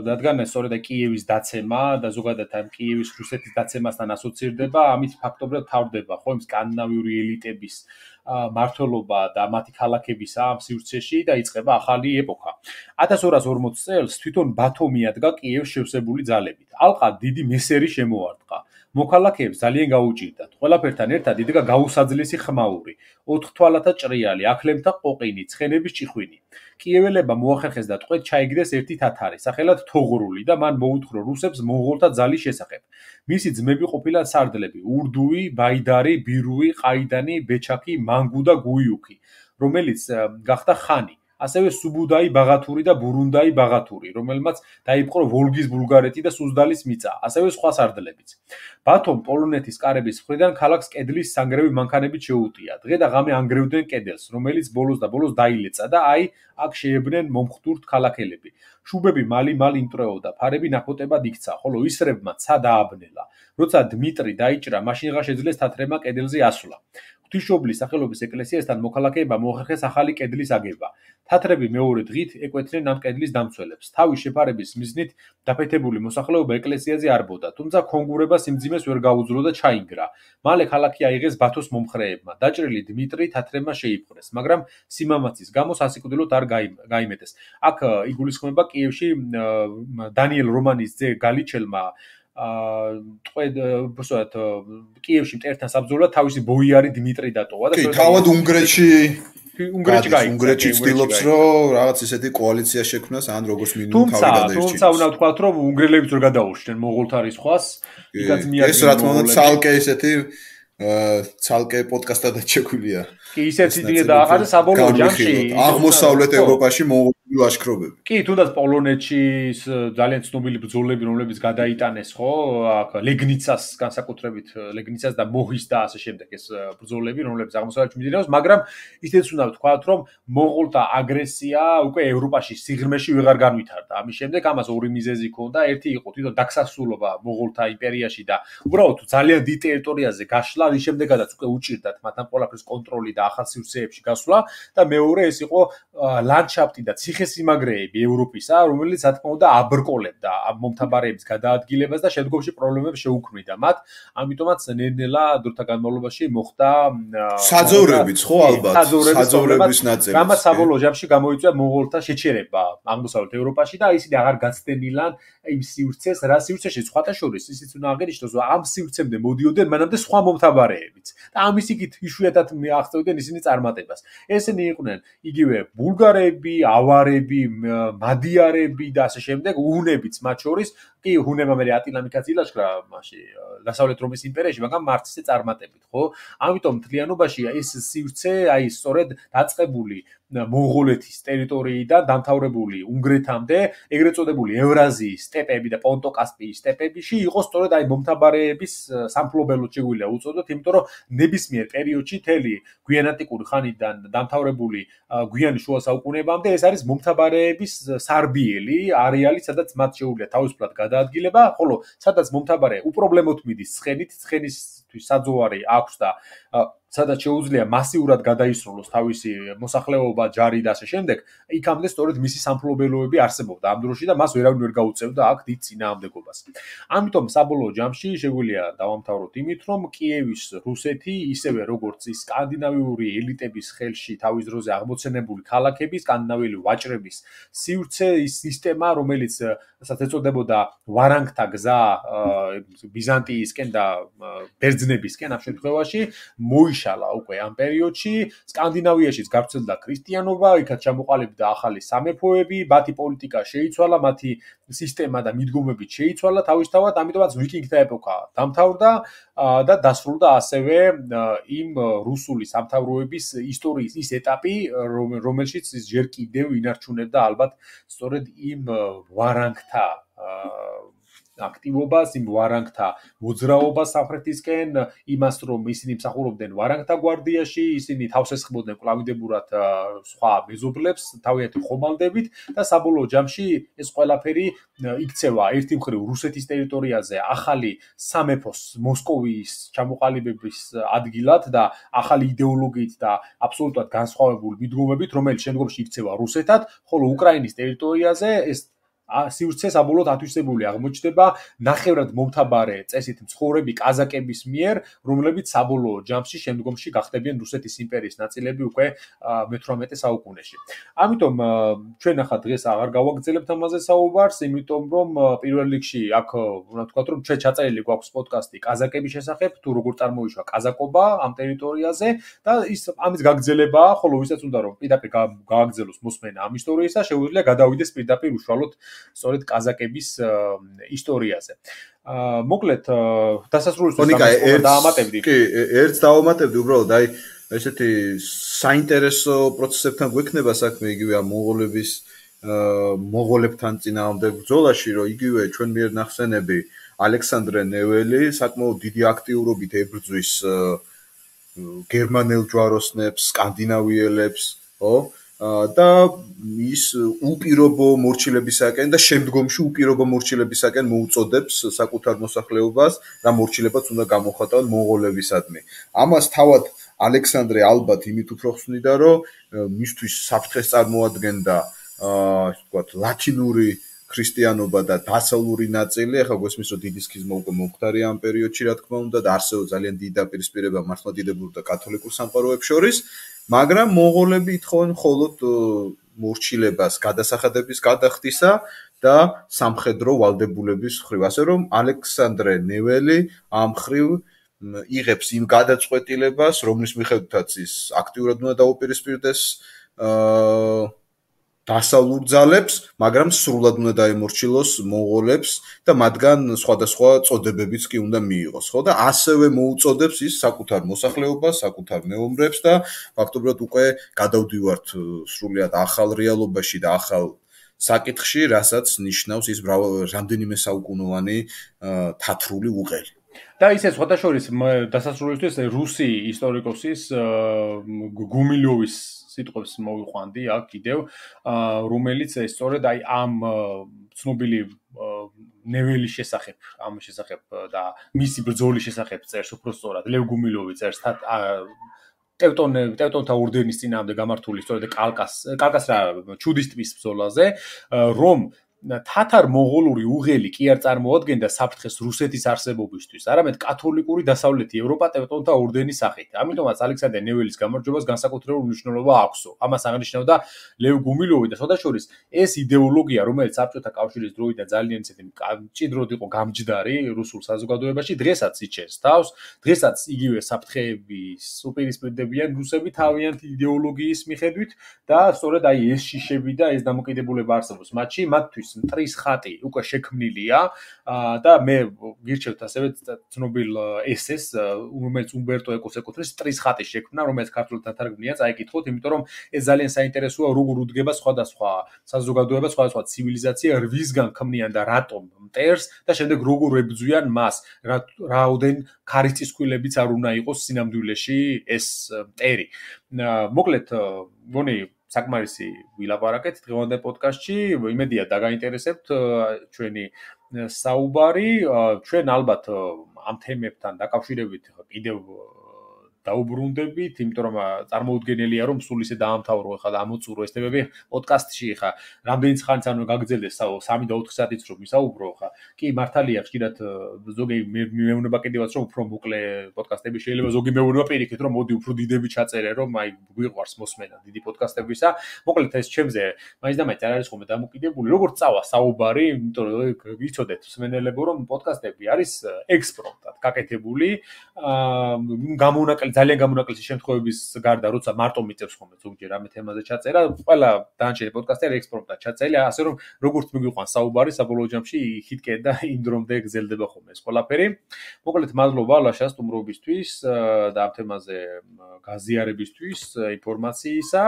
რადგან სწორედ კიევის დაცემა და ზოგადად ამ კიევის რუსეთის დაცემასთან ასოცირდება, ამით ფაქტობრივად თავდება, ხო, იმ სკანდინავიური ელიტების მართლობა და მათი ქალაქების ამ სივრცეში და იწყება ახალი ეპოქა. ათას ორას ორმოც წელს თვითონ ბათო მიადგა კიევს შევსებული ძალებით. ალყა დიდი მესერი შემოარტყა. მოქალაქეებს ძალიან გაუჭირდათ. ყველაფერთან ერთად იდგა გაუსაძლისი ხმაური, ოთხ თვალათა ჭრიალი, აქლემთა ყოყინი, ცხენების ჭიხვინი. კიეველებმა მოახერხეს და ტყვედ ჩაიგდეს ერთი თათარი, სახელად თოღრული და მან მოუთხრა რუსებს მონღოლთა ძალის შესახებ. მისი ძმები ყოფილან სარდლები: ურდუი, ბაიდარი, ბირუი, ყაიდანი, ბეჩაკი, მანგუ და გუიუკი, რომელიც გახდა ხანი. ასევე სუბუდაი ბაღათური და ბურუნდაი ბაღათური, რომელმაც დაიპყრო ვოლგის ბულგარეთი და სუზდალის მიწა, ასევე სხვა სარდლებიც. ბათომ პოლონეთის კარების მხრიდან ქალაქს კედლის სანგრევი მანქანებით შეუტია. დღე და ღამე ანგრევდნენ კედელს, რომელიც ბოლოს და ბოლოს დაილეცა და აი აქ შეებდნენ მომხდურთ ქალაქელები. შუბები მალი-მალ იმტრეოდა, ფარები ნახოტებად იქცა, ხოლო ისრებმა ცა დააბნელა. როცა დმიტრი დაიჭრა, მაშინღა შეძლეს თათრემა კედელზე ასვლა. ღვთისმშობლის სახელობის ეკლესიასთან მოქალაქეებმა მოახერხეს ახალი კედლის აგება. თათრები მეორე დღით ეკვეთნენ ამ კედლის დამცველებს. თავის შეფარების მიზნით დაფეთებული მოსახლეობა ეკლესიაზე არბოდა, თუმცა ქონგურება სიმძიმეს ვერ გაუძლო და ჩაინგრა. მალე ქალაქი აიღეს ბათოს მომხრეებმა. დაჭრილი დმიტრი თათრებმა შეიპყრეს, მაგრამ სიმამაცის გამო სასიკვდილოდ არ გაიმეტეს. აქ იგულისხმება კიევში დანიელ რომანის ძე გალიჩელმა აა ტყვედ ვთქვათ კიევში მტერთან საბრძოლველად თავისი ბოიარი დმიტრი დატოვა და თავად უნგრეთში უნგრეთში გაიქცა. უნგრეთში ცდილობს რომ რაღაც ესეთი კოალიცია შექმნას ან როგორც მინიმუმ თავი გადაერჩინოს. თუმცა უნდა ვთქვათ რომ უნგრელებიც ვერ გადაურჩნენ მონღოლთა რისხვას, იქაც მიადგინა. ეს რა თქმა უნდა ცალკე ესეთი ცალკე პოდკასტადაც შეგვიძლია კი ისეთი დინე დაახარეს საბოლოო ჯამში აღმოსავლეთ ევროპაში მონღოლური ლაშქრობები. კი, თუნდაც პოლონეთში ძალიან ცნობილი ბრძოლები, რომლებიც გადაიტანეს, ხო, აქ ლეგნიცას განსაკუთრებით, ლეგნიცას და მოჰის და ასე შემდეგ ეს ბრძოლები, რომლებიც აღმოსავლეთში მიმდინარეობს, მაგრამ ისიც უნდა ვთქვათ, რომ მონღოლთა აგრესია უკვე ევროპაში სიღრმეში ვეღარ განვითარდა. ამის შემდეგ ამას ორი მიზეზი ჰქონდა, ერთი იყო თვითონ დაქსასრულობა მონღოლთა იმპერიაში და უბრალოდ ძალიან დიდ ტერიტორიაზე გაშლა, რის შემდეგაც უკვე უჭირდათ მათ ამ ყველაფრის კონტროლი და ახალ სივრცეებში გასვლა და მეორე ეს იყო ლანდშაფტი და ციხესიმაგრეები ევროპისა, რომელიც რა თქმა უნდა აბრკოლებდა ამ მომთაბარეების გადაადგილებას და შემდგომში პრობლემებს შეუქმნიდა მათ. ამიტომაც ნელ-ნელა დროთა განმავლობაში მოხდა საძოვრებიც, ხო ალბათ, საძოვრების ნაწილი. რამაც საბოლოო ჯამში გამოიწვია მონღოლთა შეჩერება აღმოსავლეთ ევროპაში და ისინი აღარ გაცდენილან იმ სივრცეს, რა სივრცეში სხვათა შორის ისიც უნდა აღინიშნოს, რომ ამ სივრცემდე მოდიოდნენ მანამდე სხვა მომთაბარეებიც. და ამის იქით იშვიათად მიაღწევდნენ ისინი წარმატებას. ესენი იყვნენ იგივე ბულგარები, ავარები, მადიარები და ასე შემდეგ, უნებიც მათ შორის, კი, უნებმა მე ატილამიკაც ილაშქრა მასში დასავლეთ რომის იმპერიაში, მაგრამ მარტზე წარმატებით, ხო? ამიტომ მთლიანობაში ეს სივრცე, აი სწორედ დაწყებული მონღოლეთის ტერიტორიიდან დამთავრებული უნგრეთამდე, ეგრეთ წოდებული ევრაზიის სტეპები და პონტო-კასპიის სტეპებიში იყო სწორედ აი მომთაბარეების სამფლობელოდ შეგვიძლია უწოდოთ, იმიტომ რომ ნებისმიერ პერიოდში თელი გვიანანტიკური ხანიდან დამთავრებული გვიანი შუა საუკუნეებამდე ეს არის მომთაბარეების სარბიელი არეალი, სადაც მათ შეუძლია თავისუფლად გადაადგილება, ხოლო სადაც მომთაბარე უპრობლემოდ მიდის ცხენით, ცხენისთვის საძოვარი აქვს და სადაც შეუძლია მასიურად გადაისროლოს თავისი მოსახლეობა, ჯარი და ასე შემდეგ, იქამდე სწორედ მისი სამფლობელოები არსებობდა ამ დროში და მას ვერავინ ვერ გაუწევდა აქ დიდ წინააღმდეგობას. ამიტომ საბოლოო ჯამში შეგვიძლია დავამთავროთ იმით, რომ კიევის რუსეთი, ისევე როგორც ის სკანდინავიური ელიტების ხელში თავის დროზე აღმოცენებული ქალაქები, სკანდინავიელი ვაჭრების სივრცე, ის სისტემა, რომელიც რასაც ეწოდებოდა ვარანგთა გზა ბიზანტიისკენ და ბერძნებისკენ ამ შემთხვევაში, მოიშალა უკვე ამ პერიოდში, სკანდინავიაშიც გავრცელდა ქრისტიანობა, იქაც ჩამოყალიბდა ახალი სამეფოები, მათი პოლიტიკა შეიცვალა, მათი სისტემა და მიდგომები შეიცვალა თავისთავად, ამიტომაც ვიკინგთა ეპოქა დამთავრდა და დასრულდა ასევე იმ რუსული სამთავროების ისტორიის ის ეტაპი, რომელშიც ის ჯერ კიდევ ინარჩუნებდა ალბათ სწორედ იმ ვარანგთა აქტივობას, იმ ვარანგთა მოძრაობას სამხრეთისკენ, იმას რომ ისინი მსახურობდნენ ვარანგთა გვარდიაში, ისინი თავს ესხმოდნენ კლავიდებურად სხვა მეზობლებს, თავიანთი ხომალდებით და საბოლოო ჯამში ეს ყველაფერი იქცევა ერთი მხრივ რუსეთის ტერიტორიაზე ახალი სამეფოს მოსკოვის ჩამოყალიბების ადგილად და ახალი იდეოლოგიით და აბსოლუტურად განსხვავებული მიდგომებით, რომელიც შემდგომში იქცევა რუსეთად, ხოლო უკრაინის ტერიტორიაზე ეს სივრცე საბოლოოდ ათვისებული აღმოჩნდება ნახევრად მომთაბარე წესით მცხოვრები კაზაკების მიერ, რომლებიც საბოლოო ჯამში შემდგომში გახდებიან რუსეთის იმპერიის ნაწილები უკვე მეთვრამეტე საუკუნეში. ამიტომ ჩვენ ახლა დღეს აღარ გავაგრძელებთ ამაზე საუბარს, იმიტომ რომ პირველ რიგში აქ უნდა ვთქვათ, რომ ჩვენ ჩაწერილი გვაქვს პოდკასტი კაზაკების შესახებ, თუ როგორ წარმოიშვა კაზაკობა ამ ტერიტორიაზე და ის ამის გაგრძელებაა, ხოლო ვისაც უნდა რომ პირდაპირ გააგრძელოს მოსმენა ამ ისტორიისა, შეუძლია გადავიდეს პირდაპირ უშუალოდ სწორედ კაზაკების ისტორიაზე. აა მოკლედ დასასრულისთვის დაამატებდი. კი, ერთს დაამატებდი უბრალოდ, აი ესეთი საინტერესო პროცესებთან გვექნება საქმე იგივე ამ მონღოლების მონღოლებთან წინააღმდეგ ბრძოლაში, რომ იგივე ჩვენ მიერ ნახსენები ალექსანდრე ნეველი საკმაოდ დიდი აქტიურობით ებრძვის გერმანელ ჯვაროსნებს, სკანდინავიელებს, ხო? და ის უპირობო მორჩილებისაკენ და შემდგომში უპირობო მორჩილებისაკენ მოუწოდებს საკუთარ მოსახლეობას და მორჩილებაც უნდა გამოხატავენ მონღოლებისადმი. ამას თავად ალექსანდრე ალბათ იმით უფრო ხსნიდა, რომ მისთვის საფრთხეს წარმოადგენდა ასე ვთქვათ ლათინური ქრისტიანობა და დასავლური ნაწილი, ახლა გვესმის რომ დიდი სქიზმა უკვე მომხდარია ამ პერიოდში, რა თქმა უნდა, და არსებობს ძალიან დიდი დაპირისპირება მართლმადიდებლურ და კათოლიკურ სამყაროებს შორის, მაგრამ მონღოლები ითხოვენ მხოლოდ მორჩილებას გადასახადების გადახდისა და სამხედრო ვალდებულების მხრივ, ასე რომ ალექსანდრე ნეველი ამ მხრივ იღებს იმ გადაწყვეტილებას, რომლის მიხედვითაც ის აქტიურად უნდა დაუპირისპირდეს აა დასავლურ ძალებს, მაგრამ სრულად უნდა დაემორჩილოს მონღოლებს და მათგან სხვადასხვა წოდებებიც კი უნდა მიიღოს, ხო? და ასევე მოუწოდებს ის საკუთარ მოსახლეობას, საკუთარ მეომრებს და ფაქტობრივად უკვე გადავდივართ სრულიად ახალ რეალობაში და ახალ საკითხში, რასაც ნიშნავს ის რამდენიმე საუკუნოვანი თათრული უღელი. და ისე სხვადასხვის დასასრულისთვის რუსი ისტორიკოსის გუმილოვის სიტყვებს მოვიყვანდი აქ კიდევ, რომელიც სწორედ აი ამ ცნობილი ნეველის შესახებ, ამ შესახებ და მისი ბრძოლის შესახებ წერს უფრო სწორად. ლევ გუმილოვი წერს ტევტონ ტევტონთა ორდენის წინააღმდეგ გამართული სწორედ კალკას კალკას რა ჩუდის ტბის ბრძოლაზე, რომ თათარ-მონღოლური უღელი კი არ წარმოადგენდა საფრთხეს რუსეთის არსებობისთვის, არამედ კათოლიკური დასავლეთი ევროპა ტევტონთა ორდენის სახით. ამიტომაც ალექსანდრე ნეველის გამარჯვებას განსაკუთრებული მნიშვნელობა აქვსო. ამას აღნიშნავდა ლევ გუმილოვი და სხვადასხვა ეს იდეოლოგია, რომელიც საბჭოთა კავშირის დროიდან ძალიან ისეთი მჭიდროდ იყო გამჯდარი რუსულ საზოგადოებაში, დღესაც იჩენს თავს, დღესაც იგივე საფრთხეების უპირისპირდებიან რუსები თავიანთი იდეოლოგიის მიხედვით და სწორედ აი ეს შიშები და ეს დამოკიდებულება არსებობს მათში, მათთვის მტრის ხატი უკვე შექმნილია და მე გირჩევთ ასევე ცნობილ ესეს, რომელიც უმბერტო ეკოს ეკუთვნის მტრის ხატის შექმნა, რომელიც ქართულად დათარგმნია, წაიკითხოთ, იმიტომ რომ ეს ძალიან საინტერესოა, როგორ უდგება სხვადასხვა საზოგადოება, სხვადასხვა ცივილიზაცია რვისგან ქმნიან და რატომ მტერს და შემდეგ როგორ ებრძვიან მას, რაოდენ ქარის არ უნდა იყოს სინამდვილეში ეს მტერი. მოკლედ, გონი საკმარისი ვილაპარაკეთ დღევანდელ პოდკასტში, იმედია დაგაინტერესებთ ჩვენი საუბარი, ჩვენ ალბათ ამ თემებთან დაკავშირებით კიდევ დაუბრუნდებით, იმიტომ რომ წარმოუდგენელია რომ სულ ისე დაამთავრო ხა და ამოწურო ეს თემები პოდკასტში ხა, რამდენიც ხანს ანუ გაგრძელდეს სამი და ოთხი საათიც რომ ვისაუბრო ხა. კი, მართალია ხშირად ზოგი მეუბნება კიდევაც რომ უფრო მოკლე პოდკასტები შეიძლება ზოგი მეუბნება პირიქით რომ მოდი უფრო დიდები ჩაწერე რომ აი გვიყვარს მოსმენა დიდი პოდკასტებისა. მოკლედ ეს ჩემზე მაინც და მაინც არ არის ხოლმე დამოკიდებული, როგორც წავა საუბარი, იმიტომ რომ ვიცოდეთ მსმენელებო რომ პოდკასტები არის ექსპრომტად გაკეთებული, გამონაკლისი ძალიან გამონაკლისი შემთხვევების გარდა, როცა მარტო მიწევს ხოლმე ზოგჯერ ამ თემაზე ჩაწერა, ყველა დანარჩენი პოდკასტები ექსპრომტად ჩაწერილია, ასე რომ როგორც მიგვიყვანს საუბარი, საბოლოო ჯამში იქითკენ და იმ დრომდე გრძელდება ხოლმე ეს ყველაფერი. მოკლედ მადლობა ლაშა სტუმრობისთვის და ამ თემაზე გაზიარებისთვის, ინფორმაციისა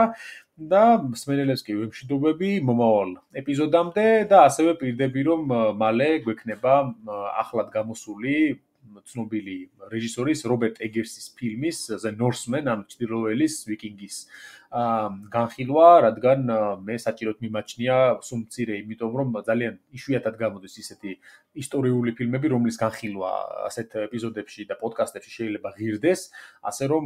და მსმენელებს კი ვემშვიდობები მომავალ ეპიზოდამდე და ასევე პირდები რომ მალე გვექნება ახლად გამოსული ცნობილი რეჟისორის რობერტ ეგერსის ფილმის The Norseman, ანუ ჩრდილოველის ვიკინგის განხილვა, რადგან მე საჭიროდ მიმაჩნია სუმცირე, იმიტომ რომ ძალიან იშვიათად გამოდის ისეთი ისტორიული ფილმები, რომლის განხილვა ასეთ ეპიზოდებში და პოდკასტებში შეიძლება ღირდეს, ასე რომ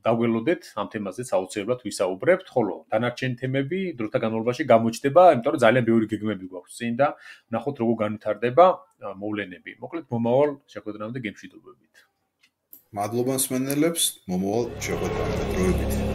დაგველოდეთ ამ თემაზეც აუცილებლად ვისაუბრებთ, ხოლო დანარჩენი თემები დროთა განმავლობაში გამოჩნდება, იმიტომ რომ ძალიან ბევრი გეგმები გვაქვს წინ და ნახოთ როგორ განვითარდება მოვლენები. მოკლედ მომავალ შეხვედრამდე გემშვიდობებით. მადლობა მსმენელებს, მომავალ შეხვედრამდე. დროებით.